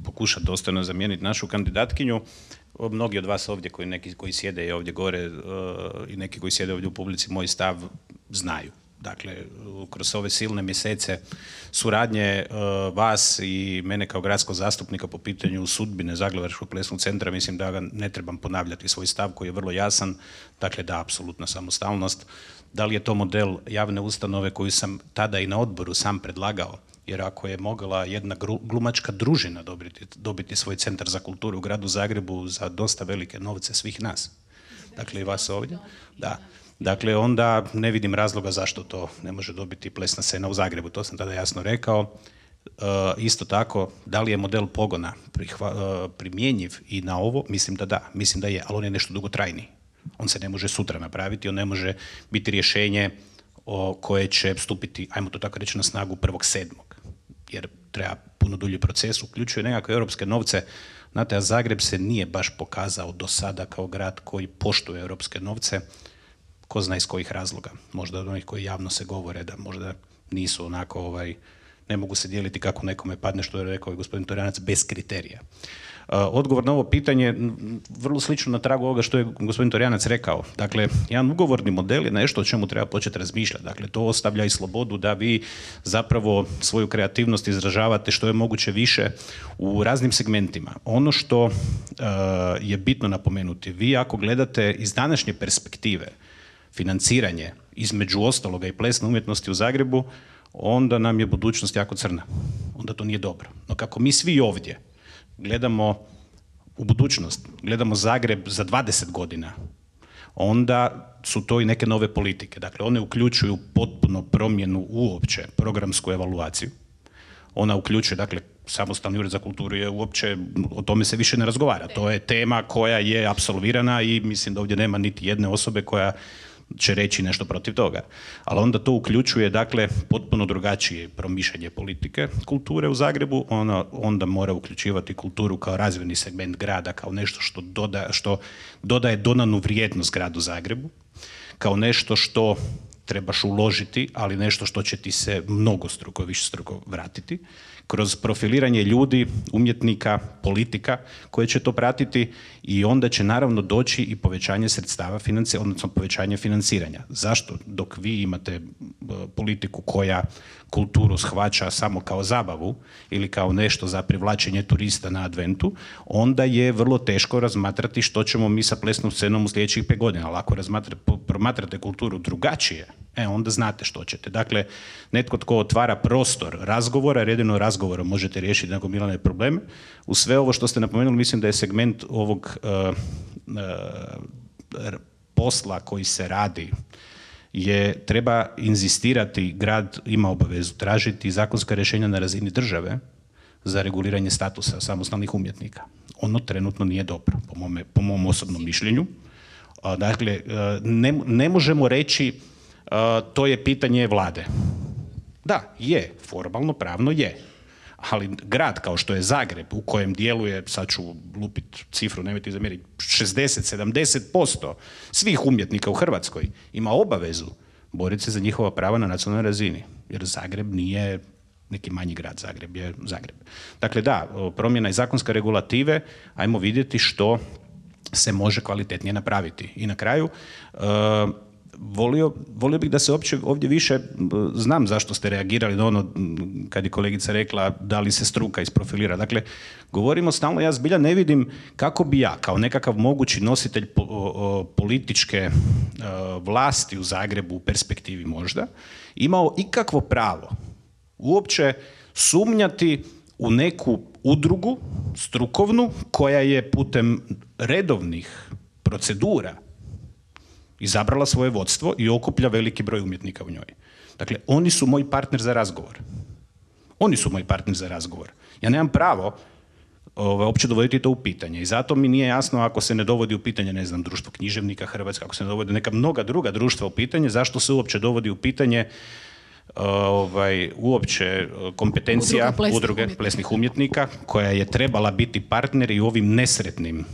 pokušati dostojno zamijeniti našu kandidatkinju. Mnogi od vas ovdje, neki koji sjede i ovdje gore i neki koji sjede ovdje u publici, moj stav znaju. Dakle, kroz ove silne mjesece suradnje vas i mene kao gradskog zastupnika po pitanju sudbine Zagrebačkog plesnog centra, mislim da ga ne trebam ponavljati svoj stav koji je vrlo jasan, dakle da, apsolutna samostalnost. Da li je to model javne ustanove koju sam tada i na odboru sam predlagao, jer ako je mogla jedna glumačka družina dobiti svoj centar za kulturu u gradu Zagrebu za dosta velike novce svih nas, dakle i vas ovdje, da. Dakle, onda ne vidim razloga zašto to ne može dobiti plesna scena u Zagrebu, to sam tada jasno rekao. Isto tako, da li je model pogona primjenjiv i na ovo? Mislim da je, ali on je nešto dugotrajniji. On se ne može sutra napraviti, on ne može biti rješenje koje će stupiti, ajmo to tako reći, na snagu 1.7. jer treba puno dulji proces, uključuje nekakve europske novce. Znate, a Zagreb se nije baš pokazao do sada kao grad koji poštuje europske novce, ko zna iz kojih razloga. Možda od onih koji javno se govore da možda nisu onako, ne mogu se dijeliti kako nekome padne, što je rekao i gospodin Torjanac, bez kriterija. Odgovor na ovo pitanje, vrlo slično na tragu ovoga što je gospodin Torjanac rekao. Dakle, jedan ugovorni model je nešto o čemu treba početi razmišljati. Dakle, to ostavlja i slobodu da vi zapravo svoju kreativnost izražavate što je moguće više u raznim segmentima. Ono što je bitno napomenuti, vi ako gledate iz današnje perspektive financiranje između ostaloga i plesne umjetnosti u Zagrebu, onda nam je budućnost jako crna. Onda to nije dobro. No kako mi svi ovdje gledamo u budućnost, gledamo Zagreb za 20 godina, onda su to i neke nove politike. Dakle, one uključuju potpuno promjenu uopće programsku evaluaciju. Ona uključuje, dakle, samostalni ured za kulturu je uopće, o tome se više ne razgovara. To je tema koja je apsolvirana i mislim da ovdje nema niti jedne osobe koja će reći nešto protiv toga. Ali onda to uključuje, dakle, potpuno drugačije promišljanje politike kulture u Zagrebu. Ona onda mora uključivati kulturu kao razvojni segment grada, kao nešto što dodaje dodanu vrijednost gradu Zagrebu, kao nešto što trebaš uložiti, ali nešto što će ti se mnogostruko, višestruko vratiti, kroz profiliranje ljudi, umjetnika, politika koje će to pratiti i onda će naravno doći i povećanje sredstava, odnosno povećanje financiranja. Zašto? Dok vi imate politiku koja kulturu shvaća samo kao zabavu ili kao nešto za privlačenje turista na adventu, onda je vrlo teško razmatrati što ćemo mi sa plesnom scenom u sljedećih 5 godina. Ali ako promatrate kulturu drugačije, onda znate što ćete. Dakle, netko tko otvara prostor razgovora, jer jedino razgovorom možete riješiti nagomilane probleme. U sve ovo što ste napomenuli, mislim da je segment ovog posla koji se radi treba inzistirati, grad ima obavezu tražiti zakonska rješenja na razini države za reguliranje statusa samostalnih umjetnika. Ono trenutno nije dobro, po mom osobnom mišljenju. Dakle, ne možemo reći to je pitanje vlade. Da, je, formalno, pravno je. Ali grad kao što je Zagreb, u kojem djeluje, sad ću lupit cifru, nemojte zamjeriti, 60-70% svih umjetnika u Hrvatskoj ima obavezu boriti se za njihova prava na nacionalnoj razini. Jer Zagreb nije neki manji grad, Zagreb je Zagreb. Dakle, da, promjena i zakonske regulative, ajmo vidjeti što se može kvalitetnije napraviti. I na kraju, volio bih da se uopće ovdje više, znam zašto ste reagirali na ono kad je kolegica rekla da li se struka isprofilira. Dakle, govorimo stalno, ja zbilja ne vidim kako bi ja kao nekakav mogući nositelj političke vlasti u Zagrebu u perspektivi možda imao ikakvo pravo uopće sumnjati u neku udrugu strukovnu koja je putem redovnih procedura izabrala svoje vodstvo i okuplja veliki broj umjetnika u njoj. Dakle, oni su moj partner za razgovor. Oni su moj partner za razgovor. Ja nemam pravo uopće dovoditi to u pitanje i zato mi nije jasno ako se ne dovodi u pitanje, ne znam, društvo književnika Hrvatske, ako se ne dovodi neka mnoga druga društva u pitanje, zašto se uopće dovodi u pitanje uopće kompetencija udruge plesnih umjetnika koja je trebala biti partner i u ovim nesretnim,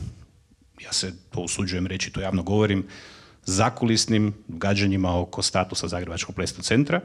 ja se to usuđujem reći, to javno govorim, zakulisnim gađanjima oko statusa Zagrebačkog plesnog centra,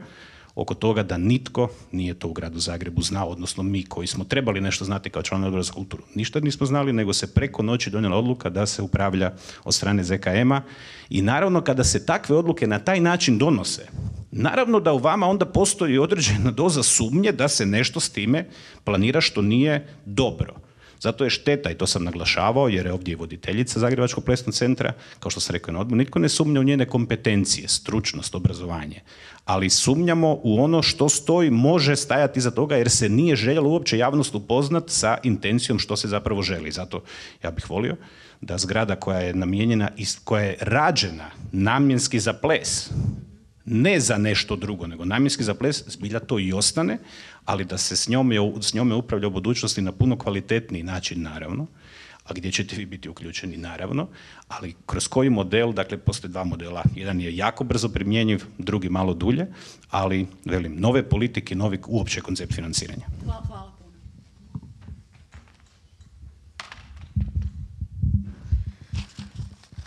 oko toga da nitko nije to u gradu Zagrebu znao, odnosno mi koji smo trebali nešto znati kao članovi Odbora za kulturu. Ništa nismo znali, nego se preko noći donijela odluka da se upravlja od strane ZKM-a i naravno kada se takve odluke na taj način donose, naravno da u vama onda postoji određena doza sumnje da se nešto s time planira što nije dobro. Zato je šteta, i to sam naglašavao, jer je ovdje i voditeljica Zagrebačkog plesnog centra, kao što sam rekao na odboru, nitko ne sumnja u njene kompetencije, stručnost, obrazovanje, ali sumnjamo u ono što stoji, može stajati iza toga, jer se nije željelo uopće javnost upoznat sa intencijom što se zapravo želi. Zato ja bih volio da zgrada koja je namijenjena, koja je rađena namjenski za ples, ne za nešto drugo, nego namjenski za ples, zbilja to i ostane, ali da se s njome upravlja u budućnosti na puno kvalitetniji način, naravno, a gdje ćete vi biti uključeni, naravno, ali kroz koji model, dakle, postoje dva modela, jedan je jako brzo primjenjiv, drugi malo dulje, ali, velim, nove politike, novi uopće koncept financiranja. Hvala puno.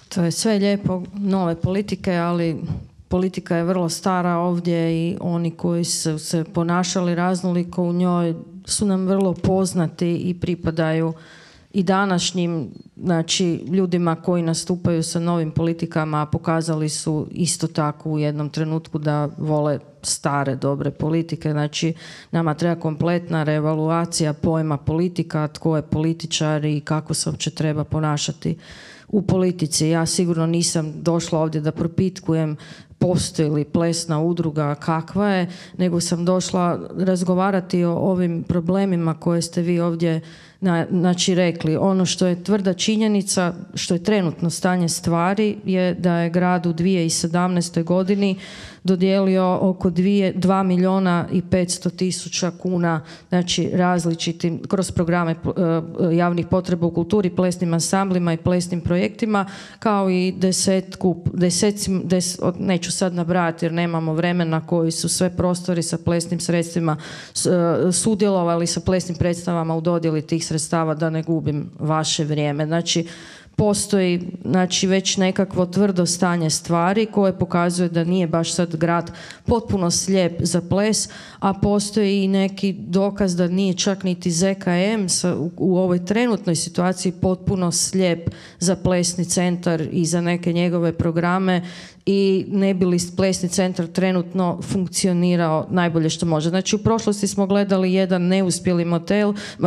To je sve lijepo, nove politike, ali politika je vrlo stara ovdje i oni koji su se ponašali raznoliko u njoj su nam vrlo poznati i pripadaju i današnjim, znači, ljudima koji nastupaju sa novim politikama, a pokazali su isto tako u jednom trenutku da vole stare, dobre politike. Znači, nama treba kompletna reevaluacija pojma politika, tko je političar i kako se uopće treba ponašati u politici. Ja sigurno nisam došla ovdje da propitkujem postoji li plesna udruga, kakva je, nego sam došla razgovarati o ovim problemima koje ste vi ovdje znači rekli. Ono što je tvrda činjenica, što je trenutno stanje stvari, je da je grad u 2017. godini dodijelio oko 2 milijuna i 500 tisuća kuna, znači različitim, kroz programe javnih potreba u kulturi, plesnim ansamblima i plesnim projektima, kao i neću sad nabrajati jer nemamo vremena, koji su sve prostori sa plesnim sredstvima sudjelovali sa plesnim predstavama u dodjeli tih sredstava, da ne gubim vaše vrijeme. Znači, postoji, znači, već nekakvo tvrdo stanje stvari koje pokazuje da nije baš sad grad potpuno slijep za ples, a postoji i neki dokaz da nije čak niti ZKM u ovoj trenutnoj situaciji potpuno slijep za plesni centar i za neke njegove programe i ne bi li plesni centar trenutno funkcionirao najbolje što može. Znači, u prošlosti smo gledali jedan neuspjeli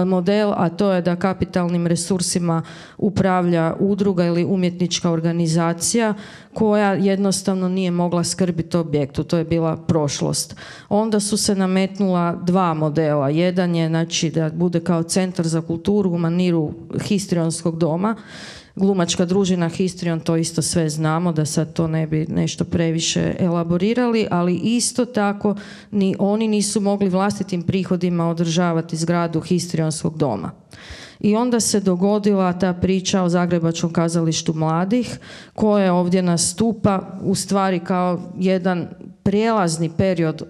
model, a to je da kapitalnim resursima upravlja udruga ili umjetnička organizacija koja jednostavno nije mogla skrbiti o objektu. To je bila prošlost. Onda su se nametnula dva modela. Jedan je, znači, da bude kao centar za kulturu u maniru histrionskog doma. Glumačka družina Histrion, to isto sve znamo, da sad to ne bi nešto previše elaborirali, ali isto tako ni oni nisu mogli vlastitim prihodima održavati zgradu Histrionskog doma. I onda se dogodila ta priča o Zagrebačkom kazalištu mladih, koje ovdje nastupa u stvari kao jedan prijelazni period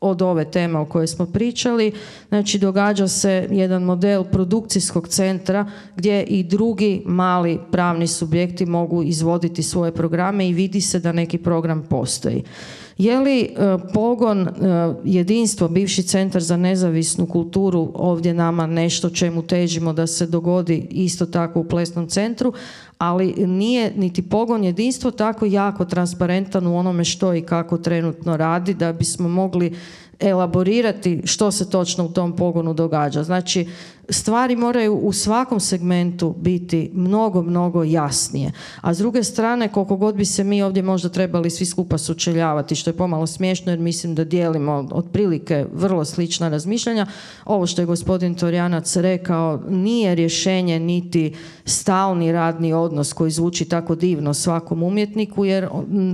od ove teme o kojoj smo pričali. Znači, događa se jedan model produkcijskog centra gdje i drugi mali pravni subjekti mogu izvoditi svoje programe i vidi se da neki program postoji. Je li pogon Jedinstvo, bivši centar za nezavisnu kulturu, ovdje nama nešto čemu težimo da se dogodi isto tako u plesnom centru, ali nije niti pogon jedinstvo tako jako transparentan u onome što i kako trenutno radi da bismo mogli elaborirati što se točno u tom pogonu događa. Znači, stvari moraju u svakom segmentu biti mnogo, mnogo jasnije. A s druge strane, koliko god bi se mi ovdje možda trebali svi skupa sučeljavati, što je pomalo smiješno jer mislim da dijelimo otprilike vrlo slična razmišljanja, ovo što je gospodin Torjanac rekao nije rješenje niti stalni radni odnos koji zvuči tako divno svakom umjetniku, jer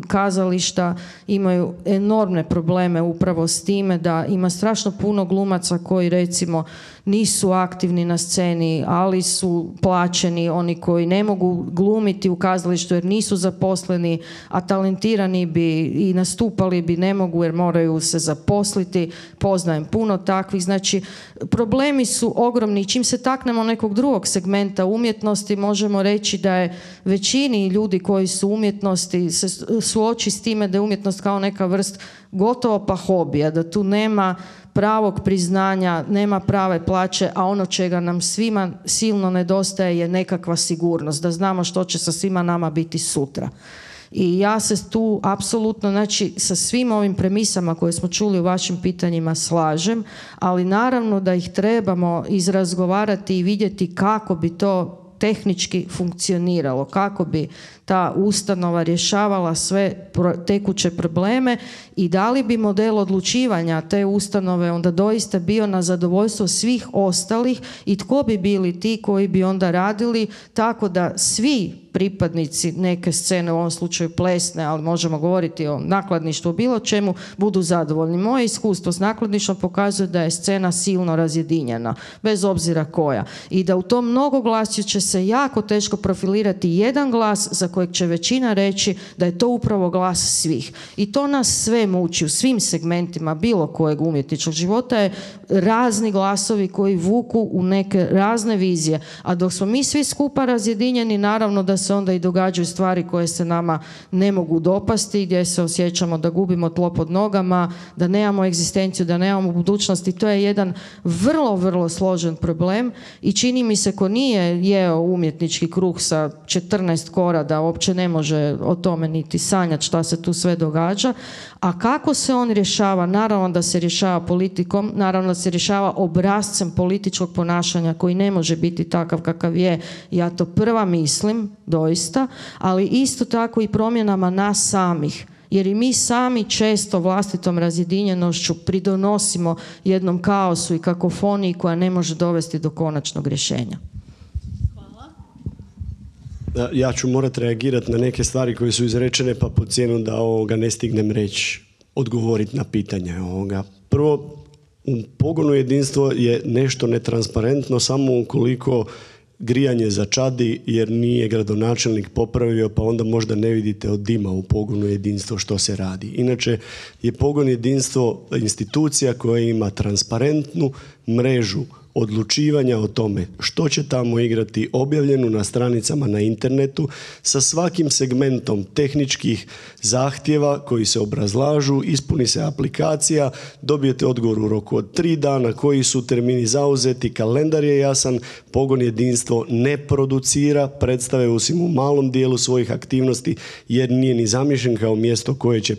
kazališta imaju enormne probleme upravo s time da ima strašno puno glumaca koji recimo nisu aktivni na sceni, ali su plaćeni, oni koji ne mogu glumiti u kazalištu jer nisu zaposleni, a talentirani bi i nastupali bi, ne mogu jer moraju se zaposliti. Poznajem puno takvih. Znači, problemi su ogromni. Čim se taknemo nekog drugog segmenta umjetnosti, možemo reći da je većini ljudi koji su u umjetnosti se suoči s time da je umjetnost kao neka vrst gotovo pa hobija, da tu nema pravog priznanja, nema prave plaće, a ono čega nam svima silno nedostaje je nekakva sigurnost, da znamo što će sa svima nama biti sutra. I ja se tu apsolutno, znači, sa svim ovim premisama koje smo čuli u vašim pitanjima slažem, ali naravno da ih trebamo izrazgovarati i vidjeti kako bi to tehnički funkcioniralo, kako bi ta ustanova rješavala sve tekuće probleme i da li bi model odlučivanja te ustanove onda doista bio na zadovoljstvo svih ostalih i tko bi bili ti koji bi onda radili tako da svi pripadnici neke scene, u ovom slučaju plesne, ali možemo govoriti o nakladništvu, bilo čemu, budu zadovoljni. Moje iskustvo s nakladništvom pokazuje da je scena silno razjedinjena, bez obzira koja. I da u tom mnogoglasju će se jako teško profilirati jedan glas za kojeg će većina reći da je to upravo glas svih. I to nas sve muči u svim segmentima bilo kojeg umjetničkog života je razni glasovi koji vuku u neke razne vizije. A dok smo mi svi skupa razjedinjeni, naravno da se onda i događaju stvari koje se nama ne mogu dopasti, gdje se osjećamo da gubimo tlo pod nogama, da nemamo egzistenciju, da nemamo budućnosti. To je jedan vrlo, vrlo složen problem i čini mi se ko nije jeo umjetnički kruh sa 14 kora da uopće ne može o tome niti sanjati šta se tu sve događa. A kako se on rješava? Naravno da se rješava politikom, naravno da se rješava obrascem političkog ponašanja koji ne može biti takav kakav je. Ja to prva mislim, doista, ali isto tako i promjenama nas samih. Jer i mi sami često vlastitom razjedinjenošću pridonosimo jednom kaosu i kakofoniji koja ne može dovesti do konačnog rješenja. Ja ću morati reagirati na neke stvari koje su izrečene, pa po cijenu da ne stignem reći, odgovoriti na pitanje. Prvo, u pogonu jedinstvo je nešto netransparentno samo ukoliko grijanje začadi jer nije gradonačelnik popravio, pa onda možda ne vidite od dima u pogonu jedinstvo što se radi. Inače je pogon jedinstvo institucija koja ima transparentnu mrežu odlučivanja o tome što će tamo igrati objavljenu na stranicama na internetu sa svakim segmentom tehničkih zahtjeva koji se obrazlažu, ispuni se aplikacija, dobijete odgovor u roku od 3 dana, koji su termini zauzeti, kalendar je jasan, pogon jedinstvo ne producira predstave osim u malom dijelu svojih aktivnosti jer nije ni zamišljen kao mjesto koje će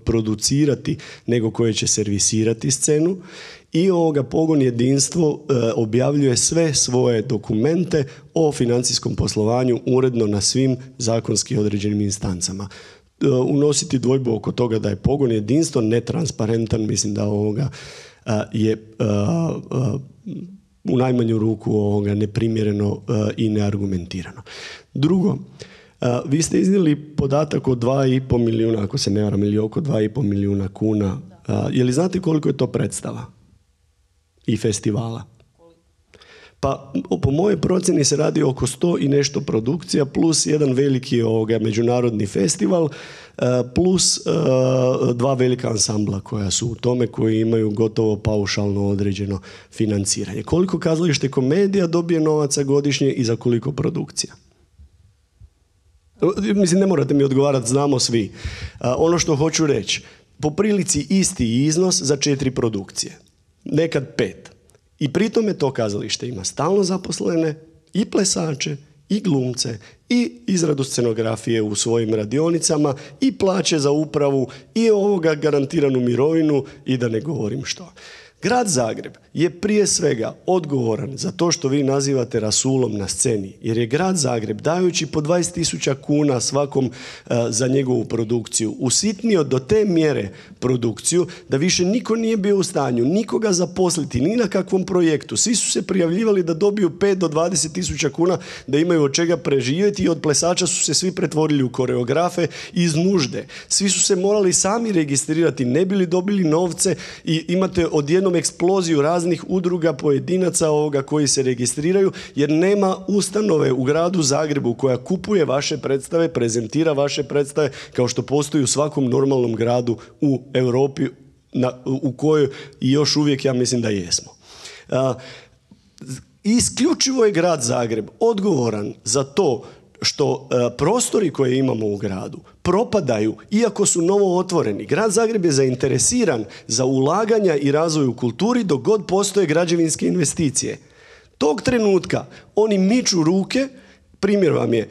producirati nego koje će servisirati scenu. I pogon jedinstvo objavljuje sve svoje dokumente o financijskom poslovanju uredno na svim zakonski određenim instancama. Unositi dvojbu oko toga da je pogon jedinstvo netransparentan, mislim da je u najmanju ruku neprimjereno i neargumentirano. Drugo, vi ste iznijeli podatak od 2,5 milijuna, ako se ne varam, ili oko 2,5 milijuna kuna. Je li znate koliko je to predstava i festivala? Pa po mojoj procjeni se radi oko 100 i nešto produkcija plus jedan veliki međunarodni festival plus 2 velika ansambla koja su u tome, koji imaju gotovo paušalno određeno financiranje. Koliko Kazalište Komedija dobije novaca godišnje i za koliko produkcija? Mislim, ne morate mi odgovarati, znamo svi. Ono što hoću reći, po prilici isti iznos za 4 produkcije. Nekad 5. I pri tome to kazalište ima stalno zaposlene i plesače, i glumce, i izradu scenografije u svojim radionicama, i plaće za upravu, i garantiranu mirovinu, i da ne govorim što. Grad Zagreb je prije svega odgovoran za to što vi nazivate rasulom na sceni, jer je Grad Zagreb, dajući po 20.000 kuna svakom za njegovu produkciju, usitnio do te mjere produkciju da više niko nije bio u stanju nikoga zaposliti ni na kakvom projektu. Svi su se prijavljivali da dobiju 5 do 20.000 kuna da imaju od čega preživjeti, i od plesača su se svi pretvorili u koreografe iz nužde. Svi su se morali sami registrirati, ne bili dobili novce, i imate odjednom eksploziju raznih udruga pojedinaca koji se registriraju, jer nema ustanove u Gradu Zagrebu koja kupuje vaše predstave, prezentira vaše predstave, kao što postoji u svakom normalnom gradu u Europi, u kojoj i još uvijek ja mislim da jesmo. Isključivo je Grad Zagreb odgovoran za to što prostori koje imamo u gradu propadaju, iako su novo otvoreni. Grad Zagreb je zainteresiran za ulaganja i razvoj u kulturi dok god postoje građevinske investicije. Tog trenutka oni miču ruke. Primjer vam je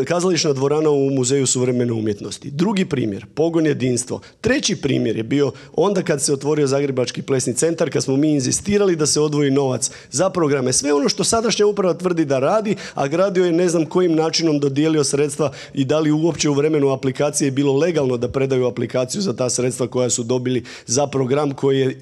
kazališna dvorana u Muzeju suvremene umjetnosti. Drugi primjer, Pogon jedinstvo. Treći primjer je bio onda kad se otvorio Zagrebački plesni centar, kad smo mi inzistirali da se odvoji novac za programe. Sve ono što sadašnja uprava tvrdi da radi, a gradio je ne znam kojim načinom dodijelio sredstva, i da li uopće u vremenu aplikacije je bilo legalno da predaju aplikaciju za ta sredstva koja su dobili za program koji je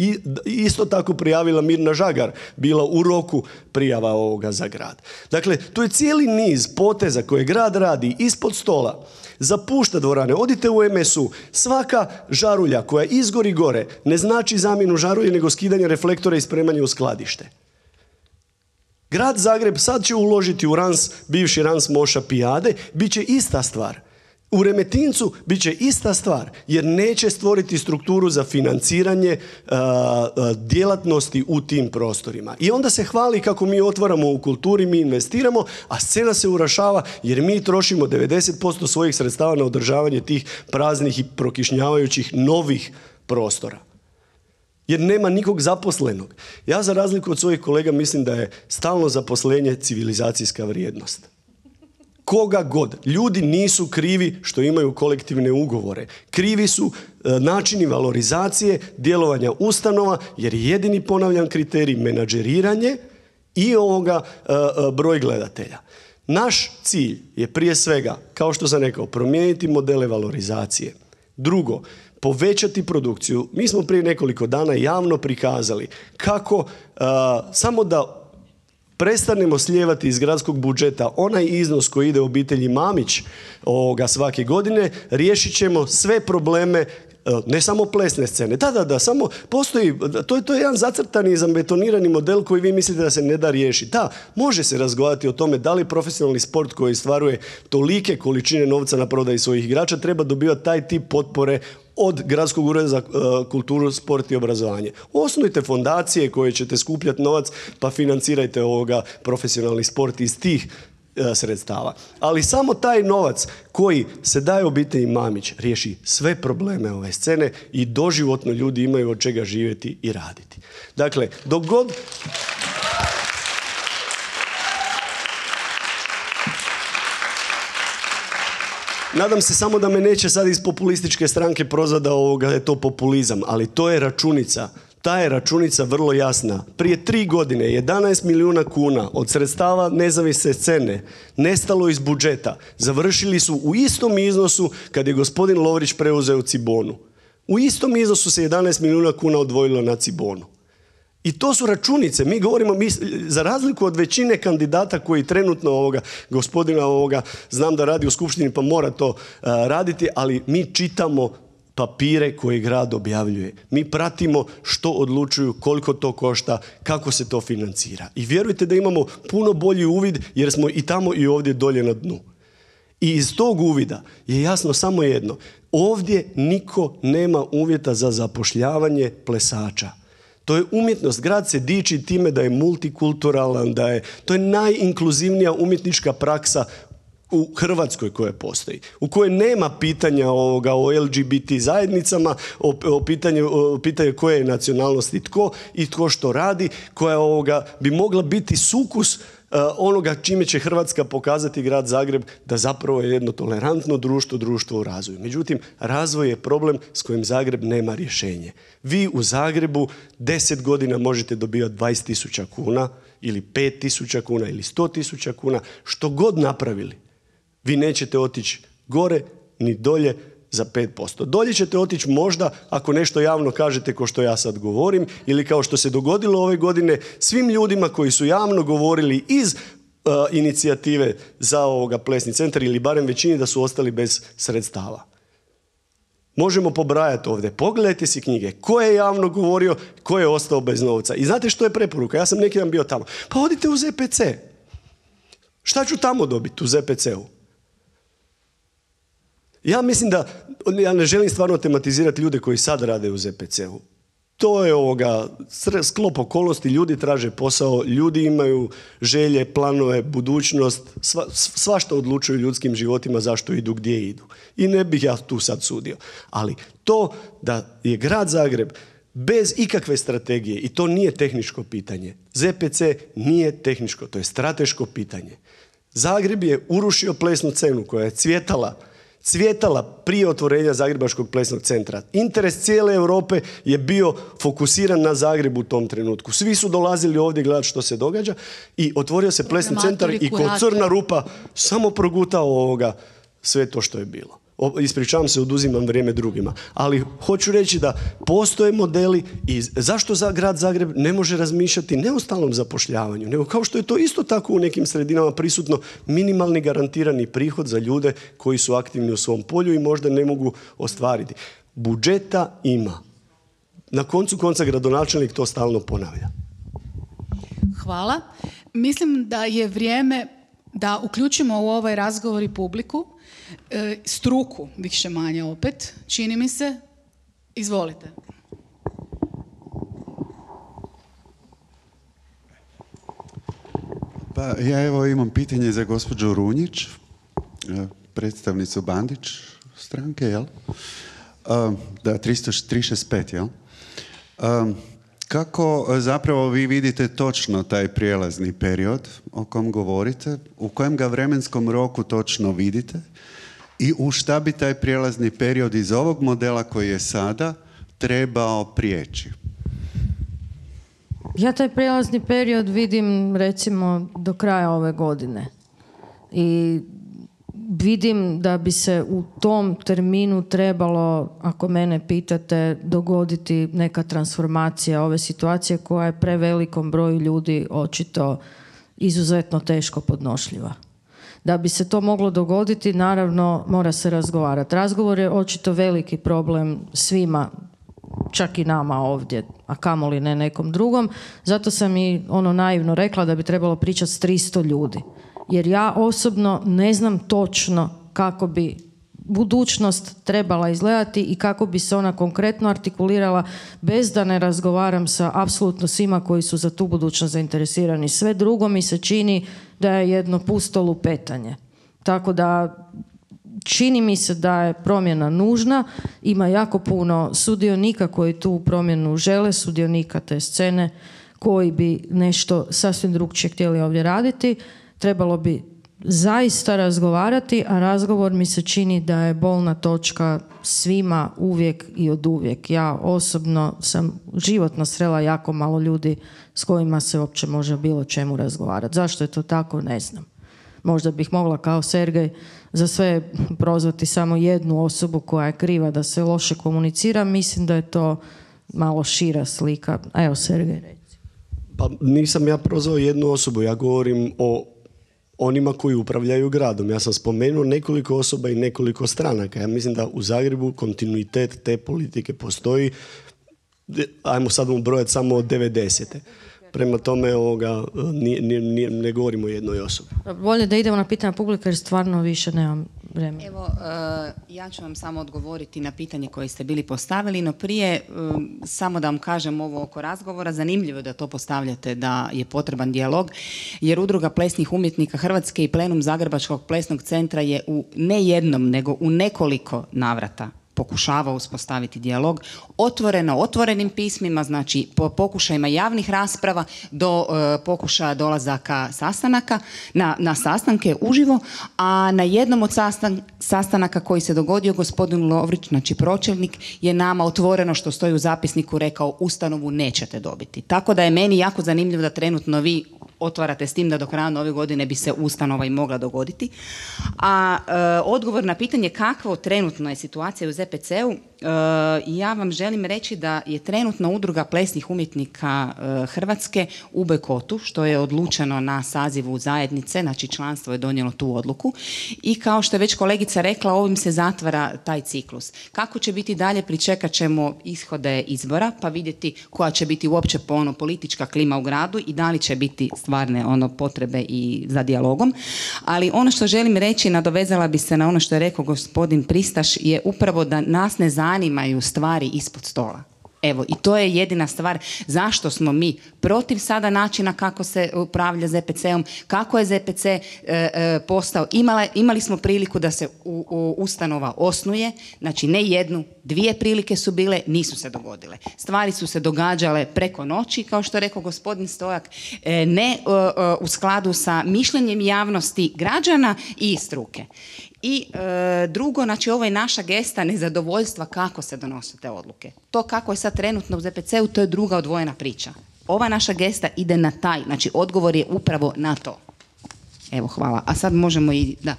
isto tako prijavila Mirna Žagar, bila u roku prijava ovoga za grad. Dakle, to je cijeli niz poteza koje grad radi ispod stola. Zapušta dvorane. Odite u MSU. Svaka žarulja koja izgori gore ne znači zamjenu žarulje, nego skidanje reflektora i spremanje u skladište. Grad Zagreb sad će uložiti u Rans, bivši Rans Moša Pijade, bit će ista stvar. U Remetincu bit će ista stvar, jer neće stvoriti strukturu za financiranje djelatnosti u tim prostorima. I onda se hvali kako mi otvaramo u kulturi, mi investiramo, a scena se urašava jer mi trošimo 90% svojih sredstava na održavanje tih praznih i prokišnjavajućih novih prostora. Jer nema nikog zaposlenog. Ja, za razliku od svojih kolega, mislim da je stalno zaposlenje civilizacijska vrijednost. Koga god. Ljudi nisu krivi što imaju kolektivne ugovore. Krivi su načini valorizacije, djelovanja ustanova, jer je jedini, ponavljam, kriterij menadžeriranje i broj gledatelja. Naš cilj je prije svega, kao što sam rekao, promijeniti modele valorizacije. Drugo, povećati produkciju. Mi smo prije nekoliko dana javno prikazali kako samo da prestanemo slijevati iz gradskog budžeta onaj iznos koji ide obitelji Mamić svake godine, riješit ćemo sve probleme, ne samo plesne scene. Da, samo postoji, to je jedan zacrtani i zabetonirani model koji vi mislite da se ne da riješiti. Da, može se razgovarati o tome da li profesionalni sport koji stvaruje tolike količine novca na prodaji svojih igrača treba dobivati taj tip potpore od Gradskog ureda za kulturu, sport i obrazovanje. Osnujte fondacije koje ćete skupljati novac, pa financirajte profesionalni sport iz tih sredstava. Ali samo taj novac koji se daje obitelji Mamić riješi sve probleme ove scene i doživotno ljudi imaju od čega živjeti i raditi. Dakle, dok god... Nadam se samo da me neće sad iz populističke stranke prozvati da je to populizam, ali to je računica. Ta je računica vrlo jasna. Prije 3 godine 11 milijuna kuna od sredstava nezavisne scene nestalo iz budžeta. Završili su u istom iznosu kad je gospodin Lovrić preuzeo Cibonu. U istom iznosu se 11 milijuna kuna odvojilo na Cibonu. I to su računice. Mi govorimo, za razliku od većine kandidata koji trenutno gospodina znam da radi u skupštini pa mora to raditi, ali mi čitamo papire koje grad objavljuje. Mi pratimo što odlučuju, koliko to košta, kako se to financira. I vjerujte da imamo puno bolji uvid jer smo i tamo i ovdje dolje na dnu. I iz tog uvida je jasno samo jedno. Ovdje niko nema uvjeta za zapošljavanje plesača. To je umjetnost. Grad se diči time da je multikulturalan, to je najinkluzivnija umjetnička praksa u Hrvatskoj koja postoji, u kojoj nema pitanja o LGBT zajednicama, o pitanju koje je nacionalnosti tko i tko što radi, koja bi mogla biti sukus onoga čime će Hrvatska pokazati grad Zagreb da zapravo je jedno tolerantno društvo, društvo u razvoju. Međutim, razvoj je problem s kojim Zagreb nema rješenje. Vi u Zagrebu 10 godina možete dobivati 20.000 kuna ili 5.000 kuna ili 100.000 kuna, što god napravili. Vi nećete otići gore ni dolje za 5%. Dolje ćete otići možda ako nešto javno kažete kao što ja sad govorim ili kao što se dogodilo ove godine svim ljudima koji su javno govorili iz inicijative za plesni centar ili barem većini da su ostali bez sredstava. Možemo pobrajati ovdje. Pogledajte si knjige. Ko je javno govorio, ko je ostao bez novca. I znate što je preporuka? Ja sam neki dan bio tamo. Pa odite u ZPC. Šta ću tamo dobiti u ZPC-u? Ja mislim da, ja ne želim stvarno tematizirati ljude koji sad rade u ZPC-u. To je sklop okolnosti, ljudi traže posao, ljudi imaju želje, planove, budućnost, svašta odlučuju ljudskim životima zašto idu, gdje idu. I ne bih ja tu sad sudio. Ali to da je grad Zagreb bez ikakve strategije, i to nije tehničko pitanje, ZPC nije tehničko, to je strateško pitanje. Zagreb je urušio plesnu scenu koja je cvjetala prije otvorenja Zagrebačkog plesnog centra. Interes cijele Europe je bio fokusiran na Zagrebu u tom trenutku. Svi su dolazili ovdje gledati što se događa i otvorio se plesni centar i ko crna rupa samo progutao sve to što je bilo. Ispričavam se, oduzimam vrijeme drugima. Ali hoću reći da postoje modeli i zašto grad Zagreb ne može razmišljati ne o stalnom zapošljavanju, nego kao što je to isto tako u nekim sredinama prisutno minimalni garantirani prihod za ljude koji su aktivni u svom polju i možda ne mogu ostvariti. Budžeta ima. Na koncu konca gradonačelnik to stalno ponavlja. Hvala. Mislim da je vrijeme da uključimo u ovaj razgovor i publiku, struku, više manje opet, čini mi se. Izvolite. Pa ja evo imam pitanje za gospođu Runjić, predstavnicu Bandić stranke, jel? Da, 365, jel? Kako zapravo vi vidite točno taj prijelazni period o kom govorite, u kojem ga vremenskom roku točno vidite i u šta bi taj prijelazni period iz ovog modela koji je sada trebao prijeći? Ja taj prijelazni period vidim recimo do kraja ove godine i vidim da bi se u tom terminu trebalo, ako mene pitate, dogoditi neka transformacija ove situacije koja je prevelikom broju ljudi očito izuzetno teško podnošljiva. Da bi se to moglo dogoditi, naravno, mora se razgovarati. Razgovor je očito veliki problem svima, čak i nama ovdje, a kamoli ne nekom drugom. Zato sam i naivno rekla da bi trebalo pričati s 300 ljudi. Jer ja osobno ne znam točno kako bi budućnost trebala izgledati i kako bi se ona konkretno artikulirala bez da ne razgovaram sa apsolutno svima koji su za tu budućnost zainteresirani. Sve drugo mi se čini da je jedno pusto lupetanje. Tako da čini mi se da je promjena nužna, ima jako puno sudionika koji tu promjenu žele, sudionika te scene koji bi nešto sasvim drugčije htjeli ovdje raditi. Trebalo bi zaista razgovarati, a razgovor mi se čini da je bolna točka svima uvijek i od uvijek. Ja osobno sam životno srela jako malo ljudi s kojima se uopće može bilo čemu razgovarati. Zašto je to tako, ne znam. Možda bih mogla kao Sergej za sve prozvati samo jednu osobu koja je kriva da se loše komunicira. Mislim da je to malo šira slika. Evo, Sergej, reci. Pa nisam ja prozvao jednu osobu, ja govorim o onima koji upravljaju gradom. Ja sam spomenuo nekoliko osoba i nekoliko stranaka. Ja mislim da u Zagrebu kontinuitet te politike postoji, ajmo sad ubrojati samo od 90. Prema tome ne govorimo o jednoj osobi. Bolje da idemo na pitanja publika jer stvarno više nemam vremena. Evo, ja ću vam samo odgovoriti na pitanje koje ste bili postavili, no prije samo da vam kažem ovo oko razgovora. Zanimljivo je da to postavljate, da je potreban dijalog, jer Udruga plesnih umjetnika Hrvatske i plenum Zagrebačkog plesnog centra je u ne jednom, nego u nekoliko navrata pokušava uspostaviti dijalog, otvorenim pismima, znači po pokušajima javnih rasprava do pokušaja dolazaka sastanaka, na sastanke uživo, a na jednom od sastanaka koji se dogodio gospodin Lovrić, znači pročelnik, je nama otvoreno, što stoji u zapisniku, rekao ustanovu nećete dobiti. Tako da je meni jako zanimljivo da trenutno vi otvarate s tim da do kraja nove godine bi se ustanova i mogla dogoditi. A odgovor na pitanje kakva trenutno je situacija u ZPC-u, ja vam želim reći da je trenutno Udruga plesnih umjetnika Hrvatske u bojkotu, što je odlučeno na sazivu zajednice, znači članstvo je donijelo tu odluku i kao što je već kolegica rekla, ovim se zatvara taj ciklus. Kako će biti dalje, pričekat ćemo ishode izbora pa vidjeti koja će biti uopće politička klima u gradu i da li će biti stvarne potrebe i za dijalogom. Ali ono što želim reći, nadovezala bi se na ono što je rekao gospodin Pristaš, je upravo da nas ne zanimaju stvari ispod stola. Evo, i to je jedina stvar zašto smo mi protiv sada načina kako se upravlja ZPC-om, kako je ZPC postao. Imali smo priliku da se ustanova osnuje, znači ne jednu, 2 prilike su bile, nisu se dogodile. Stvari su se događale preko noći, kao što je rekao gospodin Stojak, ne u skladu sa mišljenjem javnosti građana i struke. I drugo, znači ovo je naša gesta nezadovoljstva kako se donose te odluke. To kako je sad trenutno u ZPC-u, to je druga odvojena priča. Ova naša gesta ide na taj, znači odgovor je upravo na to. Evo, hvala. A sad možemo i, da.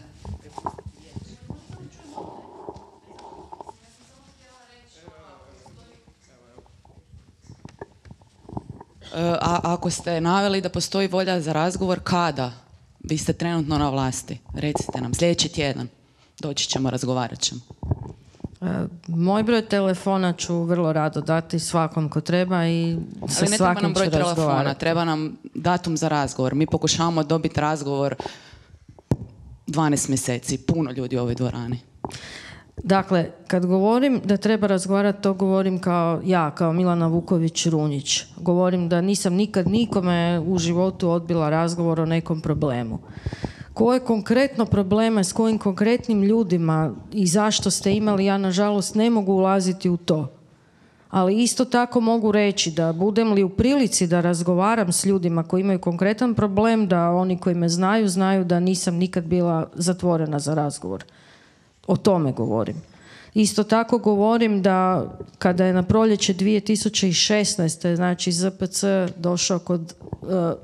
A ako ste naveli da postoji volja za razgovor, kada? Vi ste trenutno na vlasti. Recite nam, sljedeći tjedan. Doći ćemo, razgovarat ćemo. Moj broj telefona ću vrlo rado dati svakom ko treba i sa svakim ću razgovarati. Ali ne treba nam broj telefona, treba nam datum za razgovor. Mi pokušavamo dobiti razgovor 12 mjeseci. Puno ljudi u ovoj dvorani. Dakle, kad govorim da treba razgovarati, to govorim kao Milana Vuković-Runjić. Govorim da nisam nikad nikome u životu odbila razgovor o nekom problemu. Koje konkretno probleme, s kojim konkretnim ljudima i zašto ste imali, ja nažalost ne mogu ulaziti u to. Ali isto tako mogu reći da budem li u prilici da razgovaram s ljudima koji imaju konkretan problem, da oni koji me znaju da nisam nikad bila zatvorena za razgovor. O tome govorim. Isto tako govorim da kada je na proljeće 2016. znači ZPC došao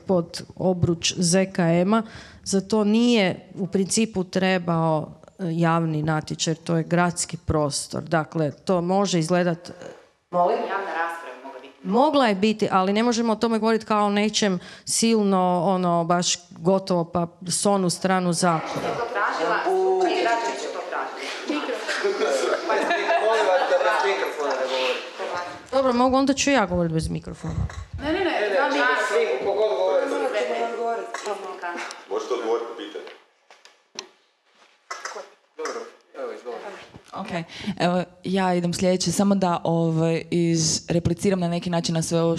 pod obruč ZKM-a, za to nije u principu trebao javni natječaj, to je gradski prostor. Dakle, to može izgledati... Molim? Javna rasprava mogla biti. Mogla je biti, ali ne možemo o tome govoriti kao o nečem silno, baš gotovo pa s onu stranu zakona. Je to tražila? Dobro, mogu, onda ću ja govoriti bez mikrofona. Ne. Svi, kogod govori. Možete odgovoriti na pitanje. Dobro, evo izgovor. Ok, evo ja idem sljedeće, samo da repliciram na neki način na sve ovo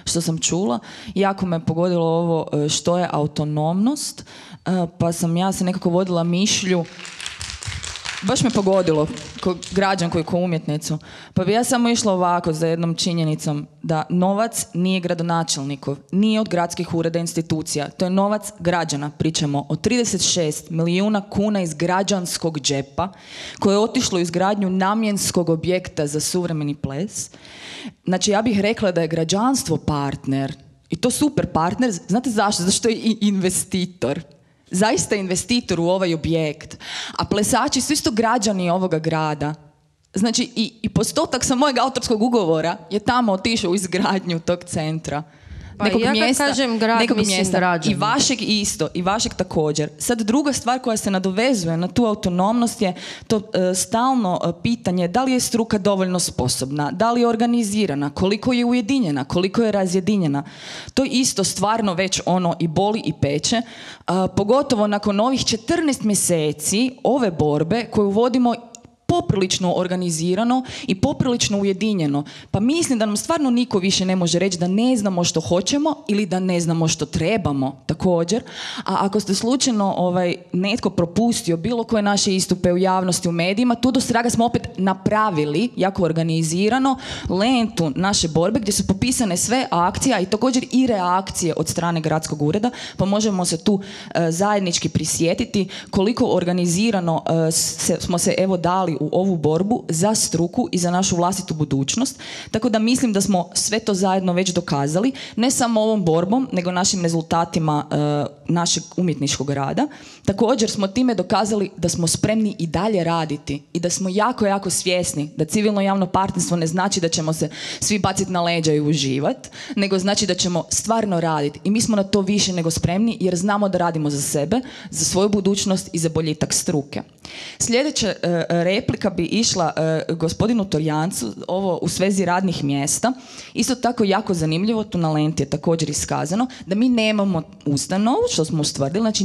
što sam čula. Jako me pogodilo ovo što je autonomnost, pa sam ja se nekako vodila mišlju. Baš me pogodilo, ko građanku i ko umjetnicu. Pa bi ja samo išla ovako za jednom činjenicom da novac nije gradonačelnikov, nije od gradskih ureda institucija. To je novac građana. Pričamo o 36 milijuna kuna iz građanskog džepa koje je otišlo u izgradnju namjenskog objekta za suvremeni ples. Znači ja bih rekla da je građanstvo partner i to super partner. Znate zašto? Zašto je i investitor. Zaista investitor u ovaj objekt, a plesači su isto građani ovoga grada. Znači i postotak sa mojeg autorskog ugovora je tamo otišao u izgradnju tog centra. Pa ja kad kažem grad, mislim građani. I vašeg isto, i vašeg također. Sad druga stvar koja se nadovezuje na tu autonomnost je to stalno pitanje da li je struka dovoljno sposobna, da li je organizirana, koliko je ujedinjena, koliko je razjedinjena. To isto stvarno već i boli i peče, pogotovo nakon ovih 14 mjeseci ove borbe koju vodimo poprilično organizirano i poprilično ujedinjeno. Pa mislim da nam stvarno niko više ne može reći da ne znamo što hoćemo ili da ne znamo što trebamo također. A ako ste slučajno netko propustio bilo koje naše istupe u javnosti, u medijima, tu do svega smo opet napravili, jako organizirano, lentu naše borbe gdje su popisane sve akcije, i također i reakcije od strane gradskog ureda, pa možemo se tu zajednički prisjetiti koliko organizirano smo se dali u ovu borbu za struku i za našu vlastitu budućnost. Tako da mislim da smo sve to zajedno već dokazali, ne samo ovom borbom, nego našim rezultatima našeg umjetničkog rada. Također smo time dokazali da smo spremni i dalje raditi i da smo jako, jako svjesni da civilno javno partnerstvo ne znači da ćemo se svi baciti na leđa i uživati, nego znači da ćemo stvarno raditi. I mi smo na to više nego spremni jer znamo da radimo za sebe, za svoju budućnost i za boljitak struke. Sljedeća replika bi išla gospodinu Torjancu, ovo u svezi radnih mjesta. Isto tako jako zanimljivo, tu na lenti je također iskazano, da mi nemamo ustanovu, što smo ustvrdili, znači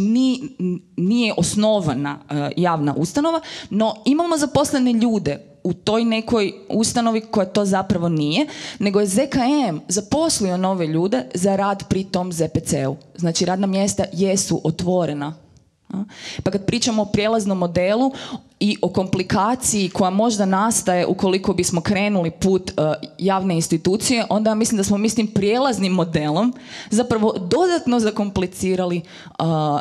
nije osnovana javna ustanova, no imamo zaposlene ljude u toj nekoj ustanovi koja to zapravo nije, nego je ZKM zaposlio nove ljude za rad pri tom ZPC-u. Znači radna mjesta jesu otvorena. Pa kad pričamo o prijelaznom modelu i o komplikaciji koja možda nastaje ukoliko bismo krenuli put javne institucije, onda mislim da smo prijelaznim modelom zapravo dodatno zakomplicirali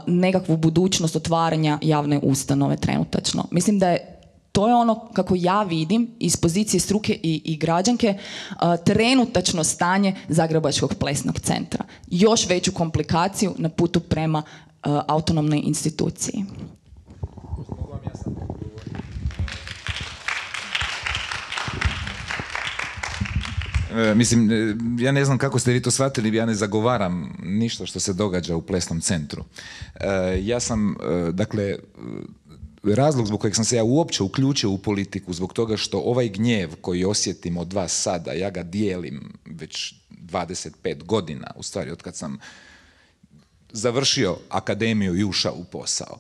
nekakvu budućnost otvaranja javne ustanove trenutačno. Mislim da je to je ono kako ja vidim iz pozicije struke i građanke trenutačno stanje Zagrebačkog plesnog centra. Još veću komplikaciju na putu prema autonomnoj instituciji. Mislim, ja ne znam kako ste vi to shvatili, ja ne zagovaram ništa što se događa u plesnom centru. Ja sam, dakle, razlog zbog kojeg sam se ja uopće uključio u politiku, zbog toga što ovaj gnjev koji osjetim od vas sada, ja ga dijelim već 25 godina, u stvari od kad sam završio akademiju i ušao u posao.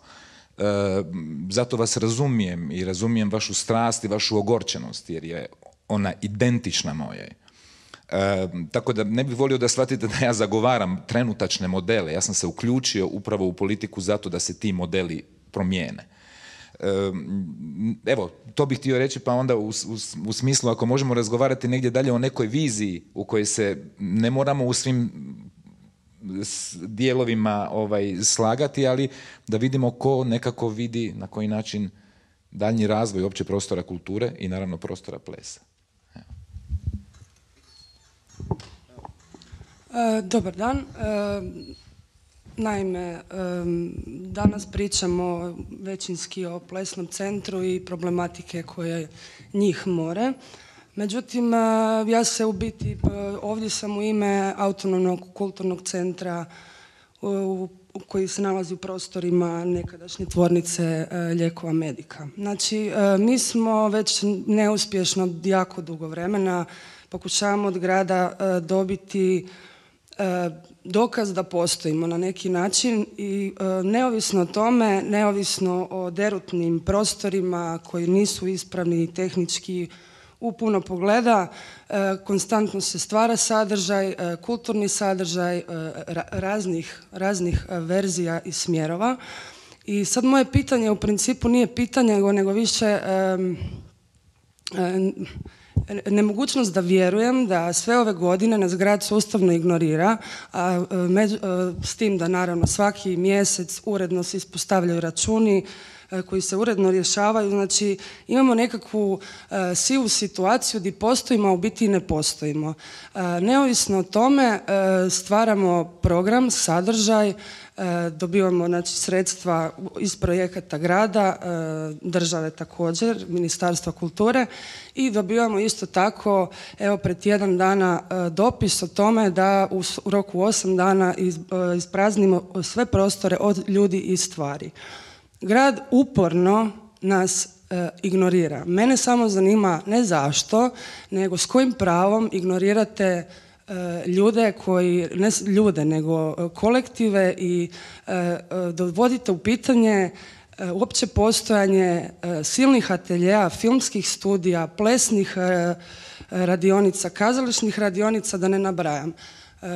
Zato vas razumijem i razumijem vašu strast i vašu ogorčenost, jer je ona identična mojoj. Tako da ne bih volio da shvatite da ja zagovaram trenutačne modele. Ja sam se uključio upravo u politiku zato da se ti modeli promijene. Evo, to bih htio reći, pa onda u smislu ako možemo razgovarati negdje dalje o nekoj viziji u kojoj se ne moramo u svim dijelovima slagati, ali da vidimo ko nekako vidi na koji način daljnji razvoj opće prostora kulture i naravno prostora plesa. Dobar dan. Naime, danas pričamo većinski o plesnom centru i problematike koje njih more. Međutim, ja se u biti, ovdje sam u ime Autonomnog kulturnog centra koji se nalazi u prostorima nekadašnje tvornice lijekova Medika. Znači, mi smo već neuspješno jako dugo vremena pokušavamo od grada dobiti dokaz da postojimo na neki način i neovisno o tome, neovisno o derutnim prostorima koji nisu ispravni tehnički u puno pogleda, konstantno se stvara sadržaj, kulturni sadržaj raznih verzija i smjerova. I sad moje pitanje u principu nije pitanje, nego više nemogućnost da vjerujem da sve ove godine nas grad sustavno ignorira, s tim da naravno svaki mjesec uredno se ispostavljaju računi koji se uredno rješavaju. Znači imamo nekakvu sivu situaciju gdje postojimo, a u biti ne postojimo. Neovisno o tome stvaramo program, sadržaj, dobivamo znači, sredstva iz projekata grada, države također, Ministarstva kulture i dobivamo isto tako, evo pred tjedan dana dopis o tome da u roku 8 dana ispraznimo sve prostore od ljudi i stvari. Grad uporno nas ignorira. Mene samo zanima ne zašto, nego s kojim pravom ignorirate ljude koji, ne ljude, nego kolektive i dovodite u pitanje uopće postojanje silnih ateljeja, filmskih studija, plesnih radionica, kazališnih radionica, da ne nabrajam.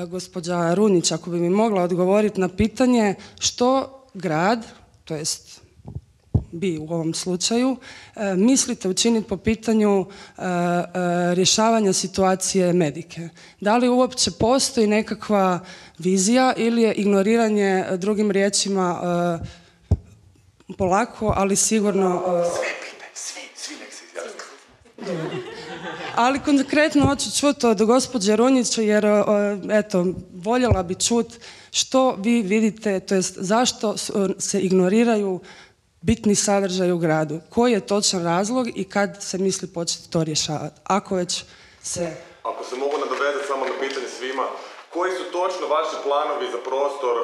Gospođa Runjić, ako bi mi mogla odgovoriti na pitanje što grad, to jest bi u ovom slučaju, mislite učiniti po pitanju rješavanja situacije medike? Da li uopće postoji nekakva vizija ili je ignoriranje, drugim riječima, polako, ali sigurno... Svi nek se izjasni. Ali konkretno hoću čuti od gospođe Runjić, jer eto, voljela bi čuti što vi vidite, to jest zašto se ignoriraju bitni sadržaj u gradu. Koji je točan razlog i kad se misli početi to rješavati? Ako već se... Ako se mogu nadovezati samo na pitanje svima, koji su točno vaši planovi za prostor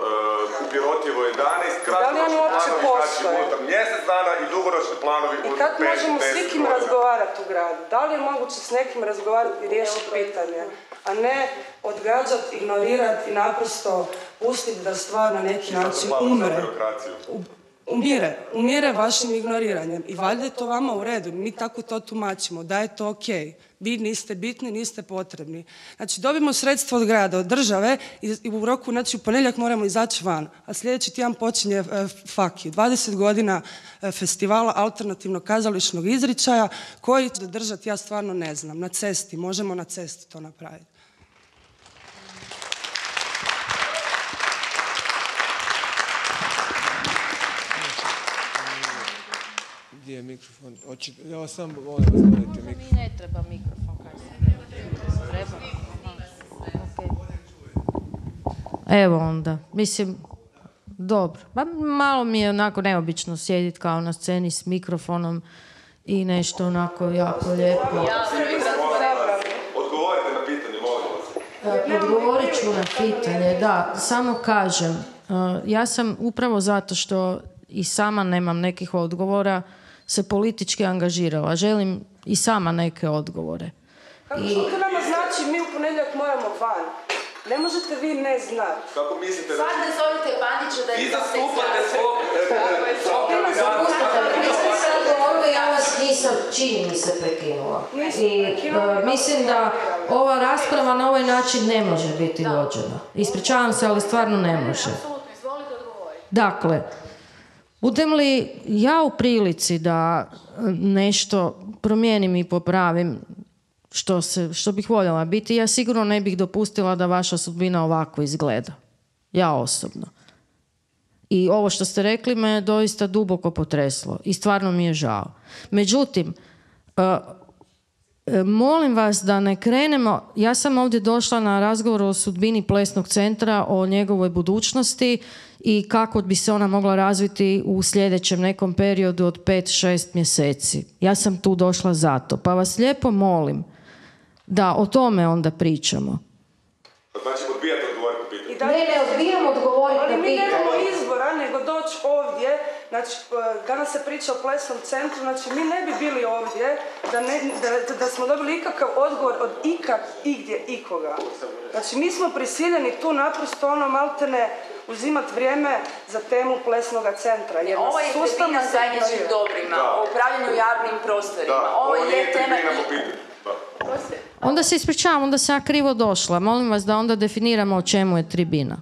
u Pirotijevo 11, kratkoročni planovi, znači unutar mjesec dana i dugoročni planovi unutar 5-10 I kad možemo s nikim razgovarati u gradu? Da li je moguće s nekim razgovarati i riješiti pitanje, a ne odgađati, ignorirati i naprosto pustiti da stvar na neki način umre? Umire vašim ignoriranjem. I valjda je to vama u redu. Mi tako to tumačimo, da je to ok. Vi niste bitni, niste potrebni. Znači, dobimo sredstvo od grada, od države i u roku, znači u ponedjeljak moramo izaći van. A sljedeći tjedan počinje Faki. 20 godina festivala alternativnog kazališnog izričaja koji će držati, ja stvarno ne znam. Na cesti, možemo na cesti to napraviti. Gdje je mikrofon? Ja sam volim vas voditi mikrofon. Mi ne treba mikrofon, kaj se treba? Evo onda, mislim, dobro. Pa malo mi je onako neobično sjediti kao na sceni s mikrofonom i nešto onako jako lijepo. Odgovorite na pitanje, molim vas. Odgovorit ću na pitanje, da, samo kažem. Ja sam upravo zato što i sama nemam nekih odgovora se politički angažirala. Želim i sama neke odgovore. Kako što to nama znači mi u ponedjeljak moramo van? Ne možete vi ne znati. Kako mislite da... Sad ne zovite Bandiću da je... Vi zastupate svog... Ja vas nisam, čini mi se, prekinula. I mislim da ova rasprava na ovaj način ne može biti vođena. Ispričavam se, ali stvarno ne može. Dakle, budem li ja u prilici da nešto promijenim i popravim što bih voljela biti, ja sigurno ne bih dopustila da vaša sudbina ovako izgleda. Ja osobno. I ovo što ste rekli me doista duboko potreslo i stvarno mi je žao. Međutim, molim vas da ne krenemo, ja sam ovdje došla na razgovor o sudbini plesnog centra, o njegovoj budućnosti i kako bi se ona mogla razviti u sljedećem nekom periodu od 5-6 mjeseci. Ja sam tu došla zato. Pa vas lijepo molim da o tome onda pričamo. Znači, odbijate odgovoriti na pitanje. Ne odbijam odgovoriti na pitanje. Ali mi nemamo izbora nego doći ovdje. Znači, danas se priča o plesnom centru, znači mi ne bi bili ovdje da smo dobili ikakav odgovor od igdje, ikoga. Znači, mi smo prisiljeni tu naprosto maltene uzimati vrijeme za temu plesnoga centra. Ovo je tribina zajedničkim dobrima, o upravljanju javnim prostorima. Ovo je tema... Onda se ispričavam, onda sam ja krivo došla. Molim vas da onda definiramo o čemu je tribina.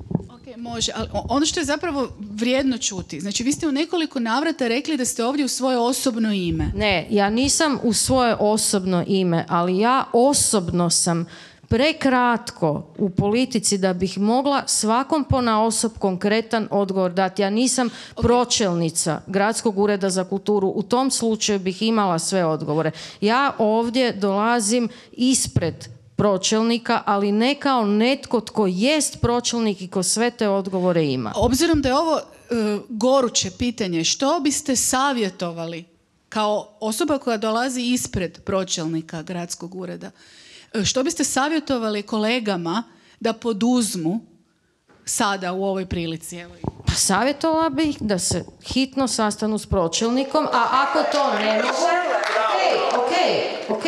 Ok, može, ali ono što je zapravo vrijedno čuti, znači vi ste u nekoliko navrata rekli da ste ovdje u svoje osobno ime. Ne, ja nisam u svoje osobno ime, ali ja osobno sam prekratko u politici da bih mogla svakom ponaosob konkretan odgovor dati. Ja nisam pročelnica Gradskog ureda za kulturu. U tom slučaju bih imala sve odgovore. Ja ovdje dolazim ispred pročelnika, ali ne kao netko tko jest pročelnik i ko sve te odgovore ima. Obzirom da je ovo goruće pitanje, što biste savjetovali kao osoba koja dolazi ispred pročelnika Gradskog ureda? Što biste savjetovali kolegama da poduzmu sada u ovoj prilici? Evo. Pa savjetovala bih da se hitno sastanu s pročelnikom, a ako to ne mogu... Ok.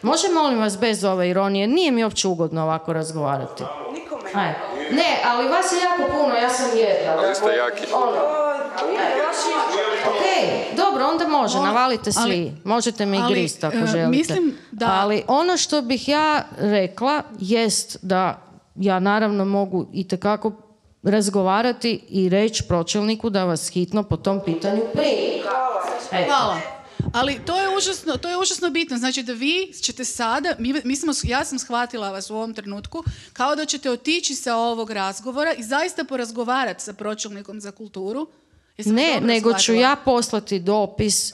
Može, molim vas, bez ove ironije? Nije mi uopće ugodno ovako razgovarati. Nikome. Ne, ali vas je jako puno, ja sam jedna. Ali ste jaki. Ok, dobro, onda može, navalite svi. Možete mi grist ako želite. Mislim da... Ali ono što bih ja rekla jest da ja naravno mogu itekako razgovarati i reći pročelniku da vas hitno po tom pitanju primi. Hvala. Ali to je užasno bitno. Znači da vi ćete sada, ja sam shvatila vas u ovom trenutku, kao da ćete otići sa ovog razgovora i zaista porazgovarati sa pročelnikom za kulturu. Ne, nego ću ja poslati dopis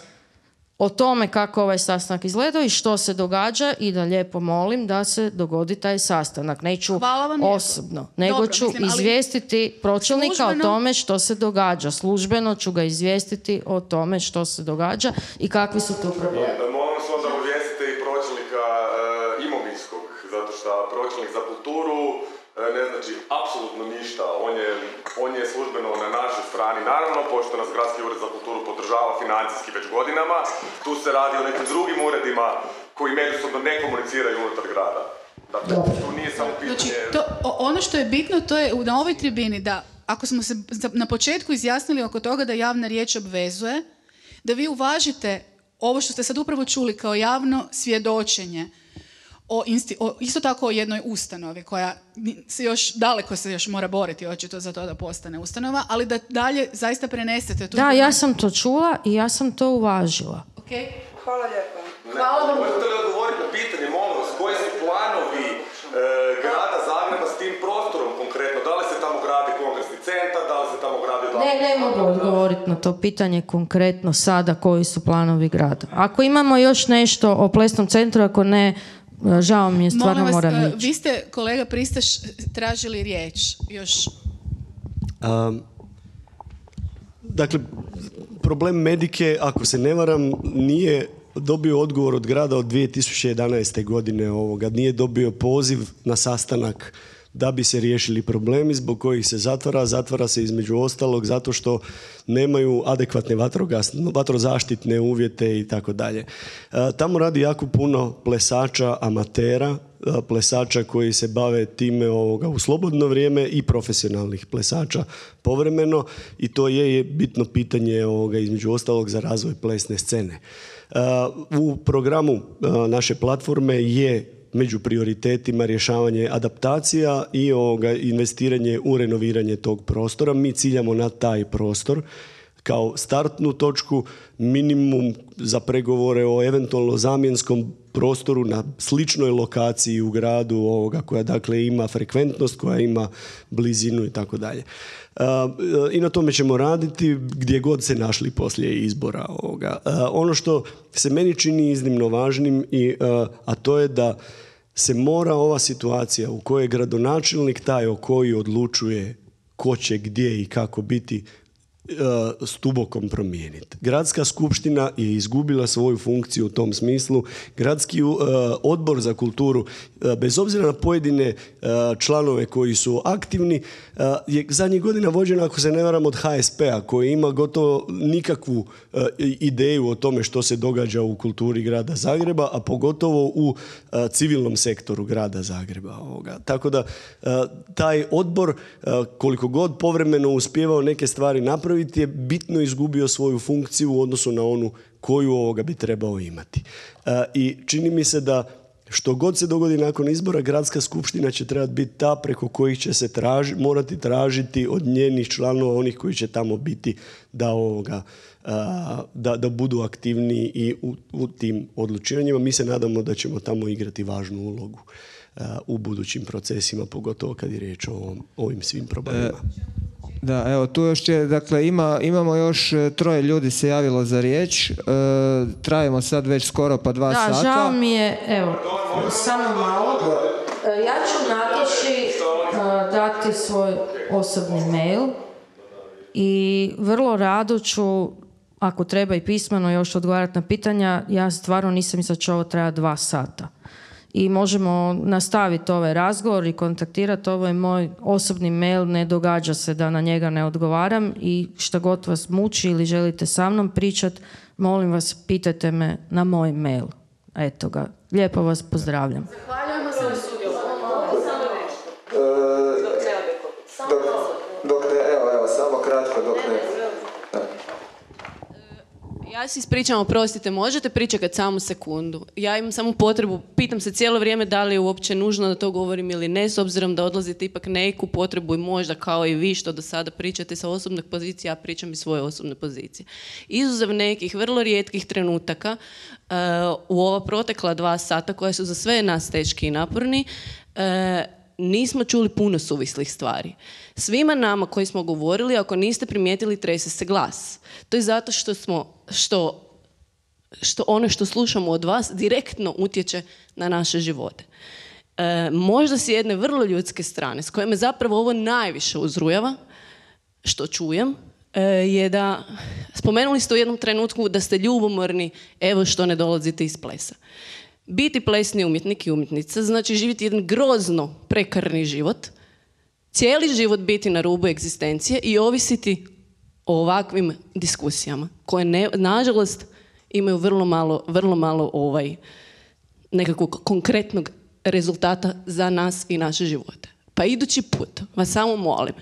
o tome kako ovaj sastanak izgleda i što se događa i da lijepo molim da se dogodi taj sastanak. Neću osobno, nego ću izvijestiti pročelnika o tome što se događa. Službeno ću ga izvijestiti o tome što se događa i kakvi su tu problemi. Molim vas onda obavijestite i pročelnika imovinskog, zato što pročelnik za kulturu ne znači apsolutno ništa. On je službeno na našoj strani. Naravno, pošto nas Gradski ured za kulturu podržava financijski već godinama, tu se radi o nekim drugim uredima koji međusobno ne komuniciraju unutar grada. Dakle, tu nije samo pitanje... Znači, ono što je bitno, to je na ovoj tribini da, ako smo se na početku izjasnili oko toga da javna riječ obvezuje, da vi uvažite ovo što ste sad upravo čuli kao javno svjedočenje isto tako o jednoj ustanovi koja daleko se još mora boriti očito za to da postane ustanova, ali da dalje zaista prenesete tu... Da, ja sam to čula i ja sam to uvažila. Okay. Hvala lijepo. Možete li odgovoriti na pitanje, molim vas, koji su planovi grada Zagreba s tim prostorom konkretno? Da li se tamo gradi kongresni centar, da li se tamo gradi... Ne mogu odgovoriti na to pitanje konkretno sada koji su planovi grada. Ako imamo još nešto o plesnom centru, ako ne... Žao mi je, stvarno moram ići. Vi ste, kolega Pristaš, tražili riječ još. Dakle, problem Medike, ako se ne varam, nije dobio odgovor od grada od 2011. godine ovoga. Nije dobio poziv na sastanak da bi se riješili problemi zbog kojih se zatvara. Zatvara se između ostalog zato što nemaju adekvatne vatrozaštitne uvjete i tako dalje. Tamo radi jako puno plesača, amatera, plesača koji se bave time u slobodno vrijeme i profesionalnih plesača povremeno i to je bitno pitanje između ostalog za razvoj plesne scene. U programu naše platforme je među prioritetima rješavanje adaptacija i investiranje u renoviranje tog prostora. Mi ciljamo na taj prostor kao startnu točku, minimum za pregovore o eventualno zamjenskom prostoru na sličnoj lokaciji u gradu koja dakle ima frekventnost, koja ima blizinu i tako dalje. I na tome ćemo raditi gdje god se našli poslije izbora ovoga. Ono što se meni čini iznimno važnim a to je da se mora ova situacija u kojoj je gradonačelnik taj o koji odlučuje ko će gdje i kako biti stubokom promijeniti. Gradska skupština je izgubila svoju funkciju u tom smislu. Gradski odbor za kulturu, bez obzira na pojedine članove koji su aktivni, je zadnjih godina vođena, ako se ne varam, od HSP-a koji ima gotovo nikakvu ideju o tome što se događa u kulturi grada Zagreba, a pogotovo u civilnom sektoru grada Zagreba. Tako da taj odbor, koliko god povremeno uspijevao neke stvari napraviti, je bitno izgubio svoju funkciju u odnosu na onu koju bi trebao imati. I čini mi se da što god se dogodi nakon izbora, gradska skupština će trebati biti ta preko kojih će se morati tražiti od njenih članova, onih koji će tamo biti, da budu aktivniji i u tim odlučivanjima. Mi se nadamo da ćemo tamo igrati važnu ulogu u budućim procesima, pogotovo kad je riječ o ovim svim problemima. Da, evo, tu još je, dakle, imamo još 3 ljudi se javilo za riječ. Trajimo sad već skoro pa 2 sata. Da, žao mi je, evo, samo malo. Ja ću Nataši dati svoj osobni mail i vrlo rado ću, ako treba i pismeno, još odgovarati na pitanja. Ja stvarno nisam mislila da će ovo trajati 2 sata. I možemo nastaviti ovaj razgovor i kontaktirati. Ovo je moj osobni mail, ne događa se da na njega ne odgovaram i šta god vas muči ili želite sa mnom pričati, molim vas, pitajte me na moj mail. Eto ga. Lijepo vas pozdravljam. Zahvaljujemo se na sudjelovanju. Dok ne, evo, samo kratko, dok ne. Ja se ispričam, oprostite, možete pričekati samo sekundu. Ja imam samo potrebu, pitam se cijelo vrijeme da li je uopće nužno da to govorim ili ne, s obzirom da odlazite ipak neku potrebu i možda kao i vi što do sada pričate sa osobne pozicije, ja pričam iz svoje osobne pozicije. Izuzev nekih vrlo rijetkih trenutaka u ova protekla 2 sata koja su za sve nas teški i naporni, nismo čuli puno suvislih stvari. Svima nama koji smo govorili, ako niste primijetili, trese se glas. To je zato što ono što slušamo od vas direktno utječe na naše živote. Možda s jedne vrlo ljudske strane, s koje me zapravo ovo najviše uzrujava, što čujem, je da spomenuli ste u jednom trenutku da ste ljubomorni, evo što ne dolazite iz plesa. Biti plesni umjetnik i umjetnica znači živjeti jedan grozno prekarni život, cijeli život biti na rubu egzistencije i ovisiti o ovakvim diskusijama koje nažalost imaju vrlo malo nekakvog konkretnog rezultata za nas i naše živote. Pa idući put vas samo molim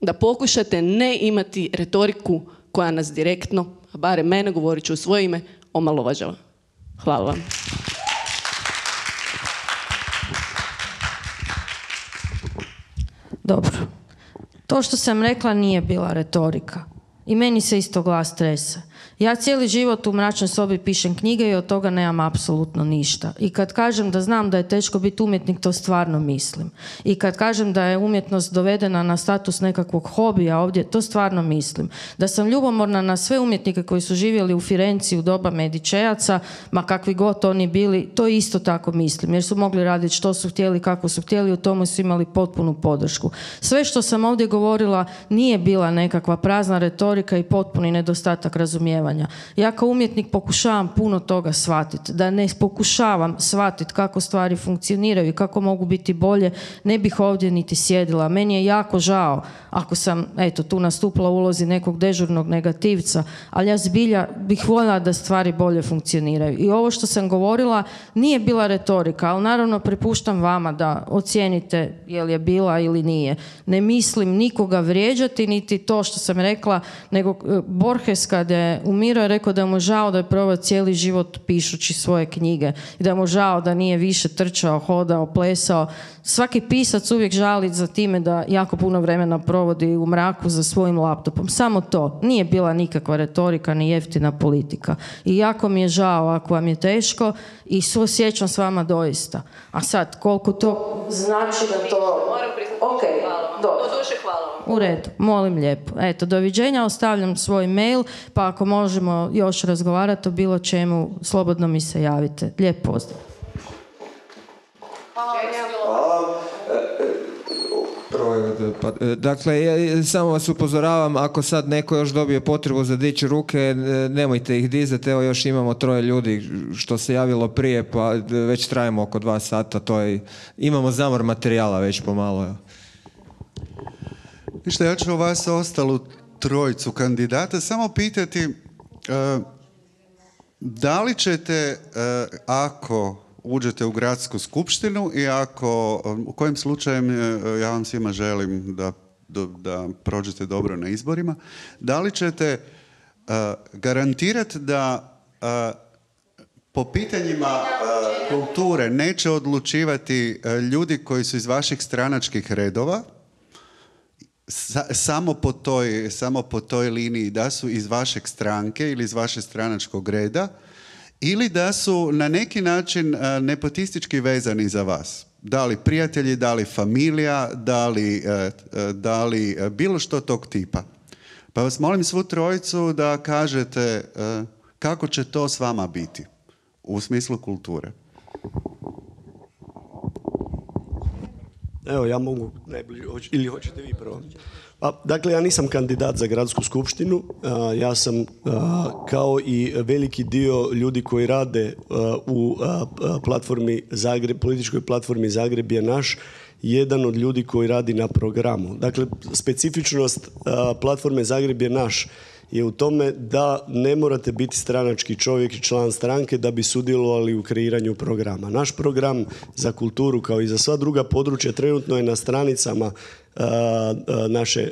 da pokušate ne imati retoriku koja nas direktno, a barem mene, govorit ću u svoje ime, omalovažava. Hvala vam. Dobro. To što sam rekla nije bila retorika. I meni se isto glas trese. Ja cijeli život u mračnoj sobi pišem knjige i od toga nemam apsolutno ništa. I kad kažem da znam da je teško biti umjetnik, to stvarno mislim. I kad kažem da je umjetnost dovedena na status nekakvog hobija ovdje, to stvarno mislim. Da sam ljubomorna na sve umjetnike koji su živjeli u Firenci u doba Medičejaca, ma kakvi god oni bili, to isto tako mislim. Jer su mogli raditi što su htjeli, kako su htjeli, u tomu su imali potpunu podršku. Sve što sam ovdje govorila nije bila nekakva prazna retorika i potpuni nedostatak razumijevanja. Ja kao umjetnik pokušavam puno toga shvatiti. Da ne pokušavam shvatiti kako stvari funkcioniraju i kako mogu biti bolje, ne bih ovdje niti sjedila. Meni je jako žao ako sam, tu nastupila u ulozi nekog dežurnog negativca, ali ja zbilja bih voljela da stvari bolje funkcioniraju. I ovo što sam govorila nije bila retorika, ali naravno prepuštam vama da ocijenite je li je bila ili nije. Ne mislim nikoga vrijeđati, niti to što sam rekla, nego Borges kad je umirao je rekao da mu žao da je proveo cijeli život pišući svoje knjige i da mu žao da nije više trčao, hodao, plesao. Svaki pisac uvijek žali za time da jako puno vremena provodi u mraku za svojim laptopom. Samo to. Nije bila nikakva retorika ni jeftina politika. I jako mi je žao ako vam je teško i suosjećam s vama doista. A sad, koliko to znači da to... Ok, dobro. Hvala vam. U redu, molim lijepo. Doviđenja, ostavljam svoj mail, pa ako možemo još razgovarati o bilo čemu, slobodno mi se javite. Lijep pozdrav. Dakle, samo vas upozoravam, ako sad neko još dobije potrebu za dići ruke, nemojte ih dizati, evo još imamo 3 ljudi što se javilo prije, pa već trajimo oko 2 sata, imamo zamor materijala već pomalo. Ništa, ja ću vas ostalu 3 kandidata samo pitati da li ćete, ako uđete u gradsku skupštinu i u kojem slučajem ja vam svima želim da prođete dobro na izborima, da li ćete garantirati da po pitanjima kulture neće odlučivati ljudi koji su iz vaših stranačkih redova, samo po toj liniji da su iz vašeg stranke ili iz vašeg stranačkog reda, ili da su na neki način nepotistički vezani za vas. Da li prijatelji, da li familija, da li bilo što tog tipa. Pa vas molim svu 3 da kažete kako će to s vama biti u smislu kulture. Evo, ja mogu najbliže, ili hoćete vi prvo? Dakle, ja nisam kandidat za gradsku skupštinu. Ja sam, kao i veliki dio ljudi koji rade u političkoj platformi Zagreb je naš, jedan od ljudi koji radi na programu. Dakle, specifičnost platforme Zagreb je naš je u tome da ne morate biti stranački čovjek i član stranke da bi sudjelovali u kreiranju programa. Naš program za kulturu, kao i za sva druga područja, trenutno je na stranicama naše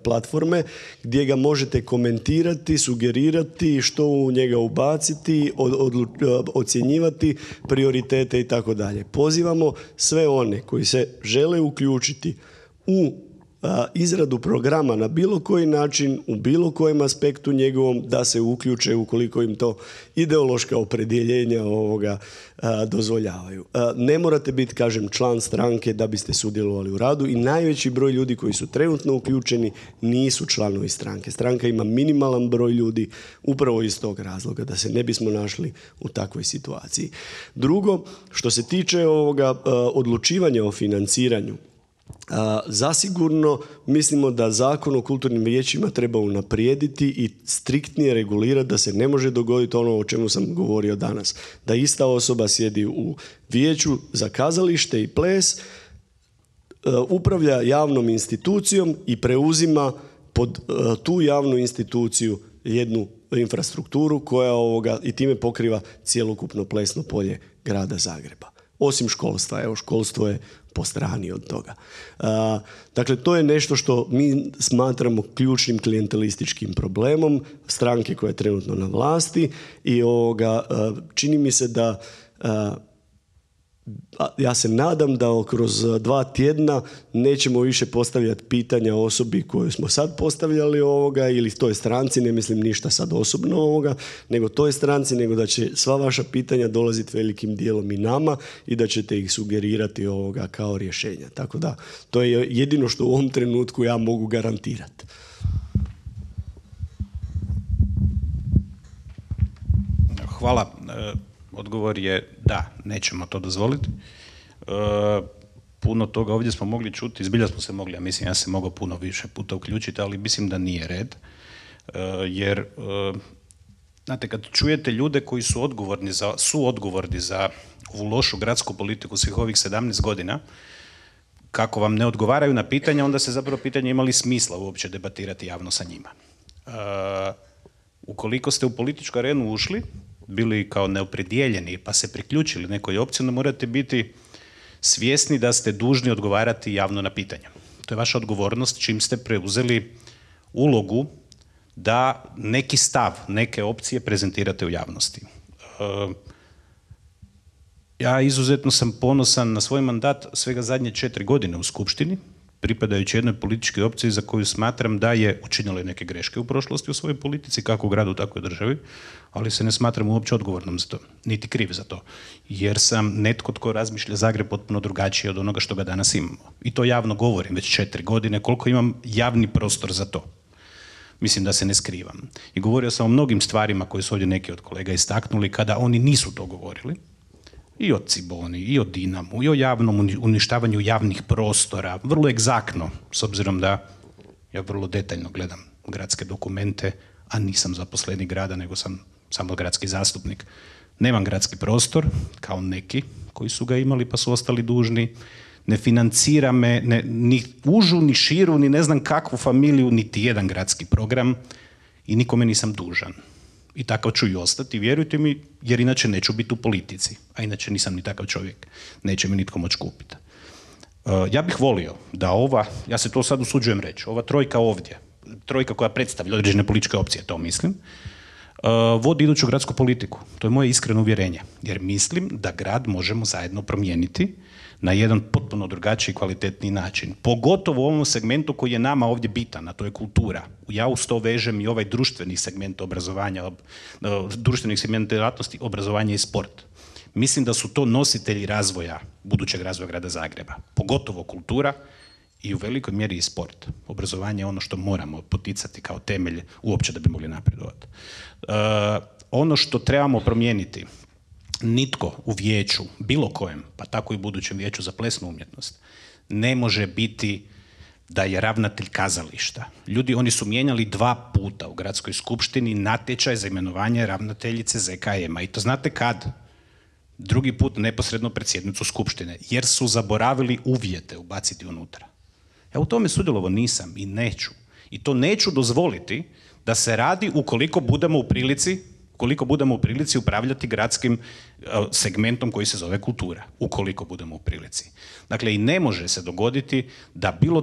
platforme, gdje ga možete komentirati, sugerirati, što u njega ubaciti, ocjenjivati prioritete i tako dalje. Pozivamo sve one koji se žele uključiti u izradu programa na bilo koji način, u bilo kojem aspektu njegovom, da se uključe ukoliko im to ideološka opredjeljenja dozvoljavaju. Ne morate biti, kažem, član stranke da biste sudjelovali u radu i najveći broj ljudi koji su trenutno uključeni nisu članovi stranke. Stranka ima minimalan broj ljudi upravo iz tog razloga, da se ne bismo našli u takvoj situaciji. Drugo, što se tiče odlučivanja o financiranju, zasigurno mislimo da Zakon o kulturnim vijećima treba unaprijediti i striktnije regulirati, da se ne može dogoditi ono o čemu sam govorio danas. Da ista osoba sjedi u vijeću za kazalište i ples, upravlja javnom institucijom i preuzima pod tu javnu instituciju jednu infrastrukturu koja i time pokriva cjelokupno plesno polje grada Zagreba. Osim školstva. Evo, školstvo je po strani od toga. Dakle, to je nešto što mi smatramo ključnim klijentelističkim problemom stranke koja je trenutno na vlasti i čini mi se da ja se nadam da kroz 2 tjedna nećemo više postavljati pitanja osobi koju smo sad postavljali ili toj stranci, ne mislim ništa sad osobno nego toj stranci, nego da će sva vaša pitanja dolaziti velikim dijelom i nama i da ćete ih sugerirati kao rješenja. Tako da, to je jedino što u ovom trenutku ja mogu garantirati. Hvala. Odgovor je da, nećemo to dozvoliti. Puno toga ovdje smo mogli čuti, zbilja smo se mogli, ja se mogao puno više puta uključiti, ali mislim da nije red. Jer, znate, kad čujete ljude koji su odgovorni za ovu lošu gradsku politiku svih ovih 17 godina, kako vam ne odgovaraju na pitanja, onda se zapravo pitanje imali smisla uopće debatirati javno sa njima. Ukoliko ste u političku arenu ušli, bili kao neopredijeljeni pa se priključili nekoj opciji, onda morate biti svjesni da ste dužni odgovarati javno na pitanja. To je vaša odgovornost čim ste preuzeli ulogu da neki stav, neke opcije prezentirate u javnosti. Ja izuzetno sam ponosan na svoj mandat svega zadnje 4 godine u Skupštini, pripadajući jednoj političkoj opciji za koju smatram da je učinila neke greške u prošlosti u svojoj politici, kako u gradu, tako i u državi, ali se ne smatram uopće odgovornom za to, niti kriv za to, jer sam netko tko razmišlja Zagreb potpuno drugačije od onoga što ga danas imamo. I to javno govorim već 4 godine, koliko imam javni prostor za to. Mislim da se ne skrivam. I govorio sam o mnogim stvarima koje su ovdje neki od kolega istaknuli kada oni nisu to govorili. I o Ciboni, i o Dinamu, i o javnom uništavanju javnih prostora, vrlo egzaktno, s obzirom da ja vrlo detaljno gledam gradske dokumente, a nisam zaposlenik grada, nego sam samo gradski zastupnik. Nemam gradski prostor, kao neki koji su ga imali pa su ostali dužni. Ne financira me ni užu, ni širu, ni ne znam kakvu familiju, niti jedan gradski program i nikome nisam dužan. I takav ću i ostati, vjerujte mi, jer inače neću biti u politici, a inače nisam ni takav čovjek. Neće mi nitko moći kupiti. Ja bih volio da ja se to sad usuđujem reći, ova trojka ovdje, trojka koja predstavlja određene političke opcije, to mislim, vodi iduću gradsku politiku. To je moje iskreno uvjerenje, jer mislim da grad možemo zajedno promijeniti na jedan potpuno drugačiji i kvalitetniji način. Pogotovo u ovom segmentu koji je nama ovdje bitan, a to je kultura. Ja uz to vežem i ovaj društveni segment obrazovanja, društveni segment djelatnosti, obrazovanje i sport. Mislim da su to nositelji razvoja, budućeg razvoja grada Zagreba. Pogotovo kultura i u velikoj mjeri i sport. Obrazovanje je ono što moramo poticati kao temelj uopće da bi mogli napredovati. Ono što trebamo promijeniti, nitko u vijeću, bilo kojem, pa tako i budućem vijeću za plesnu umjetnost, ne može biti da je ravnatelj kazališta. Ljudi, oni su mijenjali 2 puta u gradskoj skupštini natječaj za imenovanje ravnateljice ZKM-a. I to znate kad? 2. put neposredno pred sjednicu skupštine, jer su zaboravili uvjete ubaciti unutra. Ja u tome sudjelovao nisam i neću. I to neću dozvoliti da se radi ukoliko budemo u prilici Ukoliko budemo u prilici upravljati gradskim segmentom koji se zove kultura. Ukoliko budemo u prilici. Dakle, i ne može se dogoditi da bilo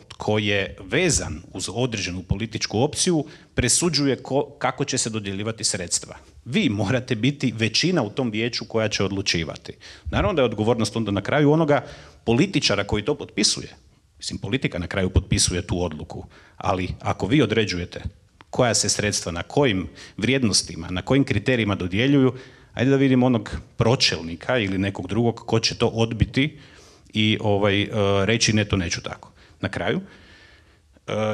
tko je vezan uz određenu političku opciju presuđuje kako će se dodjeljivati sredstva. Vi morate biti većina u tom vijeću koja će odlučivati. Naravno da je odgovornost onda na kraju onoga političara koji to potpisuje. Mislim, politika na kraju potpisuje tu odluku, ali ako vi određujete koja se sredstva, na kojim vrijednostima, na kojim kriterijima dodjeljuju, ajde da vidimo onog pročelnika ili nekog drugog ko će to odbiti i reći ne, to neću tako. Na kraju,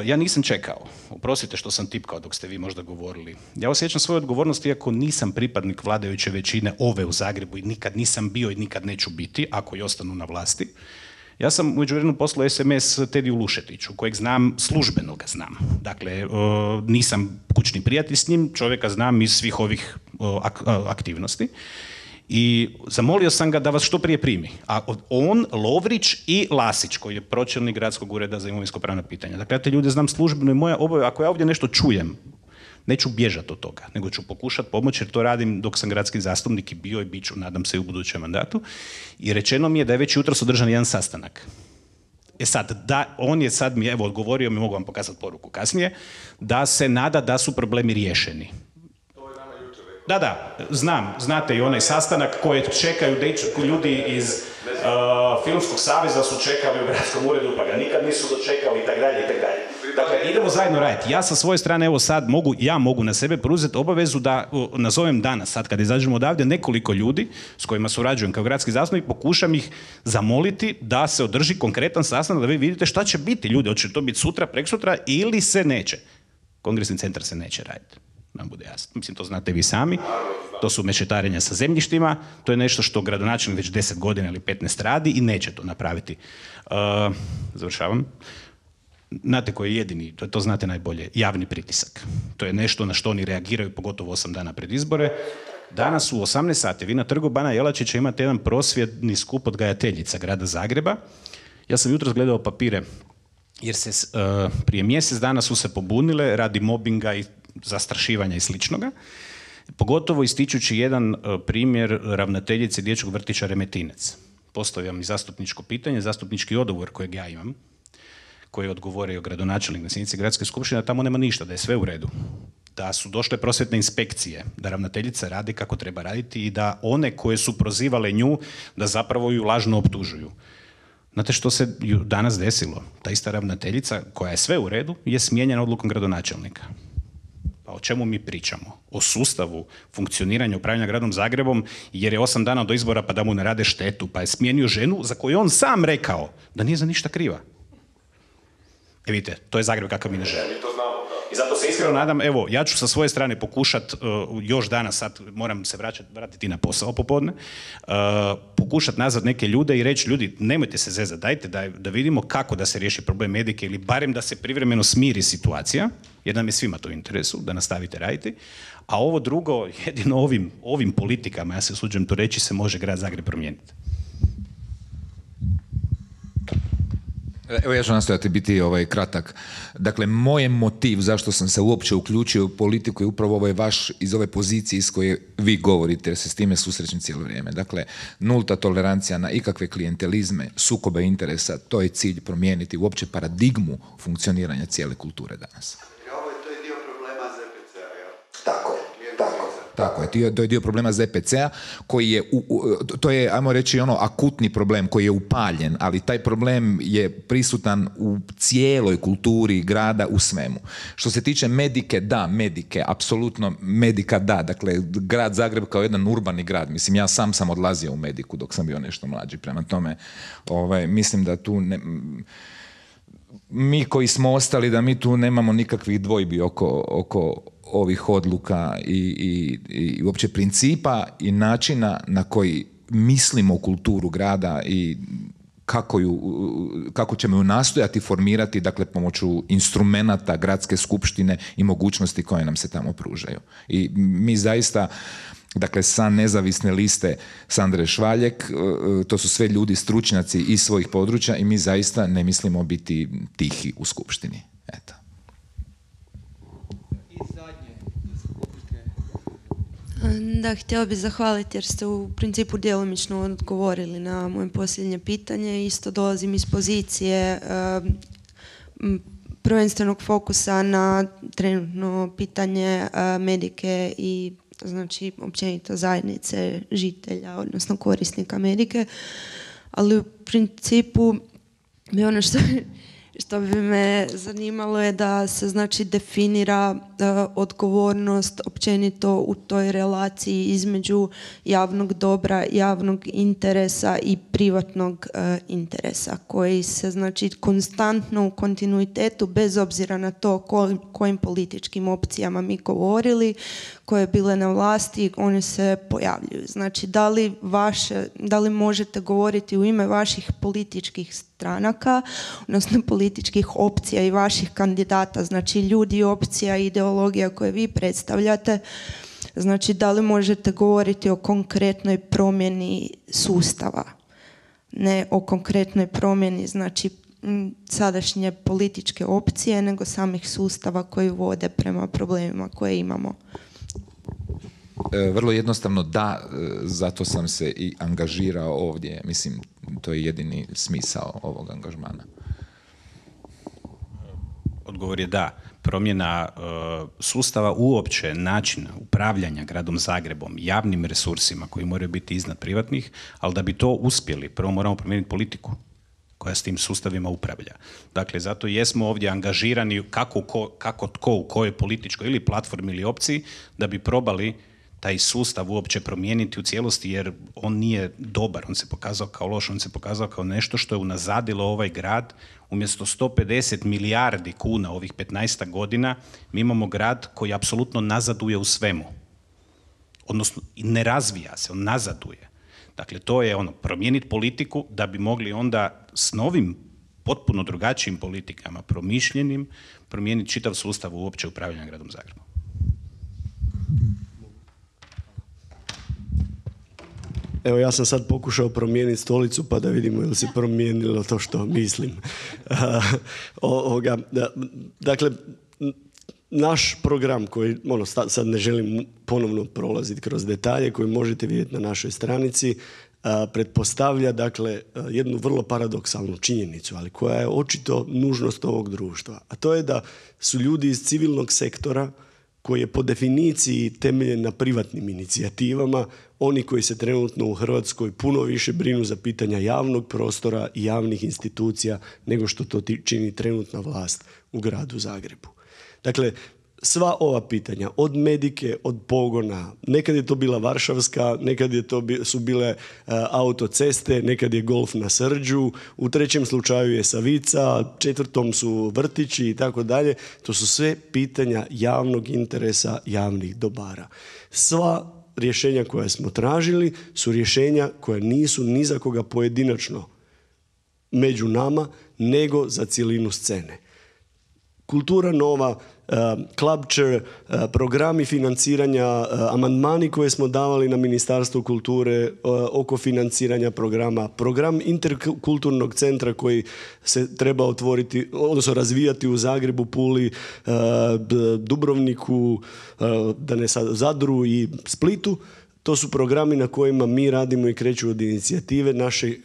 ja nisam čekao, oprostite što sam tipkao dok ste vi možda govorili. Ja osjećam svoju odgovornost iako nisam pripadnik vladajuće većine ove u Zagrebu i nikad nisam bio i nikad neću biti, ako i ostanu na vlasti. Ja sam u međuvremenu poslao SMS Tediju Lušetiću, kojeg znam, službeno ga znam. Dakle, nisam kućni prijatelj s njim, čovjeka znam iz svih ovih aktivnosti. I zamolio sam ga da vas što prije primi. A on, Lovrić i Lasić, koji je pročelnik Gradskog ureda za imovinsko-pravna pitanja. Dakle, ja te ljude znam službeno i moja obaveza, ako ja ovdje nešto čujem, neću bježati od toga, nego ću pokušati pomoći, jer to radim dok sam gradski zastupnik i bio i bit ću, nadam se, i u budućem mandatu. I rečeno mi je da je već jutros održan jedan sastanak. Sad, on je sad mi, evo, odgovorio mi, mogu vam pokazati poruku kasnije, da se nada da su problemi riješeni. Da, znam, znate i onaj sastanak koje čekaju ljudi iz Filmskog saveza su čekali u gradskom uredu, pa ga nikad nisu dočekali i tak dalje. Dakle, idemo zajedno raditi. Ja sa svoje strane, evo sad, mogu na sebe preuzeti obavezu da nazovem danas, sad kad izađemo odavde, nekoliko ljudi s kojima surađujem kao gradski zastupnik, pokušam ih zamoliti da se održi konkretan sastanak, da vi vidite šta će biti ljudi, hoće to biti sutra, preksutra ili se neće. Kongresni centar se neće raditi. Nam bude jasno. Mislim, to znate vi sami. To su mešetarenja sa zemljištima. To je nešto što gradonačelnik već 10 godina ili 15 radi i neće to napraviti. Završavam. Znate koji je jedini, to znate najbolje, javni pritisak. To je nešto na što oni reagiraju, pogotovo 8 dana pred izbore. Danas u 18 sati vi na trgu Bana Jelačića imate jedan prosvjedni skup odgajateljica grada Zagreba. Ja sam jutros gledao papire, jer se prije mjesec dana su se pobunile radi mobinga i zastrašivanja i sličnoga, pogotovo ističući jedan primjer ravnateljice dječjeg vrtića Remetinec. Postavljam i zastupničko pitanje, zastupnički odgovor kojeg ja imam, koji je odgovorio gradonačelnik na sjednici gradske skupštine, tamo nema ništa, da je sve u redu. Da su došle prosvjetne inspekcije, da ravnateljica radi kako treba raditi i da one koje su prozivale nju, da zapravo ju lažno optužuju. Znate što se danas desilo? Ta ista ravnateljica, koja je sve u redu, je smijenjena odlukom gradonačelnika. Pa o čemu mi pričamo? O sustavu funkcioniranja upravljanja gradom Zagrebom, jer je 8 dana do izbora pa da mu ne rade štetu, pa je smijenio ženu za koju on sam rekao da nije za ništa kriva. Vidite, to je Zagreb kakav mi ne želimo. I zato se iskreno nadam, evo, ja ću sa svoje strane pokušati još danas, sad moram se vratiti na posao popodne, pokušati nazvat neke ljude i reći, ljudi, nemojte se zezati, dajte da vidimo kako da se riješi problem medike ili barem da se privremeno smiri situacija, jer nam je svima to u interesu, da nastavite raditi, a ovo drugo, jedino ovim politikama, ja se usuđujem to reći, se može grad Zagreb promijeniti. Evo ja ću nastojati biti kratak. Dakle, moj motiv zašto sam se uopće uključio u politiku je upravo ovaj vaš iz ove pozicije iz koje vi govorite, jer se s time susrećem cijelo vrijeme. Dakle, nulta tolerancija na ikakve klijentelizme, sukobe interesa, to je cilj promijeniti uopće paradigmu funkcioniranja cijele kulture danas. To je dio problema ZPC-a, jel? Tako je. Tako je, to je dio problema ZPC-a koji je, to je, ajmo reći, akutni problem koji je upaljen, ali taj problem je prisutan u cijeloj kulturi grada, u svemu. Što se tiče medike, da, medike, apsolutno medika da, dakle, grad Zagreb kao jedan urbani grad, mislim, ja sam odlazio u mediku dok sam bio nešto mlađi, prema tome, mislim da tu mi koji smo ostali, da mi tu nemamo nikakvih dvojbi oko ovih odluka i uopće principa i načina na koji mislimo kulturu grada i kako ćemo ju nastojati formirati, dakle, pomoću instrumenata gradske skupštine i mogućnosti koje nam se tamo pružaju. I mi zaista, dakle, sa nezavisne liste Sandre Švaljek, to su sve ljudi, stručnjaci iz svojih područja i mi zaista ne mislimo biti tihi u skupštini. Eto. Da, htjela bih zahvaliti jer ste u principu djelomično odgovorili na moje posljednje pitanje. Isto dolazim iz pozicije prvenstvenog fokusa na trenutno pitanje medike i znači općenito zajednice žitelja, odnosno korisnika medike. Ali u principu bi ono što bi me zanimalo je da se znači definira odgovornost općenito u toj relaciji između javnog dobra, javnog interesa i privatnog interesa koji se znači konstantno u kontinuitetu bez obzira na to kojim političkim opcijama mi govorili, koje bile na vlasti, one se pojavljuju. Znači da li možete govoriti u ime vaših političkih stranaka, odnosno političkih opcija i vaših kandidata, znači ljudi, opcija i ideologija koje vi predstavljate, znači da li možete govoriti o konkretnoj promjeni sustava, ne o konkretnoj promjeni znači sadašnje političke opcije, nego samih sustava koji vode prema problemima koje imamo. Vrlo jednostavno da, zato sam se i angažirao ovdje. Mislim, to je jedini smisao ovog angažmana. Odgovor je da. Promjena sustava uopće načina upravljanja gradom Zagrebom, javnim resursima koji moraju biti iznad privatnih, ali da bi to uspjeli, prvo moramo promijeniti politiku koja s tim sustavima upravlja. Dakle, zato jesmo ovdje angažirani kako tko u kojoj političkoj ili platformi ili opciji da bi probali taj sustav uopće promijeniti u cijelosti, jer on nije dobar, on se pokazao kao loš, on se pokazao kao nešto što je unazadilo ovaj grad. Umjesto 150 milijardi kuna ovih 15 godina, mi imamo grad koji apsolutno nazaduje u svemu. Odnosno, ne razvija se, on nazaduje. Dakle, to je promijeniti politiku da bi mogli onda s novim, potpuno drugačijim politikama, promišljenim, promijeniti čitav sustav uopće upravljanja gradom Zagrebom. Evo, ja sam sad pokušao promijeniti stolicu pa da vidimo ili se promijenilo to što mislim. Dakle, naš program koji, sad ne želim ponovno prolaziti kroz detalje koji možete vidjeti na našoj stranici, pretpostavlja dakle jednu vrlo paradoksalnu činjenicu, ali koja je očito nužnost ovog društva. A to je da su ljudi iz civilnog sektora koji je po definiciji temeljen na privatnim inicijativama, oni koji se trenutno u Hrvatskoj puno više brinu za pitanja javnog prostora i javnih institucija nego što to čini trenutna vlast u gradu Zagrebu. Dakle, sva ova pitanja, od medike, od pogona, nekad je to bila Varšavska, nekad su bile autoceste, nekad je golf na Srđu, u trećem slučaju je Savica, četvrtom su vrtići i tako dalje. To su sve pitanja javnog interesa, javnih dobara. Sva rješenja koja smo tražili su rješenja koja nisu ni za koga pojedinačno među nama, nego za cjelinu scene. Kultura nova, Clubcher, programi financiranja, amandmani koje smo davali na Ministarstvo kulture oko financiranja programa, program interkulturnog centra koji se treba otvoriti, odnosno razvijati u Zagrebu, Puli, Dubrovniku, Zadru i Splitu. To su programi na kojima mi radimo i kreću od inicijative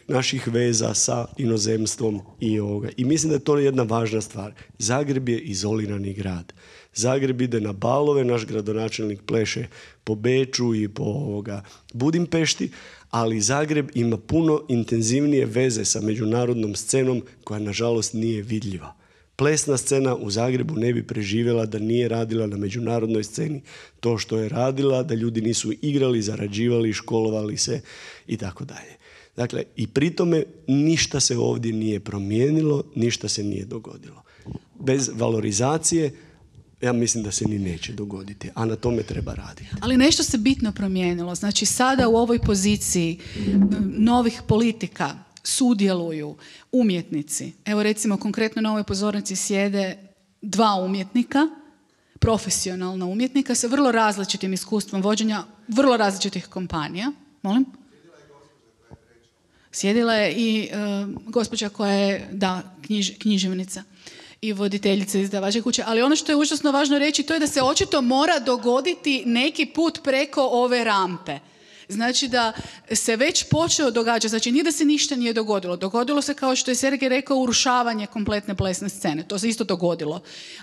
naših veza sa inozemstvom i ovoga. I mislim da je to jedna važna stvar. Zagreb je izolirani grad. Zagreb ide na balove, naš gradonačelnik pleše po Beču i po Budimpešti, ali Zagreb ima puno intenzivnije veze sa međunarodnom scenom koja nažalost nije vidljiva. Plesna scena u Zagrebu ne bi preživjela da nije radila na međunarodnoj sceni to što je radila, da ljudi nisu igrali, zarađivali, školovali se i tako dalje. Dakle, i pri tome ništa se ovdje nije promijenilo, ništa se nije dogodilo. Bez valorizacije ja mislim da se ni neće dogoditi, a na tome treba raditi. Ali nešto se bitno promijenilo. Znači sada u ovoj poziciji novih politika sudjeluju umjetnici. Evo recimo konkretno na ovoj pozornici sjede 2 umjetnika, profesionalna umjetnika sa vrlo različitim iskustvom vođenja vrlo različitih kompanija. Molim? Sjedila je i gospođa koja je, književnica. i voditeljice izdavačke kuće, ali ono što je užasno važno reći, to je da se očito mora dogoditi neki put preko ove rampe. Znači da se već počeo događati, znači nije da se ništa nije dogodilo. Dogodilo se, kao što je Sergej rekao, urušavanje kompletne plesne scene. To se isto dogodilo.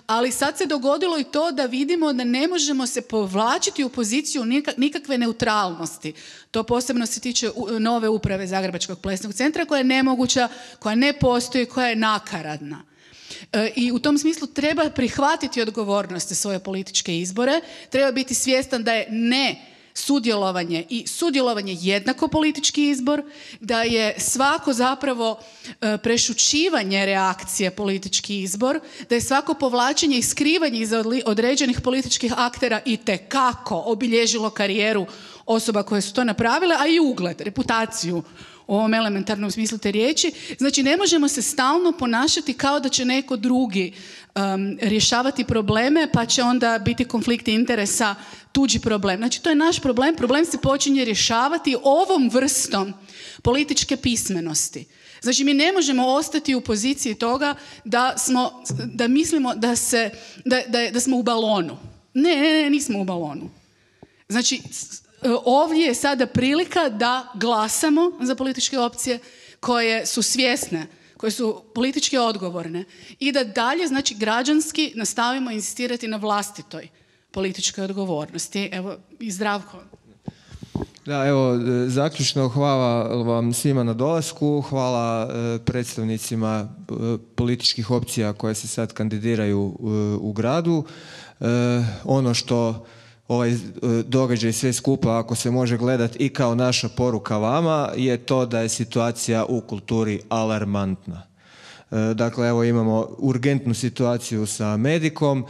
Ali sad se dogodilo i to da vidimo da ne možemo se povlačiti u poziciju nikakve neutralnosti. To posebno se tiče nove uprave Zagrebačkog plesnog centra, koja je nemoguća, koja ne postoji, koja je nakaradna. I u tom smislu treba prihvatiti odgovornost za svoje političke izbore, treba biti svjestan da je sudjelovanje i sudjelovanje jednako politički izbor, da je svako zapravo prešućivanje reakcije politički izbor, da je svako povlačenje i skrivanje iza određenih političkih aktera itekako obilježilo karijeru osoba koje su to napravile, a i ugled, reputaciju u ovom elementarnom smislu te riječi. Znači, ne možemo se stalno ponašati kao da će neko drugi rješavati probleme, pa će onda biti konflikti interesa tuđi problem. Znači, to je naš problem. Problem se počinje rješavati ovom vrstom političke pismenosti. Znači, mi ne možemo ostati u poziciji toga da mislimo da smo u balonu. Ne, nismo u balonu. Znači, ovdje je sada prilika da glasamo za političke opcije koje su svjesne, koje su politički odgovorne i da dalje, znači, građanski nastavimo insistirati na vlastitoj političkoj odgovornosti. Evo, i Zdravko. Da, evo, zaključno hvala vam svima na dolasku, hvala predstavnicima političkih opcija koje se sad kandidiraju u gradu. Ono što ovaj događaj sve skupa, ako se može gledati i kao naša poruka vama, je to da je situacija u kulturi alarmantna. Dakle, evo imamo urgentnu situaciju sa Medikom,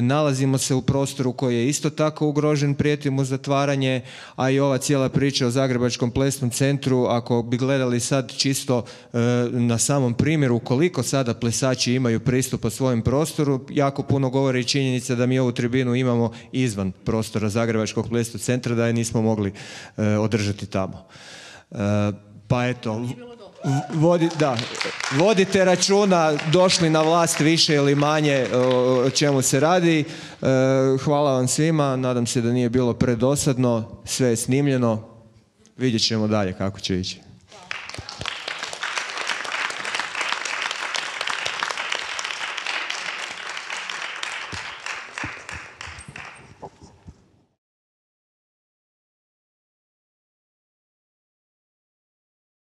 nalazimo se u prostoru koji je isto tako ugrožen, prijeti mu zatvaranje, a i ova cijela priča o Zagrebačkom plesnom centru, ako bi gledali sad čisto na samom primjeru koliko sada plesači imaju pristupa svojem prostoru, jako puno govori i činjenica da mi ovu tribinu imamo izvan prostora Zagrebačkog plesnog centra, da je nismo mogli održati tamo. Pa eto, vodite računa, došli na vlast više ili manje o čemu se radi. Hvala vam svima, nadam se da nije bilo predosadno, sve je snimljeno, vidjet ćemo dalje kako će ići.